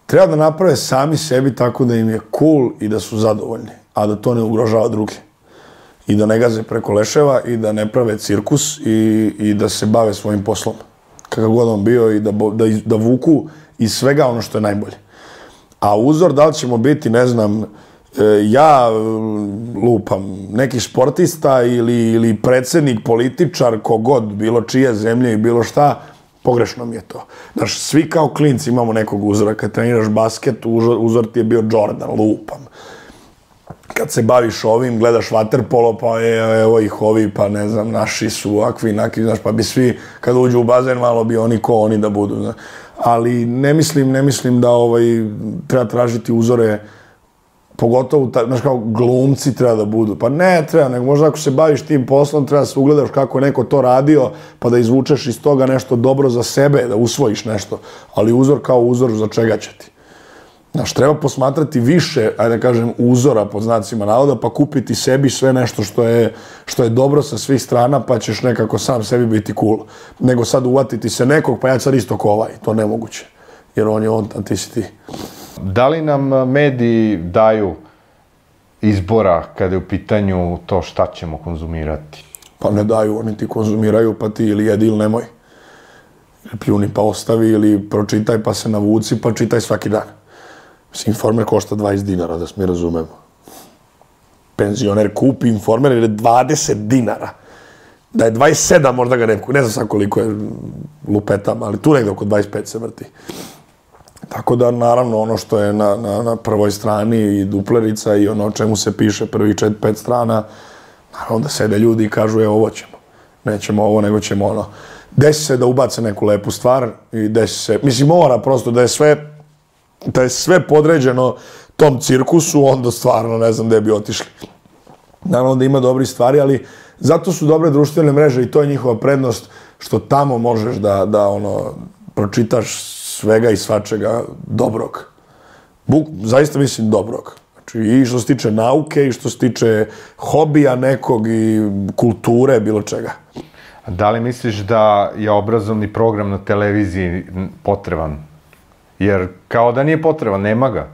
Treba da naprave sami sebi tako da im je cool i da su zadovoljni, a da to ne ugrožava druge. I da ne gaze preko leševa i da ne prave cirkus i, i da se bave svojim poslom. Kakav god on bio i da, da, da vuku iz svega ono što je najbolje. A uzor da li ćemo biti, ne znam, ja lupam, neki sportista ili, ili predsjednik, političar, kogod, bilo čije zemlje i bilo šta, pogrešno mi je to. Znaš, svi kao klinci imamo nekog uzora. Kad treniraš basket, uzor, uzor ti je bio Jordan, lupam. Kad se baviš ovim, gledaš vaterpolo, pa je, evo ih ovi, pa ne znam, naši su ovakvi, nakvi, znaš, pa bi svi, kad uđu u bazen, malo bi oni ko oni da budu, znaš. Ali ne mislim, ne mislim da ovaj, treba tražiti uzore, pogotovo, znaš, kao glumci treba da budu. Pa ne treba, nego možda ako se baviš tim poslom, treba da se ugledaš kako je neko to radio, pa da izvučeš iz toga nešto dobro za sebe, da usvojiš nešto. Ali uzor kao uzor, za čega će ti? Znaš, treba posmatrati više, ajde da kažem, uzora pod znacima navoda, pa kupiti sebi sve nešto što je, što je dobro sa svih strana, pa ćeš nekako sam sebi biti cool. Nego sad uvatiti se nekog, pa ja sad isto ko ovaj. To nemoguće. Jer on je on, a ti si ti. Da li nam mediji daju izbora kada je u pitanju to šta ćemo konzumirati? Pa ne daju, oni ti konzumiraju, pa ti ili jedi ili nemoj. Ili pljuni pa ostavi, ili pročitaj pa se navuci, pa čitaj svaki dan. Mislim, Informer košta dvadeset dinara, da se mi razumemo. Penzioner kupi Informer jer je dvadeset dinara. Da je dvadeset sedam, možda ga ne kupi. Ne znam sad koliko je lupetam, ali tu negde oko dvadeset pet se vrti. Tako da, naravno, ono što je na, na, na prvoj strani i duplerica i ono o čemu se piše prvih četiri pet strana, naravno da sede ljudi i kažu, evo, ovo ćemo. Nećemo ovo, nego ćemo ono. Desi se da ubace neku lepu stvar i desi se, mislim, mora prosto da je sve da je sve podređeno tom cirkusu, onda stvarno ne znam gde bi otišli. Naravno da ima dobri stvari, ali zato su dobre društvene mreže i to je njihova prednost, što tamo možeš da, da ono, pročitaš svega i svačega dobrog. Buk, zaista mislim dobrog. Znači, i što se tiče nauke, i što se tiče hobija nekog, i kulture, bilo čega. Da li misliš da je obrazovni program na televiziji potreban? Jer kao da nije potreban, nema ga.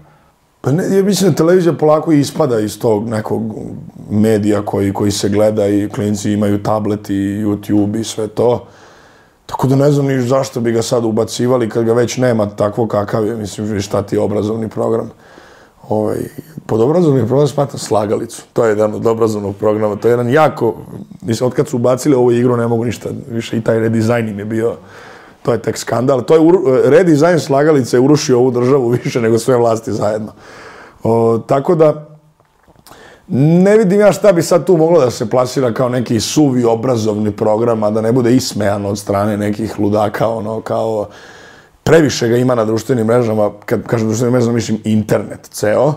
Pa ne, ja mislim da televizija polako ispada iz tog nekog medija koji, koji se gleda i klinci imaju tablet i YouTube i sve to. Tako da ne znam ni zašto bi ga sad ubacivali kad ga već nema takvo kakav je. Mislim, šta ti je obrazovni program. Ovaj, pod obrazovni program smatram Slagalicu. To je jedan od obrazovnog programa. To je jedan jako... Mislim, od kad su ubacili ovu igru ne mogu ništa više. I taj redizajn im je bio... To je tek skandal. To je redizajn Slagalice je urušio ovu državu više nego sve vlasti zajedno. O, tako da... Ne vidim ja šta bi sad tu moglo da se plasira kao neki suvi obrazovni program, a da ne bude ismejan od strane nekih ludaka, ono, kao... Previše ga ima na društvenim mrežama, kad kažem društvenim mrežama, mislim internet ceo,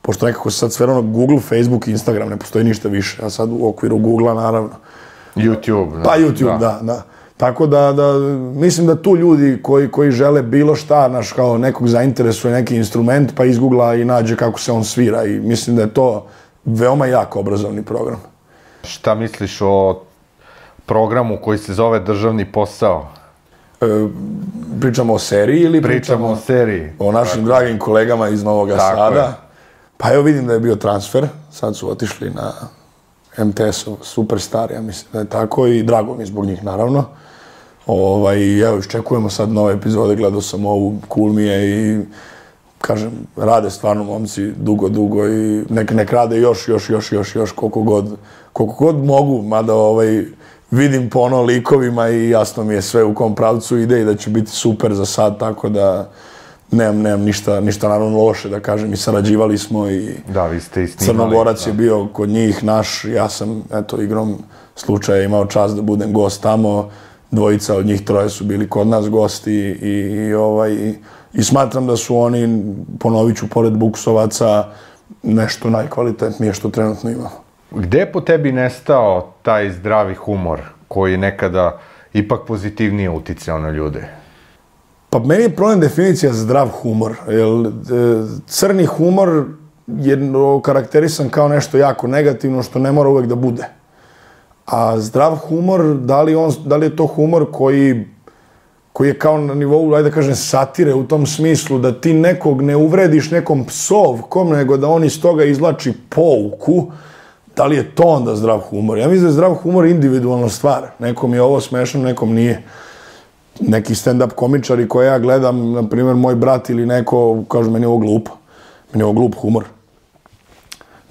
pošto nekako se sad sve ono Google, Facebook, Instagram, ne postoji ništa više, a sad u okviru Google-a naravno. YouTube. Pa YouTube, da, da. Tako da, da, mislim da tu ljudi koji, koji žele bilo šta, naš, kao nekog zainteresuje neki instrument, pa izgoogla i nađe kako se on svira i mislim da je to veoma jak obrazovni program. Šta misliš o programu koji se zove Državni posao? E, pričamo o seriji ili pričamo, pričamo o seriji? O našim tako. dragim kolegama iz Novog Sada. Je. Pa evo vidim da je bio transfer, sad su otišli na em te es-ov Superstar, ja mislim da je tako i drago mi zbog njih naravno. Ovaj, evo, iščekujemo sad nove epizode, gledao sam ovu, cool mi je i kažem, rade stvarno momci dugo, dugo i nek, nek rade još, još, još, još, još koliko god, koliko god mogu, mada ovaj, vidim po ono likovima i jasno mi je sve u kom pravcu ide i da će biti super za sad, tako da nemam, nemam ništa, ništa naravno loše da kažem i sarađivali smo i da, vi ste i snimali, Crnogorac da. je bio kod njih naš, ja sam eto igrom slučaja imao čast da budem gost tamo, dvojica od njih troje su bili kod nas gosti i, i, ovaj, i, i smatram da su oni, ponovit ću, pored Buksovaca, nešto najkvalitetnije što trenutno imamo. Gde je po tebi nestao taj zdravi humor koji je nekada ipak pozitivnije uticao na ljude? Pa meni je problem definicija zdrav humor. Jer, crni humor je karakterisan kao nešto jako negativno što ne mora uvek da bude. A zdrav humor, da li, on, da li je to humor koji, koji je kao na nivou, ajde da kažem, satire u tom smislu da ti nekog ne uvrediš nekom psovkom, nego da on iz toga izvlači pouku. Da li je to onda zdrav humor? Ja mislim da je zdrav humor individualna stvar. Nekom je ovo smešno, nekom nije. Neki stand-up komičari koje ja gledam, na primjer moj brat ili neko, kažu meni je ovo glupo. Meni je ovo glup humor.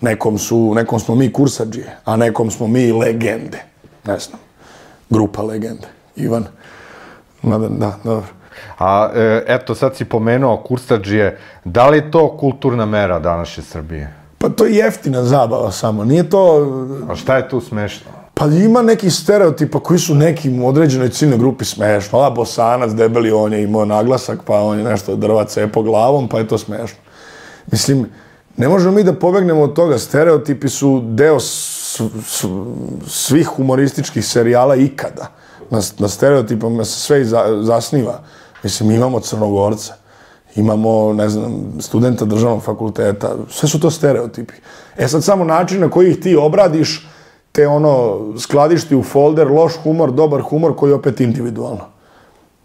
Nekom, su, nekom smo mi kursadžije, a nekom smo mi legende. Ne znam. Grupa legende. Ivan. Da, da, dobro. A e, eto, sad si pomenuo kursadžije. Da li je to kulturna mera današnje Srbije? Pa to je jeftina zabava samo, nije to... A šta je tu smešno? Pa ima nekih stereotipa koji su nekim u određenoj ciljnoj grupi smešno. A Bosanac, debeli, on je imao naglasak, pa on je nešto drva cepo glavom, pa je to smešno. Mislim, ne možemo mi da pobegnemo od toga. Stereotipi su deo s, s, svih humorističkih serijala ikada. Na, na stereotipama se sve za, zasniva. Mislim, imamo Crnogorca. Imamo, ne znam, studenta državnog fakulteta, sve su to stereotipi. E sad samo način na koji ih ti obradiš, te ono, skladišti u folder, loš humor, dobar humor, koji je opet individualno.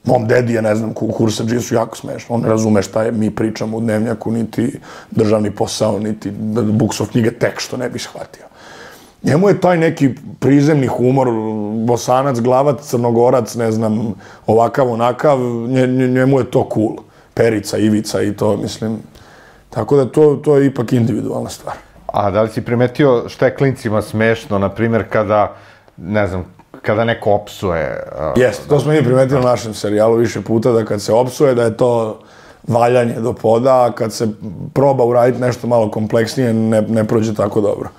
Mom dedi je, ne znam, kursadžije su jako smešno, on ne razume šta je, mi pričamo u Dnevnjaku, niti Državni posao, niti Buksov knjige, tek što ne bi shvatio. Njemu je taj neki prizemni humor, Bosanac, Glavac, Crnogorac, ne znam, ovakav, onakav, njemu je to cool. Perica, Ivica i to, mislim. Tako da to, to je ipak individualna stvar. A da li si primetio šta je klincima smešno, na primjer, kada, ne znam, kada neko opsuje? Jeste, to smo mi primetili u našem serijalu više puta, da kad se opsuje, da je to valjanje do poda, a kad se proba uraditi nešto malo kompleksnije, ne, ne prođe tako dobro.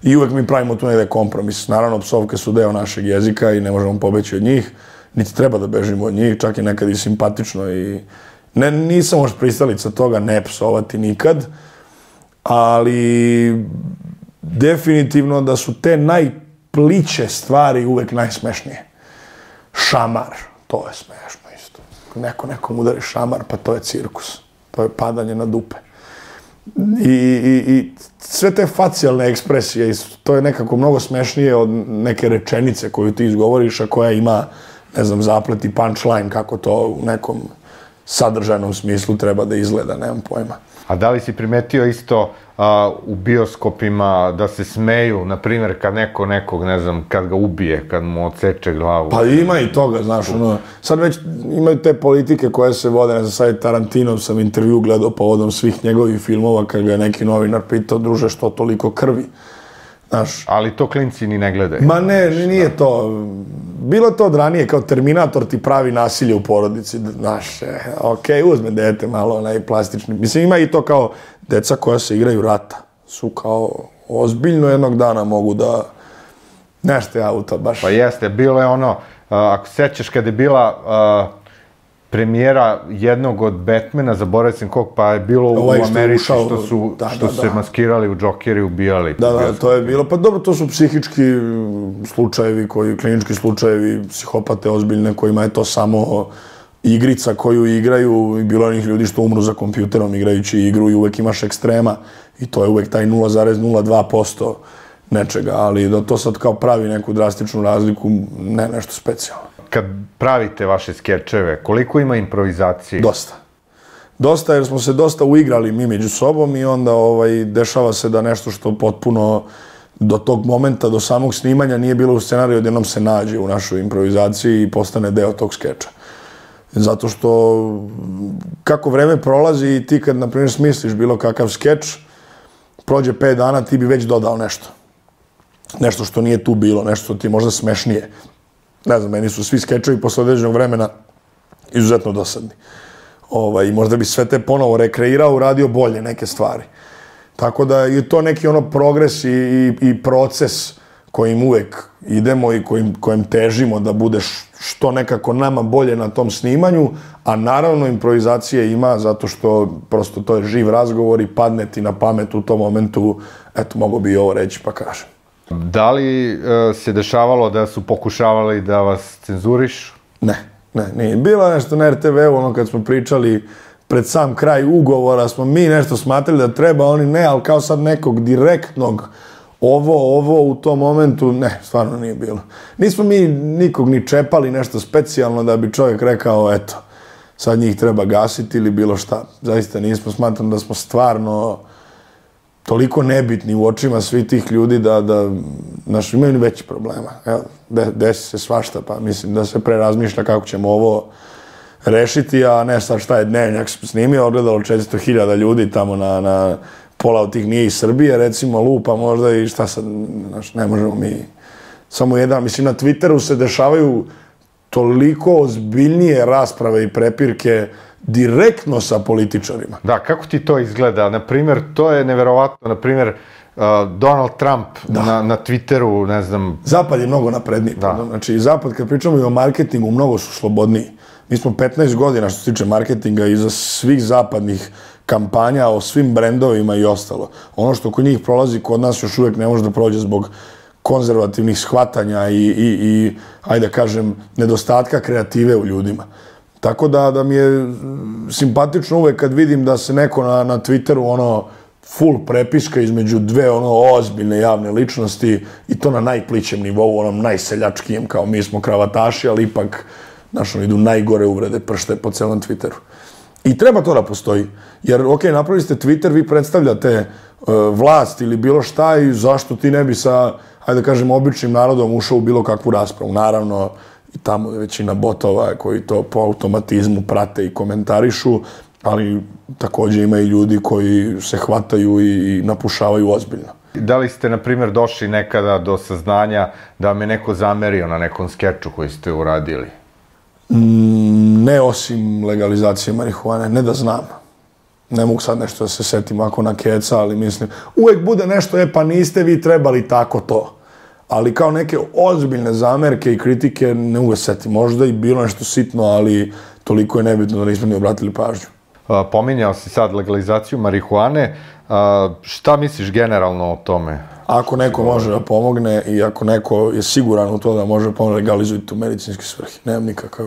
I uvek mi pravimo tu negde kompromis. Naravno, psovke su deo našeg jezika i ne možemo pobeći od njih, niti treba da bežimo od njih, čak je nekad i simpatično i ne, nisam još pristalica toga ne psovati nikad, ali definitivno da su te najpliće stvari uvek najsmešnije. Šamar, to je smešno isto. Neko nekom udari šamar, pa to je cirkus. To je padanje na dupe. I, i, i sve te facijalne ekspresije, to je nekako mnogo smešnije od neke rečenice koju ti izgovoriš, a koja ima, ne znam, zaplet i punchline, kako to u nekom sadržajnom smislu treba da izgleda, nemam pojma. A da li si primetio isto a, u bioskopima da se smeju, na primjer, kad neko nekog, ne znam, kad ga ubije, kad mu odseče glavu? Pa ima i toga, znaš, ono, sad već imaju te politike koje se vode, ne znam, sad je Tarantinov sam intervju gledao povodom svih njegovih filmova, kad ga je neki novinar pitao, druže, što toliko krvi? Znaš, ali to klinci ni ne gledaju. Ma ne, nije to. Bilo to od ranije, kao Terminator ti pravi nasilje u porodici. Znaš, e, ok, uzme dete malo, onaj plastični. Mislim, ima i to kao deca koja se igraju rata. Su kao ozbiljno jednog dana mogu da... Nešto je auto, baš... Pa jeste, bilo je ono, ako sećaš kada je bila premijera jednog od Batmana, zaboravio sam kog, pa je bilo u Americi što su što se maskirali u Džokeri, ubijali. Da, da, to je bilo. Pa dobro, to su psihički slučajevi, koji, klinički slučajevi, psihopate ozbiljne, kojima je to samo igrica koju igraju i bilo onih ljudi što umru za kompjuterom igrajući igru i uvek imaš ekstrema i to je uvek taj nula zarez nula dva posto nečega, ali da to sad kao pravi neku drastičnu razliku, ne nešto specijalno. Kad pravite vaše skečeve, koliko ima improvizacije? Dosta. Dosta, jer smo se dosta uigrali mi među sobom i onda ovaj, dešava se da nešto što potpuno do tog momenta, do samog snimanja nije bilo u scenariju, odjednom se nađe u našoj improvizaciji i postane deo tog skeča. Zato što kako vreme prolazi i ti kad, na primjer, smisliš bilo kakav skeč, prođe pet dana, ti bi već dodao nešto. Nešto što nije tu bilo, nešto što ti je možda smešnije. Ne znam, meni su svi skečevi posle određenog vremena izuzetno dosadni. Ovaj, možda bi sve te ponovo rekreirao, uradio bolje neke stvari. Tako da je to neki ono progres i, i, i proces kojim uvek idemo i kojim, kojim težimo da bude što nekako nama bolje na tom snimanju, a naravno improvizacije ima zato što prosto to je živ razgovor i padne ti na pamet u tom momentu, eto, mogu bi i ovo reći pa kažem. Da li e, se dešavalo da su pokušavali da vas cenzurišu? Ne, ne, nije. Bilo nešto na er te ve u, ono kad smo pričali pred sam kraj ugovora, smo mi nešto smatrali da treba, oni ne, ali kao sad nekog direktnog ovo, ovo u tom momentu, ne, stvarno nije bilo. Nismo mi nikog ni čepali nešto specijalno da bi čovjek rekao, eto, sad njih treba gasiti ili bilo šta. Zaista nismo, smatram da smo stvarno toliko nebitni u očima svih tih ljudi da, da naš, imaju veći problema. Evo, de, desi se svašta, pa mislim da se pre razmišlja kako ćemo ovo rešiti, a ne sad šta je Dnevnjak snimio, odgledalo četiristo hiljada ljudi tamo na, na pola od tih nije iz Srbije, recimo lupa možda i šta sad, znaš, ne možemo mi samo jedan, mislim na Twitteru se dešavaju toliko ozbiljnije rasprave i prepirke direktno sa političarima. Da, kako ti to izgleda? Naprimjer, to je neverovatno, naprimjer, uh, Donald Trump na, na Twitteru, ne znam... Zapad je mnogo napredniji. Da. Znači, Zapad, kad pričamo i o marketingu, mnogo su slobodniji. Mi smo petnaest godina što se tiče marketinga iza svih zapadnih kampanja o svim brendovima i ostalo. Ono što kod njih prolazi, kod nas još uvijek ne može da prođe zbog konzervativnih shvatanja i, i, i ajde da kažem, nedostatka kreative u ljudima. Tako da, da mi je simpatično uvek kad vidim da se neko na, na Twitteru ono full prepiska između dve ono ozbiljne javne ličnosti i to na najplićem nivou, onom najseljačkijem, kao mi smo kravataši, ali ipak znaš, idu najgore uvrede pršte po celom Twitteru. I treba to da postoji. Jer, ok, napravili ste Twitter, vi predstavljate uh, vlast ili bilo šta i zašto ti ne bi sa, ajde da kažem, običnim narodom ušao u bilo kakvu raspravu. Naravno, i tamo je većina botova koji to po automatizmu prate i komentarišu, ali također ima i ljudi koji se hvataju i, i napušavaju ozbiljno. Da li ste, na primjer, došli nekada do saznanja da vam je neko zamerio na nekom skeču koji ste uradili? Mm, ne osim legalizacije marihuane, ne da znam. Ne mogu sad nešto da se setim ako na keca, ali mislim, uvek bude nešto, e pa niste vi trebali tako to. Ali kao neke ozbiljne zamerke i kritike ne mogu setim. Možda i bilo nešto sitno, ali toliko je nebitno da nismo ni obratili pažnju. A, pominjao si sad legalizaciju marihuane. A, šta misliš generalno o tome? Ako neko može da pomogne i ako neko je siguran u to da može pomoći, legalizujte u medicinske svrhe. Nemam nikakav...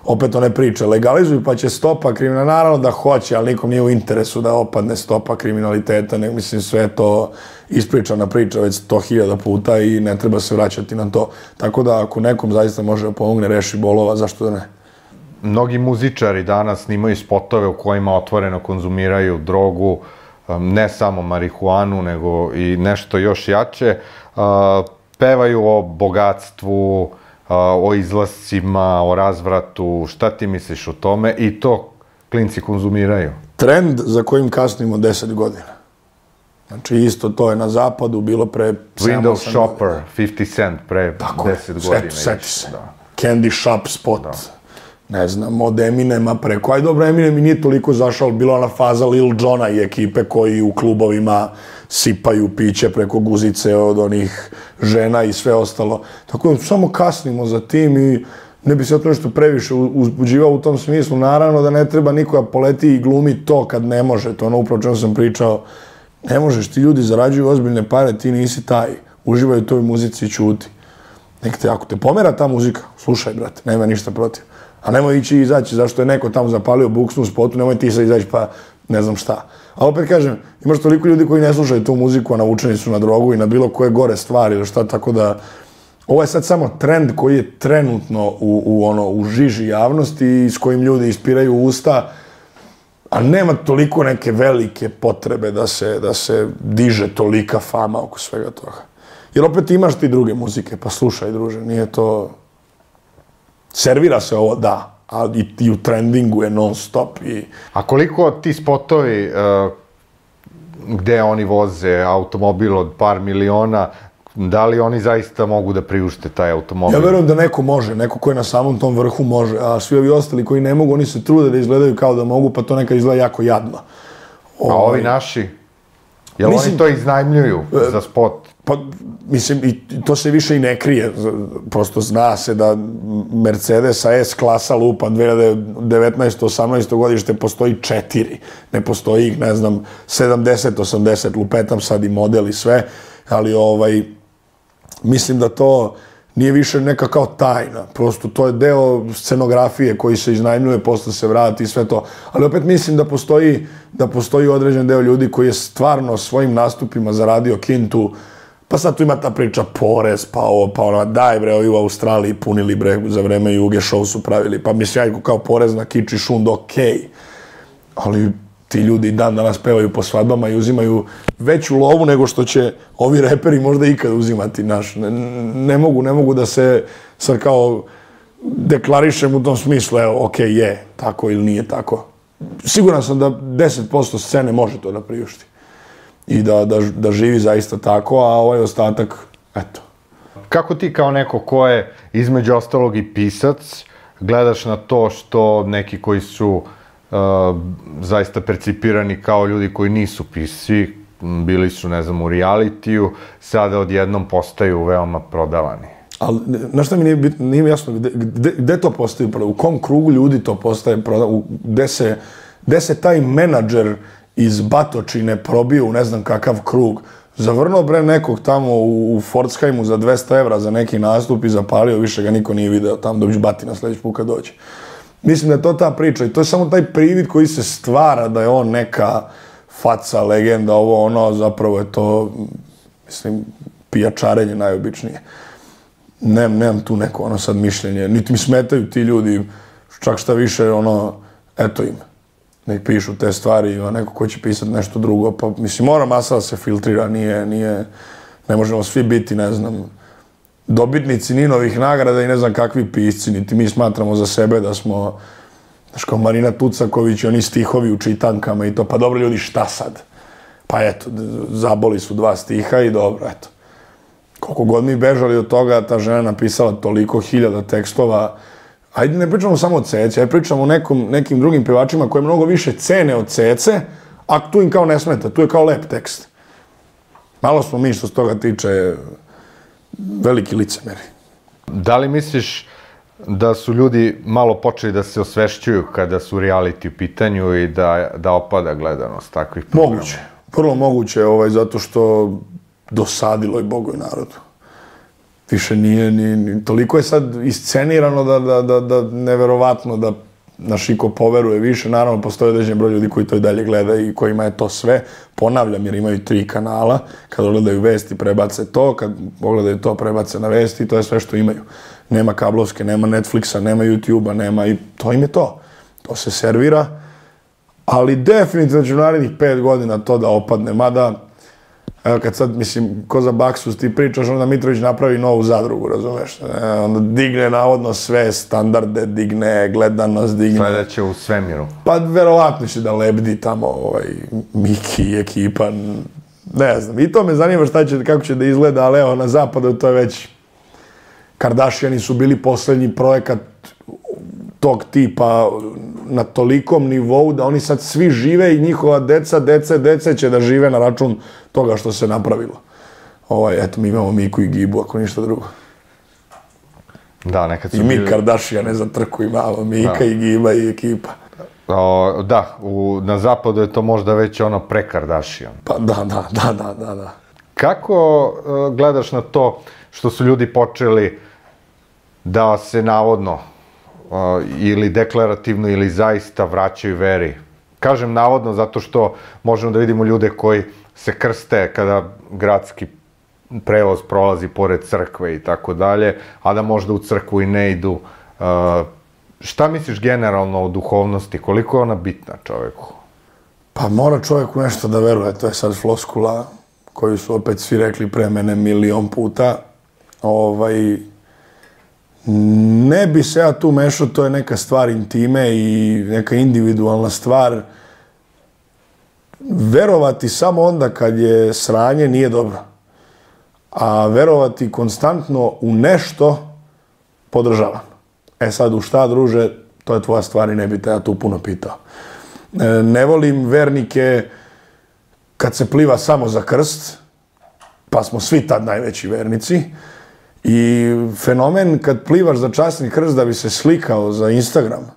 Opet one priče, legalizuju pa će stopa kriminala, naravno da hoće, ali nikom nije u interesu da opadne stopa kriminaliteta, ne mislim sve to ispričana priča već sto hiljada puta i ne treba se vraćati na to. Tako da ako nekom zaista može da pomogne, reši bolova, zašto da ne? mnogi muzičari danas snimaju spotove u kojima otvoreno konzumiraju drogu, ne samo marihuanu, nego i nešto još jače. Pevaju o bogatstvu, o izlascima, o razvratu. Šta ti misliš o tome? I to klinci konzumiraju. Trend za kojim kasnimo deset godina. Znači, isto to je na zapadu bilo pre Window Shopper, fifty cent, pre deset godina. Seti se. Candy Shop spot. Ne znam, od Eminema preko. Aj dobro, Eminem i nije toliko zašao, bila ona faza Lil Jona i ekipe koji u klubovima sipaju piće preko guzice od onih žena i sve ostalo. Tako da samo kasnimo za tim i ne bi se o to nešto previše uzbuđivao u tom smislu. Naravno da ne treba nikoga poleti i glumi to kad ne može. To ono upravo čemu sam pričao. Ne možeš, ti ljudi zarađuju ozbiljne pare, ti nisi taj. Uživaju u toj muzici i ćuti. Nek te, ako te pomera ta muzika, slušaj, brate, nema ništa protiv. A nemoj ići i izaći, zašto je neko tamo zapalio buksnu u spotu, nemoj ti sad izaći pa ne znam šta. A opet kažem, imaš toliko ljudi koji ne slušaju tu muziku, a navučeni su na drogu i na bilo koje gore stvari ili šta, tako da ovo je sad samo trend koji je trenutno u, u, ono, u žiži javnosti i s kojim ljudi ispiraju usta, a nema toliko neke velike potrebe da se, da se diže tolika fama oko svega toga. Jer opet imaš ti druge muzike, pa slušaj, druže, nije to... Servira se ovo, da, a i, i u trendingu je non stop. I... A koliko ti spotovi uh, gde oni voze automobil od par miliona, da li oni zaista mogu da priušte taj automobil? Ja verujem da neko može, neko ko je na samom tom vrhu može, a svi ovi ostali koji ne mogu, oni se trude da izgledaju kao da mogu, pa to nekad izgleda jako jadno. A ovi naši? Jel mislim, oni to iznajmljuju e, za spot? Pa, mislim, i to se više i ne krije. Prosto zna se da Mercedesa S-klasa lupa dve hiljade devetnaesto osamnaesto godište postoji četiri. Ne postoji ih, ne znam, sedamdeset osamdeset, lupetam sad i model i sve, ali ovaj, mislim da to nije više neka kao tajna. Prosto to je deo scenografije koji se iznajmljuje, posle se vrati i sve to. Ali opet mislim da postoji, da postoji određen deo ljudi koji je stvarno svojim nastupima zaradio kintu. Pa sad tu ima ta priča porez, pa ovo, pa ono, daj bre, ovi u Australiji punili bre, za vreme Juge show su pravili. Pa mislim, ja kao porez na kič i šund, okej. Ali ti ljudi dan danas pevaju po svadbama i uzimaju veću lovu nego što će ovi reperi možda ikad uzimati naš. Ne, ne mogu, ne mogu da se sad kao deklarišem u tom smislu, evo, okej, je, tako ili nije tako. Siguran sam da deset posto scene može to da priušti. I da, da, da živi zaista tako, a ovaj ostatak, eto. Kako ti kao neko ko je između ostalog i pisac, gledaš na to što neki koji su uh, zaista percipirani kao ljudi koji nisu pisci, bili su, ne znam, u realitiju, sada odjednom postaju veoma prodavani? Ali, znaš šta mi nije, bit, nije mi jasno, gde, gde, gde to postaje prodavani? U kom krugu ljudi to postaje prodavani? Gde se, gde se taj menadžer iz Batočine probio u ne znam kakav krug, zavrnuo bre nekog tamo u, u Pforzheimu za dvesta evra za neki nastup i zapalio, više ga niko nije video tamo, dobiš batina sljedeći put kad dođe. Mislim da je to ta priča i to je samo taj privid koji se stvara da je on neka faca, legenda, ovo ono, zapravo je to, mislim, pijačarenje najobičnije. Nem, nemam tu neko ono sad mišljenje, niti mi smetaju ti ljudi, čak šta više, ono, eto im. Nek pišu te stvari, a neko ko će pisati nešto drugo, pa mislim, mora masa da se filtrira, nije, nije, ne možemo svi biti, ne znam, dobitnici Ninovih nagrada i ne znam kakvi pisci, niti mi smatramo za sebe da smo, znaš, kao Marina Tucaković i oni stihovi u čitankama i to, pa dobro ljudi, šta sad? Pa eto, zaboli su dva stiha i dobro, eto. Koliko god mi bežali od toga, ta žena napisala toliko hiljada tekstova. Ajde, ne pričamo samo o Ceci, ajde pričamo o nekom, nekim drugim pevačima koje mnogo više cene od Cece, a tu im kao ne smeta, tu je kao lep tekst. Malo smo mi što s toga tiče veliki licemeri. Da li misliš da su ljudi malo počeli da se osvešćuju kada su reality u pitanju i da, da opada gledanost takvih programa? Moguće, prvo moguće, ovaj, zato što dosadilo je Bogu i narodu. Više nije, ni, ni, toliko je sad iscenirano da, da, da, da neverovatno da naš iko poveruje više. Naravno, postoje određen broj ljudi koji to i dalje gleda i kojima je to sve. Ponavljam, jer imaju tri kanala. Kad gledaju vesti, prebace to. Kad pogledaju to, prebace na vesti. To je sve što imaju. nema kablovske, nema Netflixa, nema YouTubea, nema i to im je to. To se servira, ali definitivno će u narednih pet godina to da opadne, mada evo kad sad, mislim, ko za Baksus ti pričaš, onda Mitrović napravi novu zadrugu, razumeš? E, onda digne navodno sve standarde, digne gledanost, digne... Sledeće u svemiru. Pa verovatno će da lebdi tamo ovaj, Miki i ekipa, ne znam. I to me zanima šta će, kako će da izgleda, ali evo, na zapadu to je već... Kardashiani su bili poslednji projekat tog tipa na tolikom nivou da oni sad svi žive i njihova deca, dece, dece će da žive na račun toga što se napravilo. Ovaj, eto, mi imamo Miku i Gibu, ako ništa drugo. Da, nekad su I mi bili... Kardashiane za trku imamo, Mika i Giba i ekipa. O, da, u, na zapadu je to možda već ono pre Kardashian. Pa da, da, da, da, da, da. Kako uh, gledaš na to što su ljudi počeli da se navodno uh, ili deklarativno ili zaista vraćaju veri? Kažem navodno zato što možemo da vidimo ljude koji se krste kada gradski prevoz prolazi pored crkve i tako dalje, a da možda u crkvu i ne idu. Uh, šta misliš generalno o duhovnosti? Koliko je ona bitna čoveku? Pa mora čovjek u nešto da veruje, to je sad floskula koju su opet svi rekli pre mene milion puta. Ovaj, ne bi se ja tu mešao, to je neka stvar intime i neka individualna stvar. Verovati samo onda kad je sranje nije dobro. A verovati konstantno u nešto podržavam. E sad, u šta, druže, to je tvoja stvar i ne bi te ja tu puno pitao. Ne volim vernike kad se pliva samo za krst, pa smo svi tad najveći vernici. I fenomen kad plivaš za časni krst da bi se slikao za Instagram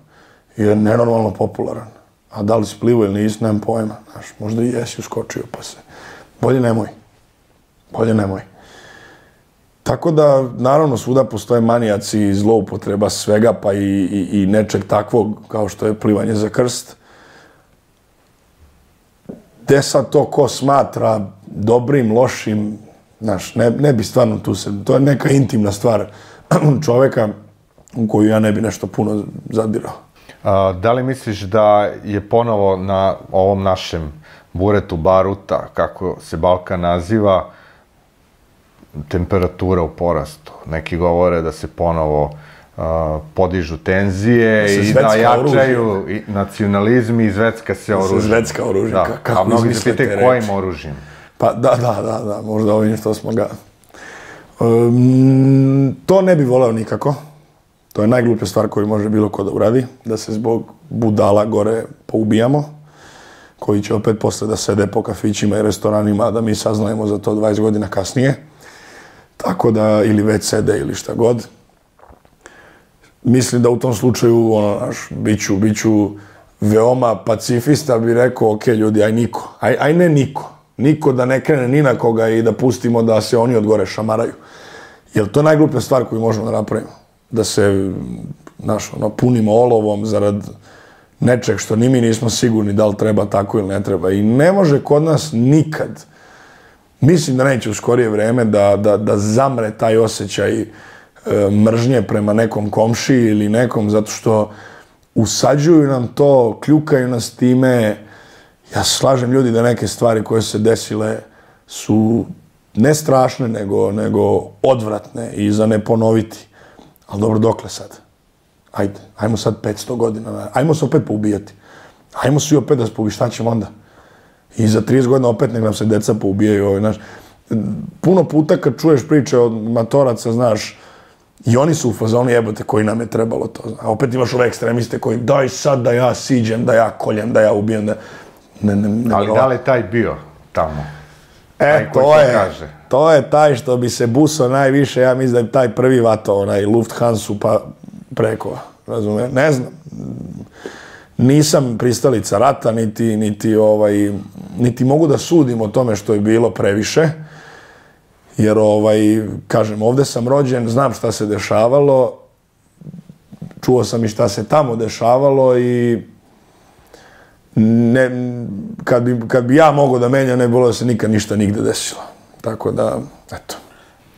je nenormalno popularan. A da li si plivo ili nisi, nemam pojma. Znaš, možda i jesi uskočio pa se... Bolje nemoj. Bolje nemoj. Tako da, naravno, svuda postoje manijaci i zloupotreba svega, pa i, i, i nečeg takvog kao što je plivanje za krst. Gde sad to ko smatra dobrim, lošim, znaš, ne, ne bi stvarno tu se... To je neka intimna stvar čoveka u koju ja ne bi nešto puno zadirao. A, da li misliš da je ponovo na ovom našem buretu baruta, kako se Balkan naziva, temperatura u porastu? Neki govore da se ponovo uh, podižu tenzije da i da jačaju i nacionalizmi i zvecka se oružje. Da se zvecka oružje. Da. Kako a mnogi se pitaju kojim oružjem? Pa da, da, da, da, možda ovim što smo ga... Um, to ne bi voleo nikako. To je najgluplja stvar koju može bilo ko da uradi, da se zbog budala gore poubijamo, koji će opet posle da sede po kafićima i restoranima, da mi saznajemo za to dvadeset godina kasnije. Tako da, ili već sede ili šta god. Mislim da u tom slučaju, ono, naš, biću, biću veoma pacifista, bi rekao, ok, ljudi, aj niko, aj, aj ne niko. Niko da ne krene ni na koga i da pustimo da se oni od gore šamaraju. Jer to je najgluplja stvar koju možemo da napravimo. Da se, znaš, ono, punimo olovom zarad nečeg što ni mi nismo sigurni da li treba tako ili ne treba. I ne može kod nas nikad, mislim da neće u skorije vreme, da, da, da zamre taj osjećaj e, mržnje prema nekom komšiji ili nekom, zato što usađuju nam to, kljukaju nas time. Ja se slažem, ljudi, da neke stvari koje se desile su ne strašne, nego, nego odvratne i za ne ponoviti. Ali dobro, dokle sad? Ajde, ajmo sad petsto godina, ajmo se opet poubijati. Ajmo svi opet da se poubijati, šta ćemo onda? I za trideset godina opet nek nam se deca poubijaju. Ovaj, znaš. Puno puta kad čuješ priče od matoraca, znaš, i oni su u fazonu, jebote, koji nam je trebalo to. A opet imaš ove ekstremiste koji, daj sad da ja siđem, da ja koljem, da ja ubijem, da... Ne, ne, ne, ali da li je taj bio tamo? E, to je, kaže. to je taj što bi se busao najviše, ja mislim da je taj prvi vato, onaj Lufthansa pa preko, razume, ne znam. Nisam pristalica rata, niti, niti, ovaj, niti mogu da sudim o tome što je bilo previše, jer, ovaj, kažem, ovde sam rođen, znam šta se dešavalo, čuo sam i šta se tamo dešavalo i ne, kad, bi, kad bi ja mogao da menjam, ne bilo da se nikad ništa nigde desilo. Tako da, eto.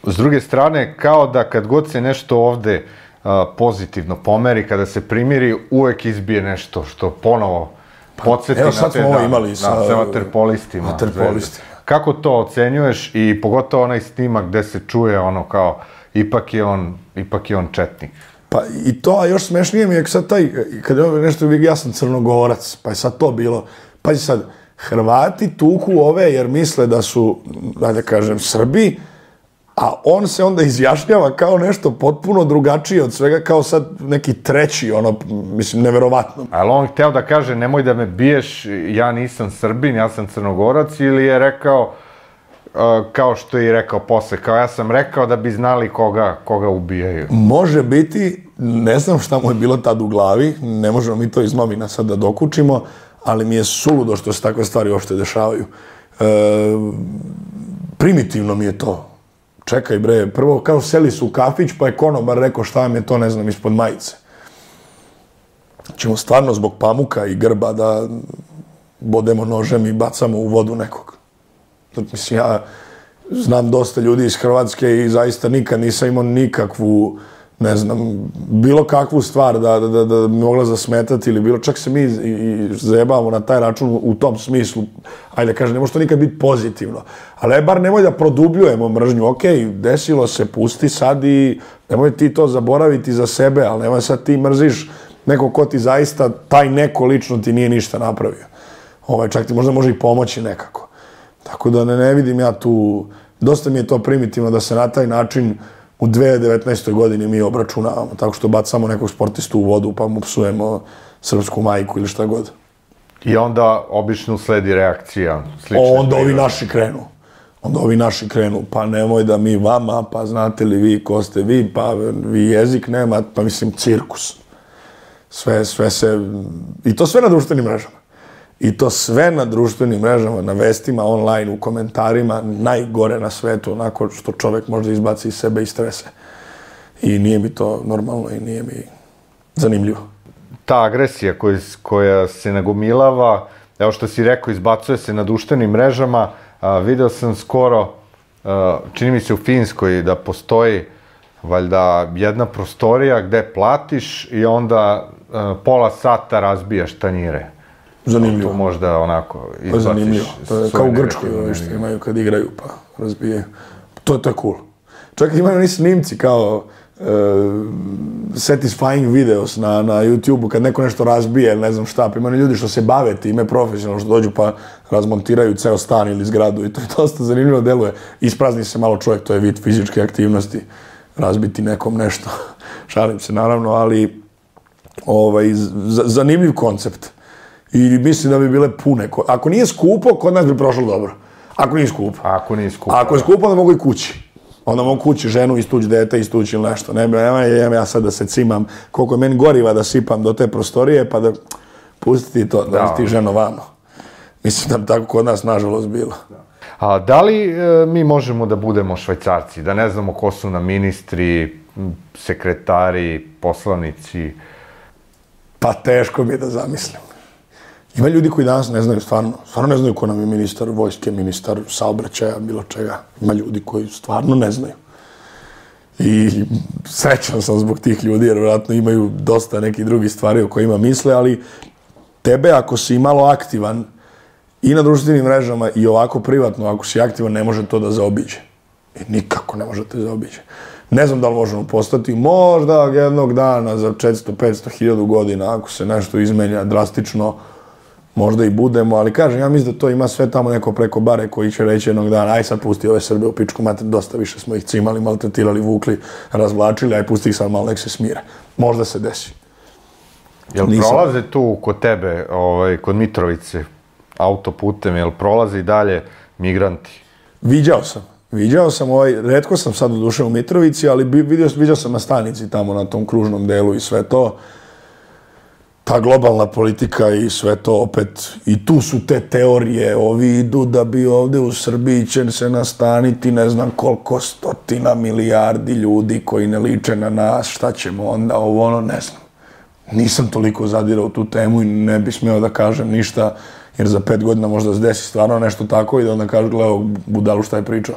s druge strane, kao da kad god se nešto ovde a, pozitivno pomeri, kada se primiri, uvek izbije nešto što ponovo podsjeti evo, na sad te smo ovo dane, imali sa- na, sa vaterpolistima. vaterpolistima. Kako to ocenjuješ i pogotovo onaj snimak gde se čuje ono kao ipak je on, ipak je on četnik? Pa i to, a još smešnije mi je sad taj, kad je nešto, ja sam Crnogorac, pa je sad to bilo, pazi sad, Hrvati tuku ove jer misle da su, da kažem, Srbi, a on se onda izjašnjava kao nešto potpuno drugačije od svega, kao sad neki treći, ono, mislim, neverovatno. Ali on hteo da kaže, nemoj da me biješ, ja nisam Srbin, ja sam Crnogorac, ili je rekao, uh, kao što je i rekao posle, kao ja sam rekao da bi znali koga, koga ubijaju. Može biti, ne znam šta mu je bilo tad u glavi, ne možemo mi to iz novina sad da dokučimo, ali mi je suludo što se takve stvari uopšte dešavaju. E, primitivno mi je to. Čekaj bre, prvo kao seli su u kafić, pa je konobar rekao šta vam je to, ne znam, ispod majice. Ćemo stvarno zbog pamuka i grba da bodemo nožem i bacamo u vodu nekog. Mislim, ja znam dosta ljudi iz Hrvatske i zaista nikad nisam imao nikakvu, ne znam, bilo kakvu stvar da, da, da, da mi mogla zasmetati ili bilo, čak se mi i, i zajebavamo na taj račun u tom smislu, ajde da kažem, ne može to nikad biti pozitivno, ali bar nemoj da produbljujemo mržnju, ok, desilo se, pusti sad i nemoj ti to zaboraviti za sebe, ali nemoj sad ti mrziš neko ko ti zaista, taj neko lično ti nije ništa napravio. Ovaj, čak ti možda može i pomoći nekako. Tako da ne, ne vidim ja tu, dosta mi je to primitivno da se na taj način u dve hiljade devetnaestoj godini mi obračunavamo, tako što bacamo nekog sportistu u vodu pa mu psujemo srpsku majku ili šta god. I onda obično sledi reakcija. Onda ovi naši krenu. Onda ovi naši krenu, pa nemoj da mi vama, pa znate li vi ko ste vi, pa vi jezik nema, pa mislim cirkus. Sve, sve se, i to sve na društvenim mrežama. I to sve na društvenim mrežama, na vestima, online, u komentarima, najgore na svetu, onako što čovek možda izbaci iz sebe i strese. I nije mi to normalno i nije mi zanimljivo. Ta agresija koja, koja se nagomilava, evo što si rekao, izbacuje se na društvenim mrežama, a, video sam skoro, a, čini mi se u Finskoj, da postoji valjda jedna prostorija gde platiš i onda a, pola sata razbijaš tanjire. Zanimljivo. To možda onako izbaciš. Zanimljivo. To je kao u Grčkoj, ovi što imaju kad igraju pa razbijaju. To je to cool. Čak imaju oni snimci kao uh, satisfying videos na, na YouTube-u kad neko nešto razbije, ne znam šta, pa imaju ljudi što se bave time profesionalno, što dođu pa razmontiraju ceo stan ili zgradu i to je dosta zanimljivo deluje. Isprazni se malo čovjek, to je vid fizičke aktivnosti, razbiti nekom nešto. Šalim se naravno, ali ovaj, z- zanimljiv koncept. I mislim da bi bile pune. Ako nije skupo, kod nas bi prošlo dobro. Ako nije skupo. Ako nije skupo. Ako je skupo, onda mogu i kući. Onda mogu kući ženu, istući dete, istući ili nešto. Ne, nema ja sad da se cimam koliko je meni goriva da sipam do te prostorije, pa da pustiti to, da, da ti ženo vamo. Mislim da bi tako kod nas nažalost bilo. A da li e, mi možemo da budemo Švajcarci? Da ne znamo ko su nam ministri, sekretari, poslanici? Pa teško mi je da zamislim. Ima ljudi koji danas ne znaju, stvarno, stvarno ne znaju ko nam je ministar vojske, ministar saobraćaja, bilo čega. Ima ljudi koji stvarno ne znaju. I srećan sam zbog tih ljudi, jer vjerojatno imaju dosta nekih drugih stvari o kojima misle, ali tebe ako si malo aktivan i na društvenim mrežama i ovako privatno, ako si aktivan, ne može to da zaobiđe. I nikako ne može te zaobiđe. Ne znam da li možemo postati, možda jednog dana za četiristo petsto hiljada godina, ako se nešto izmenja drastično, možda i budemo, ali kažem, ja mislim da to ima sve tamo neko preko bare koji će reći jednog dana, aj sad pusti ove Srbe u pičku mater, dosta više smo ih cimali, maltretirali, vukli, razvlačili, aj pusti ih sad malo, nek se smire. Možda se desi. Jel Nisam... prolaze tu kod tebe, ovaj, kod Mitrovice, autoputem, jel prolaze i dalje migranti? Viđao sam. Viđao sam, ovaj, retko sam sad doduše u Mitrovici, ali vidio, viđao sam na stanici tamo, na tom kružnom delu i sve to. Ta globalna politika i sve to opet, i tu su te teorije, ovi idu da bi ovde u Srbiji će se nastaniti ne znam koliko stotina milijardi ljudi koji ne liče na nas, šta ćemo onda, ovo ono, ne znam. Nisam toliko zadirao u tu temu i ne bi smeo da kažem ništa, jer za pet godina možda se desi stvarno nešto tako i da onda kažu, gledao budalu šta je pričao.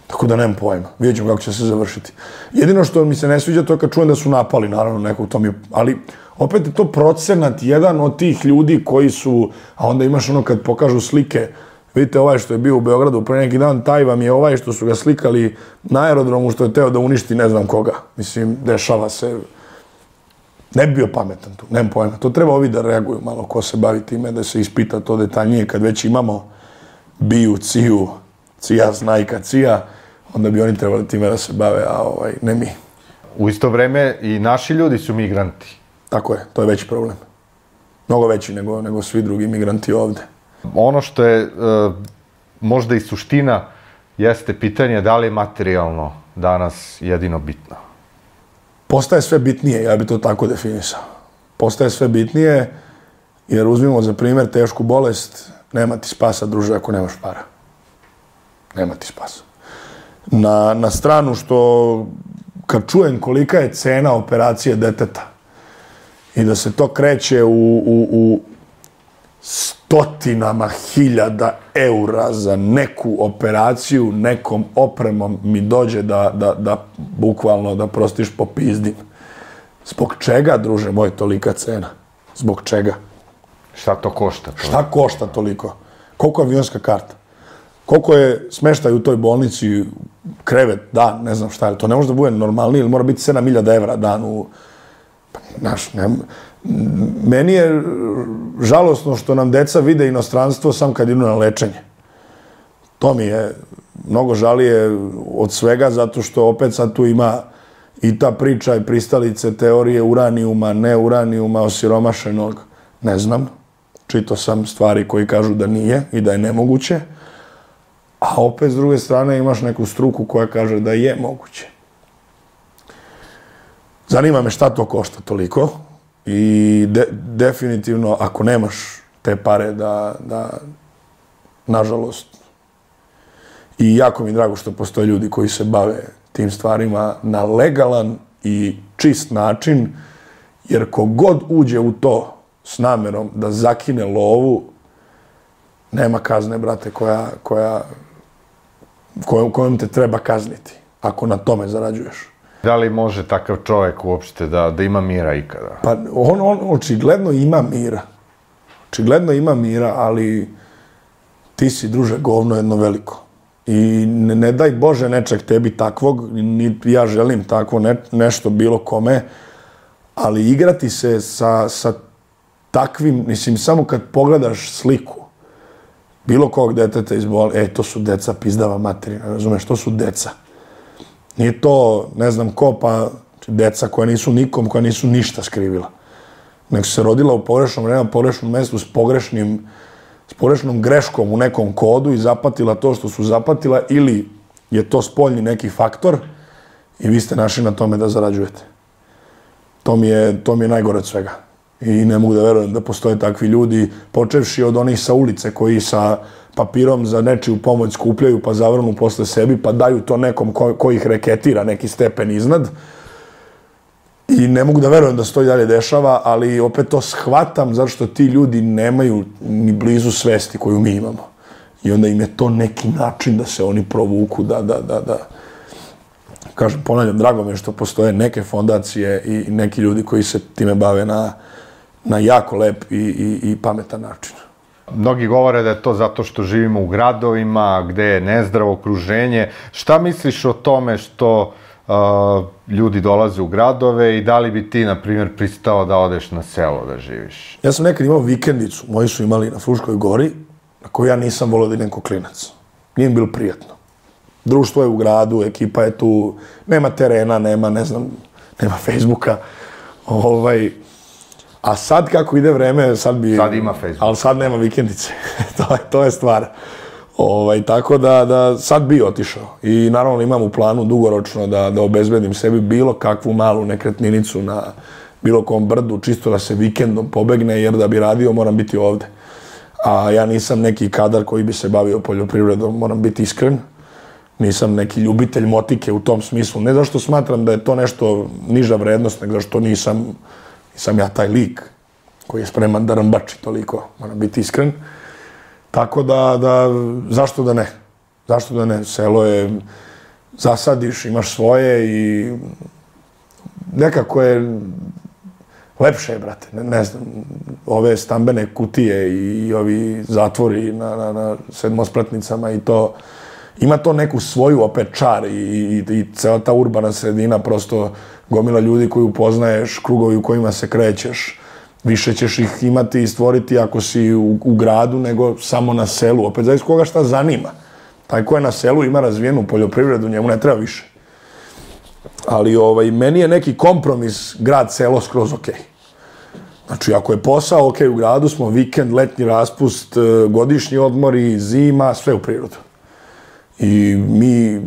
Tako da nemam pojma. Vidjet ćemo kako će se završiti. Jedino što mi se ne sviđa to je kad čujem da su napali, naravno, nekog to mi... Ali opet je to procenat jedan od tih ljudi koji su... A onda imaš ono kad pokažu slike, vidite ovaj što je bio u Beogradu pre neki dan, taj vam je ovaj što su ga slikali na aerodromu što je teo da uništi ne znam koga. Mislim, dešava se... Ne bi bio pametan tu, nemam pojma. To treba ovi da reaguju malo ko se bavi time, da se ispita to detaljnije kad već imamo biju, ciju, cija, znajka, cija, onda bi oni trebali time da se bave, a ovaj, ne mi. U isto vreme i naši ljudi su migranti. Tako je, to je veći problem. Mnogo veći nego, nego svi drugi migranti ovde. Ono što je e, možda i suština jeste pitanje da li je materijalno danas jedino bitno. Postaje sve bitnije, ja bi to tako definisao. Postaje sve bitnije, jer uzmimo za primjer tešku bolest, nema ti spasa, druže, ako nemaš para. Nema ti spasa. Na, na stranu što, kad čujem kolika je cena operacije deteta i da se to kreće u, u, u stotinama hiljada eura za neku operaciju, nekom opremom mi dođe da, da, da bukvalno da prostiš po pizdim. Zbog čega, druže moj, tolika cena? Zbog čega? Šta to košta? To? Šta košta toliko? Koliko je avionska karta? Koliko je smeštaj u toj bolnici, krevet, dan, ne znam šta je. To ne može da bude normalnije, ili mora biti sedam hiljada evra dan u... Pa, znaš, ne... Meni je žalosno što nam deca vide inostranstvo sam kad idu na lečenje. To mi je mnogo žalije od svega, zato što opet sad tu ima i ta priča i pristalice teorije uranijuma, ne uranijuma, osiromašenog, ne znam. Čitao sam stvari koji kažu da nije i da je nemoguće, a opet s druge strane imaš neku struku koja kaže da je moguće. Zanima me šta to košta toliko i de, definitivno ako nemaš te pare da, da, nažalost, i jako mi je drago što postoje ljudi koji se bave tim stvarima na legalan i čist način, jer kogod uđe u to s namerom da zakine lovu, nema kazne, brate, koja, koja, kojom, kojom te treba kazniti, ako na tome zarađuješ. Da li može takav čovjek uopšte da, da ima mira ikada? Pa on, on očigledno ima mira. Očigledno ima mira, ali ti si, druže, govno jedno veliko. I ne, ne daj Bože nečeg tebi takvog, ni ja želim takvo ne, nešto bilo kome, ali igrati se sa, sa takvim, mislim, samo kad pogledaš sliku bilo kog deteta iz bol, e, to su deca pizdava materina, razumeš, to su deca. Nije to, ne znam ko, pa deca koja nisu nikom, koja nisu ništa skrivila. Nek se rodila u pogrešnom vremenu, pogrešnom mjestu s pogrešnim, s pogrešnom greškom u nekom kodu i zapatila to što su zapatila, ili je to spoljni neki faktor i vi ste našli na tome da zarađujete. To mi je, to mi je najgore od svega. I ne mogu da verujem da postoje takvi ljudi, počevši od onih sa ulice koji sa papirom za nečiju pomoć skupljaju pa zavrnu posle sebi pa daju to nekom ko, ko ih reketira neki stepen iznad. I ne mogu da verujem da se to i dalje dešava, ali opet to shvatam zato što ti ljudi nemaju ni blizu svesti koju mi imamo. I onda im je to neki način da se oni provuku, da, da, da, da. Kažem, ponavljam, drago mi je što postoje neke fondacije i neki ljudi koji se time bave na, na jako lep i, i, i pametan način. Mnogi govore da je to zato što živimo u gradovima, gde je nezdravo okruženje. Šta misliš o tome što uh, ljudi dolaze u gradove i da li bi ti, na primjer, pristao da odeš na selo da živiš? Ja sam nekad imao vikendicu, moji su imali na Fruškoj gori, na koju ja nisam volio da idem ko klinac. Nije mi bilo prijatno. Društvo je u gradu, ekipa je tu, nema terena, nema, ne znam, nema Facebooka. Ovaj, a sad kako ide vreme, sad bi... Sad ima Facebook. Ali sad nema vikendice. to, je, to je stvar. Ovaj, tako da, da sad bi otišao. I naravno imam u planu dugoročno da, da obezbedim sebi bilo kakvu malu nekretninicu na bilo kom brdu, čisto da se vikendom pobegne, jer da bi radio moram biti ovde. A ja nisam neki kadar koji bi se bavio poljoprivredom, moram biti iskren. Nisam neki ljubitelj motike u tom smislu. Ne zašto smatram da je to nešto niža vrednost, nego zašto nisam, nisam ja taj lik koji je spreman da rambači toliko. Moram biti iskren. Tako da, da, zašto da ne? Zašto da ne? Selo je, zasadiš, imaš svoje i nekako je lepše je, brate, ne, ne znam, ove stambene kutije i ovi zatvori na, na, na sedmospratnicama i to, ima to neku svoju opet čar i, i, i cela ta urbana sredina, prosto gomila ljudi koju poznaješ, krugovi u kojima se krećeš, više ćeš ih imati i stvoriti ako si u, u gradu nego samo na selu, opet zavis koga šta zanima. Taj ko je na selu ima razvijenu poljoprivredu, njemu ne treba više. Ali ovaj, meni je neki kompromis grad-selo skroz okej. Znači, ako je posao okej u gradu, smo vikend, letnji raspust, godišnji odmori, zima, sve u prirodu. I mi,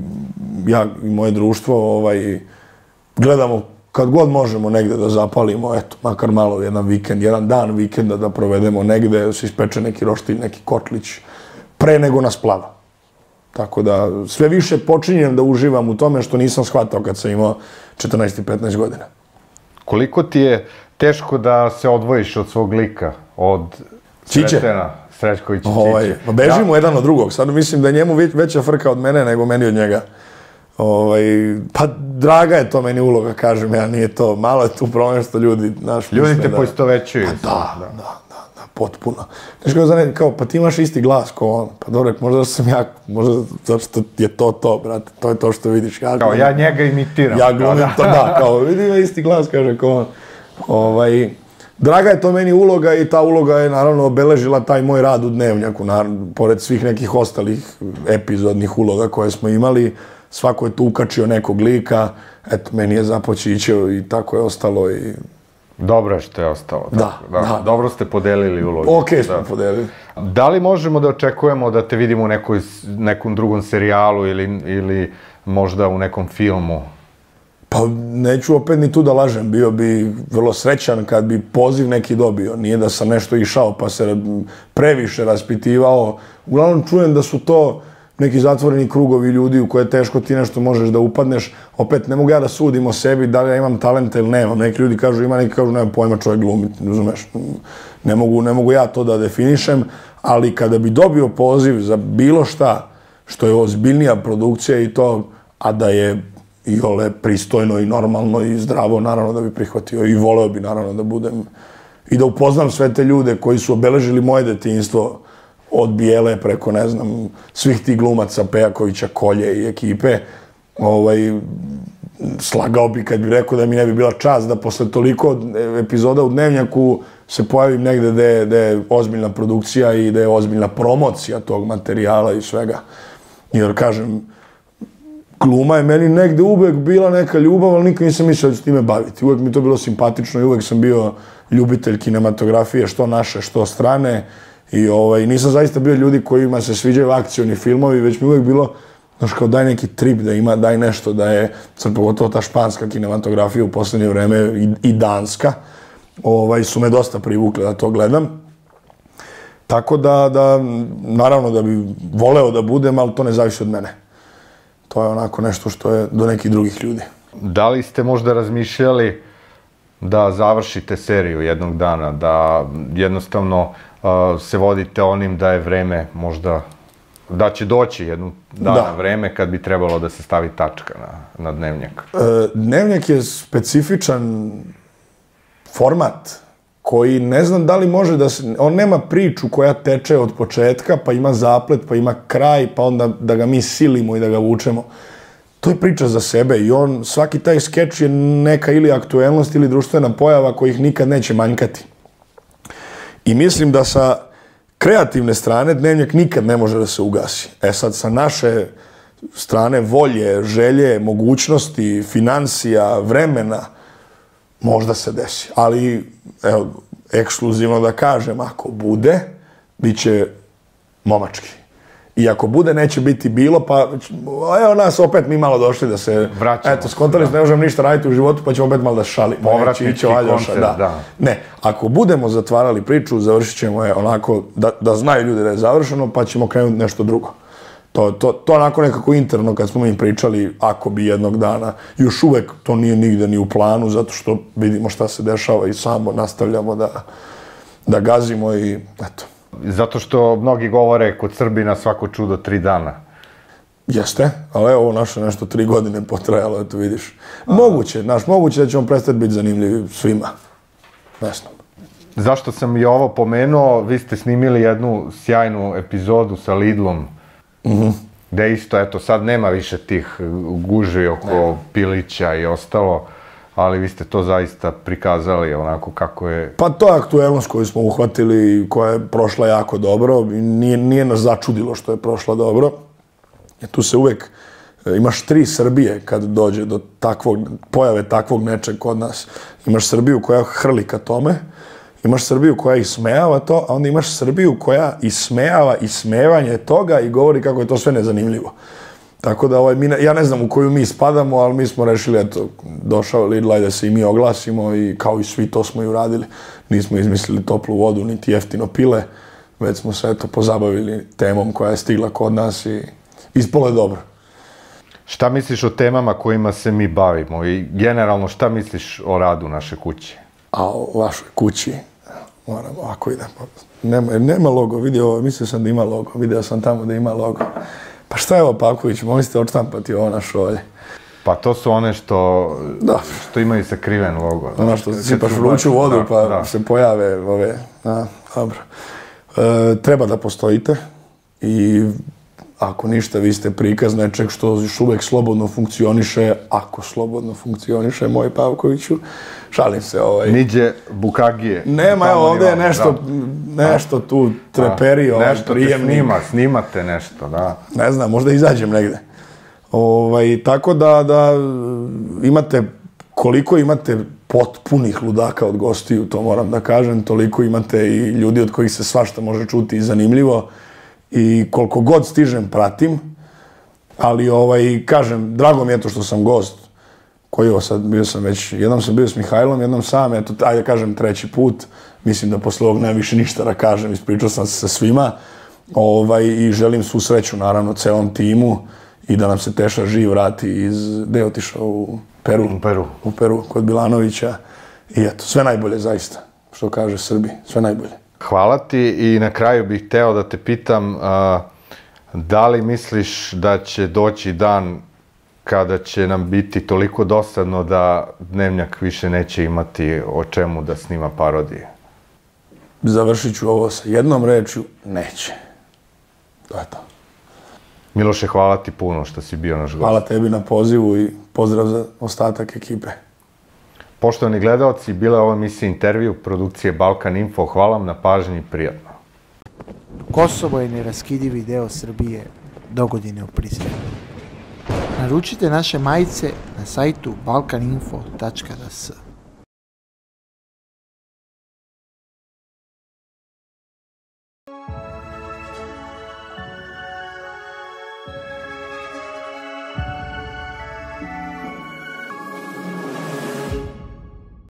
ja i moje društvo, ovaj, gledamo kad god možemo negde da zapalimo, eto, makar malo jedan vikend, jedan dan vikenda da provedemo negde, da se ispeče neki roštilj, neki kotlić, pre nego nas plava. Tako da sve više počinjem da uživam u tome što nisam shvatao kad sam imao četrnaest i petnaest godina. Koliko ti je teško da se odvojiš od svog lika, od Sretena Srećkovića Čiče? Ovaj, pa bežimo ja. jedan od drugog. Sad mislim da je njemu veća frka od mene nego meni od njega. Ovaj, pa draga je to meni uloga, kažem ja, nije to. Malo je tu problem što ljudi... Naš, ljudi te da, poistovećuju. Pa da, da, da, da, potpuno. Znaš kao, zane, kao, pa ti imaš isti glas kao on. Pa dobro, možda sam ja, možda zato što je to to, brate, to je to što vidiš. Ja, kao, ja njega imitiram. Ja glumim to, da, kao, vidi ima isti glas, kaže, kao on. Ovaj, draga je to meni uloga i ta uloga je naravno obeležila taj moj rad u Dnevnjaku, naravno, pored svih nekih ostalih epizodnih uloga koje smo imali, svako je tu ukačio nekog lika, eto, meni je započićeo i tako je ostalo i... Dobro je što je ostalo. Da, tako, da. da. Dobro ste podelili ulogu. Okej smo da. podelili. Da li možemo da očekujemo da te vidimo u nekoj, nekom drugom serijalu ili, ili možda u nekom filmu? Pa neću opet ni tu da lažem, bio bi vrlo srećan kad bi poziv neki dobio. Nije da sam nešto išao pa se previše raspitivao. Uglavnom čujem da su to neki zatvoreni krugovi ljudi u koje teško ti nešto možeš da upadneš. Opet ne mogu ja da sudim o sebi da li ja imam talenta ili nemam. Neki ljudi kažu ima, neki kažu nemam pojma, čovjek glumi, razumeš. Ne mogu, ne mogu ja to da definišem, ali kada bi dobio poziv za bilo šta što je ozbiljnija produkcija i to, a da je i ole pristojno i normalno i zdravo, naravno da bi prihvatio i voleo bi naravno da budem i da upoznam sve te ljude koji su obeležili moje detinjstvo od Bijele preko, ne znam, svih tih glumaca, Pejakovića, Kolje i ekipe. Ovaj, slagao bi kad bi rekao da mi ne bi bila čast da posle toliko epizoda u Dnevnjaku se pojavim negde gde, gde je ozbiljna produkcija i gde je ozbiljna promocija tog materijala i svega. Jer, kažem, gluma je meni negde uvek bila neka ljubav, ali nikad nisam mislio da ću time baviti. Uvek mi to bilo simpatično i uvek sam bio ljubitelj kinematografije, što naše, što strane. I ovaj, nisam zaista bio ljudi kojima se sviđaju akcioni filmovi, već mi uvek bilo, znaš, kao daj neki trip da ima, daj nešto da je, sad pogotovo ta španska kinematografija u poslednje vreme i, i danska, ovaj, su me dosta privukle da to gledam. Tako da, da, naravno da bi voleo da budem, ali to ne zavisi od mene. To je onako nešto što je do nekih drugih ljudi. Da li ste možda razmišljali da završite seriju jednog dana, da jednostavno uh, se vodite onim da je vreme možda, da će doći jednu dana da. vreme kad bi trebalo da se stavi tačka na, na Dnevnjak? E, Dnevnjak je specifičan format koji ne znam da li može da se... On nema priču koja teče od početka, pa ima zaplet, pa ima kraj, pa onda da ga mi silimo i da ga vučemo. To je priča za sebe i on, svaki taj skeč je neka ili aktuelnost ili društvena pojava kojih nikad neće manjkati. I mislim da sa kreativne strane Dnevnjak nikad ne može da se ugasi. E sad, sa naše strane volje, želje, mogućnosti, financija, vremena, možda se desi. Ali, evo, ekskluzivno da kažem, ako bude, bit će momački. I ako bude, neće biti bilo, pa evo nas opet mi malo došli da se... Vraćamo. Eto, skontali se, ne možemo ništa raditi u životu, pa ćemo opet malo da šalimo. Povratnički koncert, da. da. Ne, ako budemo zatvarali priču, završit ćemo je onako, da, da znaju ljudi da je završeno, pa ćemo krenuti nešto drugo. To, to, to onako nekako interno, kad smo mi pričali, ako bi jednog dana, još uvek to nije nigde ni u planu, zato što vidimo šta se dešava i samo nastavljamo da, da gazimo i eto. Zato što mnogi govore kod Srbina svako čudo tri dana. Jeste, ali evo naše nešto tri godine potrajalo, eto vidiš. Moguće, znaš, moguće da ćemo prestati biti zanimljivi svima. Ne znam. Zašto sam i ovo pomenuo, vi ste snimili jednu sjajnu epizodu sa Lidlom, gde isto, eto, sad nema više tih gužvi oko Pilića i ostalo, ali vi ste to zaista prikazali onako kako je... Pa to je aktuelnost koju smo uhvatili, koja je prošla jako dobro, i nije, nije nas začudilo što je prošla dobro. Jer tu se uvek, imaš tri Srbije kad dođe do takvog, pojave takvog nečeg kod nas. Imaš Srbiju koja hrli ka tome, imaš Srbiju koja ismejava to, a onda imaš Srbiju koja ismejava ismevanje toga i govori kako je to sve nezanimljivo. Tako da, ovaj, mi ne, ja ne znam u koju mi spadamo, ali mi smo rešili, eto, došao Lidl, da se i mi oglasimo i kao i svi to smo i uradili. Nismo izmislili toplu vodu, niti jeftino pile, već smo se, eto, pozabavili temom koja je stigla kod nas i ispalo je dobro. Šta misliš o temama kojima se mi bavimo i generalno šta misliš o radu naše kuće? A o vašoj kući, moram ovako idem. Nema, nema logo, vidio, mislio sam da ima logo, vidio sam tamo da ima logo. Pa šta je ovo, Pavković, mogli ste odštampati ovo na šolje? Pa to su one što, da. što imaju sakriven logo. Ono što sipaš vruću vodu da, pa da. se pojave ove, a, dobro. E, treba da postojite i ako ništa, vi ste prikaz nečeg što još uvek slobodno funkcioniše, ako slobodno funkcioniše, moj Pavkoviću, šalim se ovaj... Niđe Bukagije. Nema, evo, ovdje je nešto, da. nešto tu treperi, da. ovaj, nešto prijemnik. Nešto te snima, snimate nešto, da. Ne znam, možda izađem negde. Ovaj, tako da, da imate, koliko imate potpunih ludaka od gostiju, to moram da kažem, toliko imate i ljudi od kojih se svašta može čuti i zanimljivo. I koliko god stižem, pratim, ali ovaj, kažem, drago mi je to što sam gost, koji ovo sad, bio sam već, jednom sam bio s Mihajlom, jednom sam, eto, ajde kažem treći put, mislim da posle ovog najviše ništa da kažem, ispričao sam se sa svima, ovaj, i želim svu sreću, naravno, celom timu, i da nam se Teša živ vrati iz, gde je otišao, u Peru, u Peru, u Peru, kod Bilanovića, i eto, sve najbolje, zaista, što kaže Srbi, sve najbolje. Hvala ti i na kraju bih hteo da te pitam a, da li misliš da će doći dan kada će nam biti toliko dosadno da Dnevnjak više neće imati o čemu da snima parodije? Završit ću ovo sa jednom rečju, neće. To je to. Miloše, hvala ti puno što si bio naš gost. Hvala tebi na pozivu i pozdrav za ostatak ekipe. Poštovani gledalci, bila je ova emisija Intervju produkcije Balkan Info. Hvala vam na pažnji i prijatno. Kosovo je neraskidivi deo Srbije, dogodine u Prizrenu. Naručite naše majice na sajtu balkaninfo tačka d s.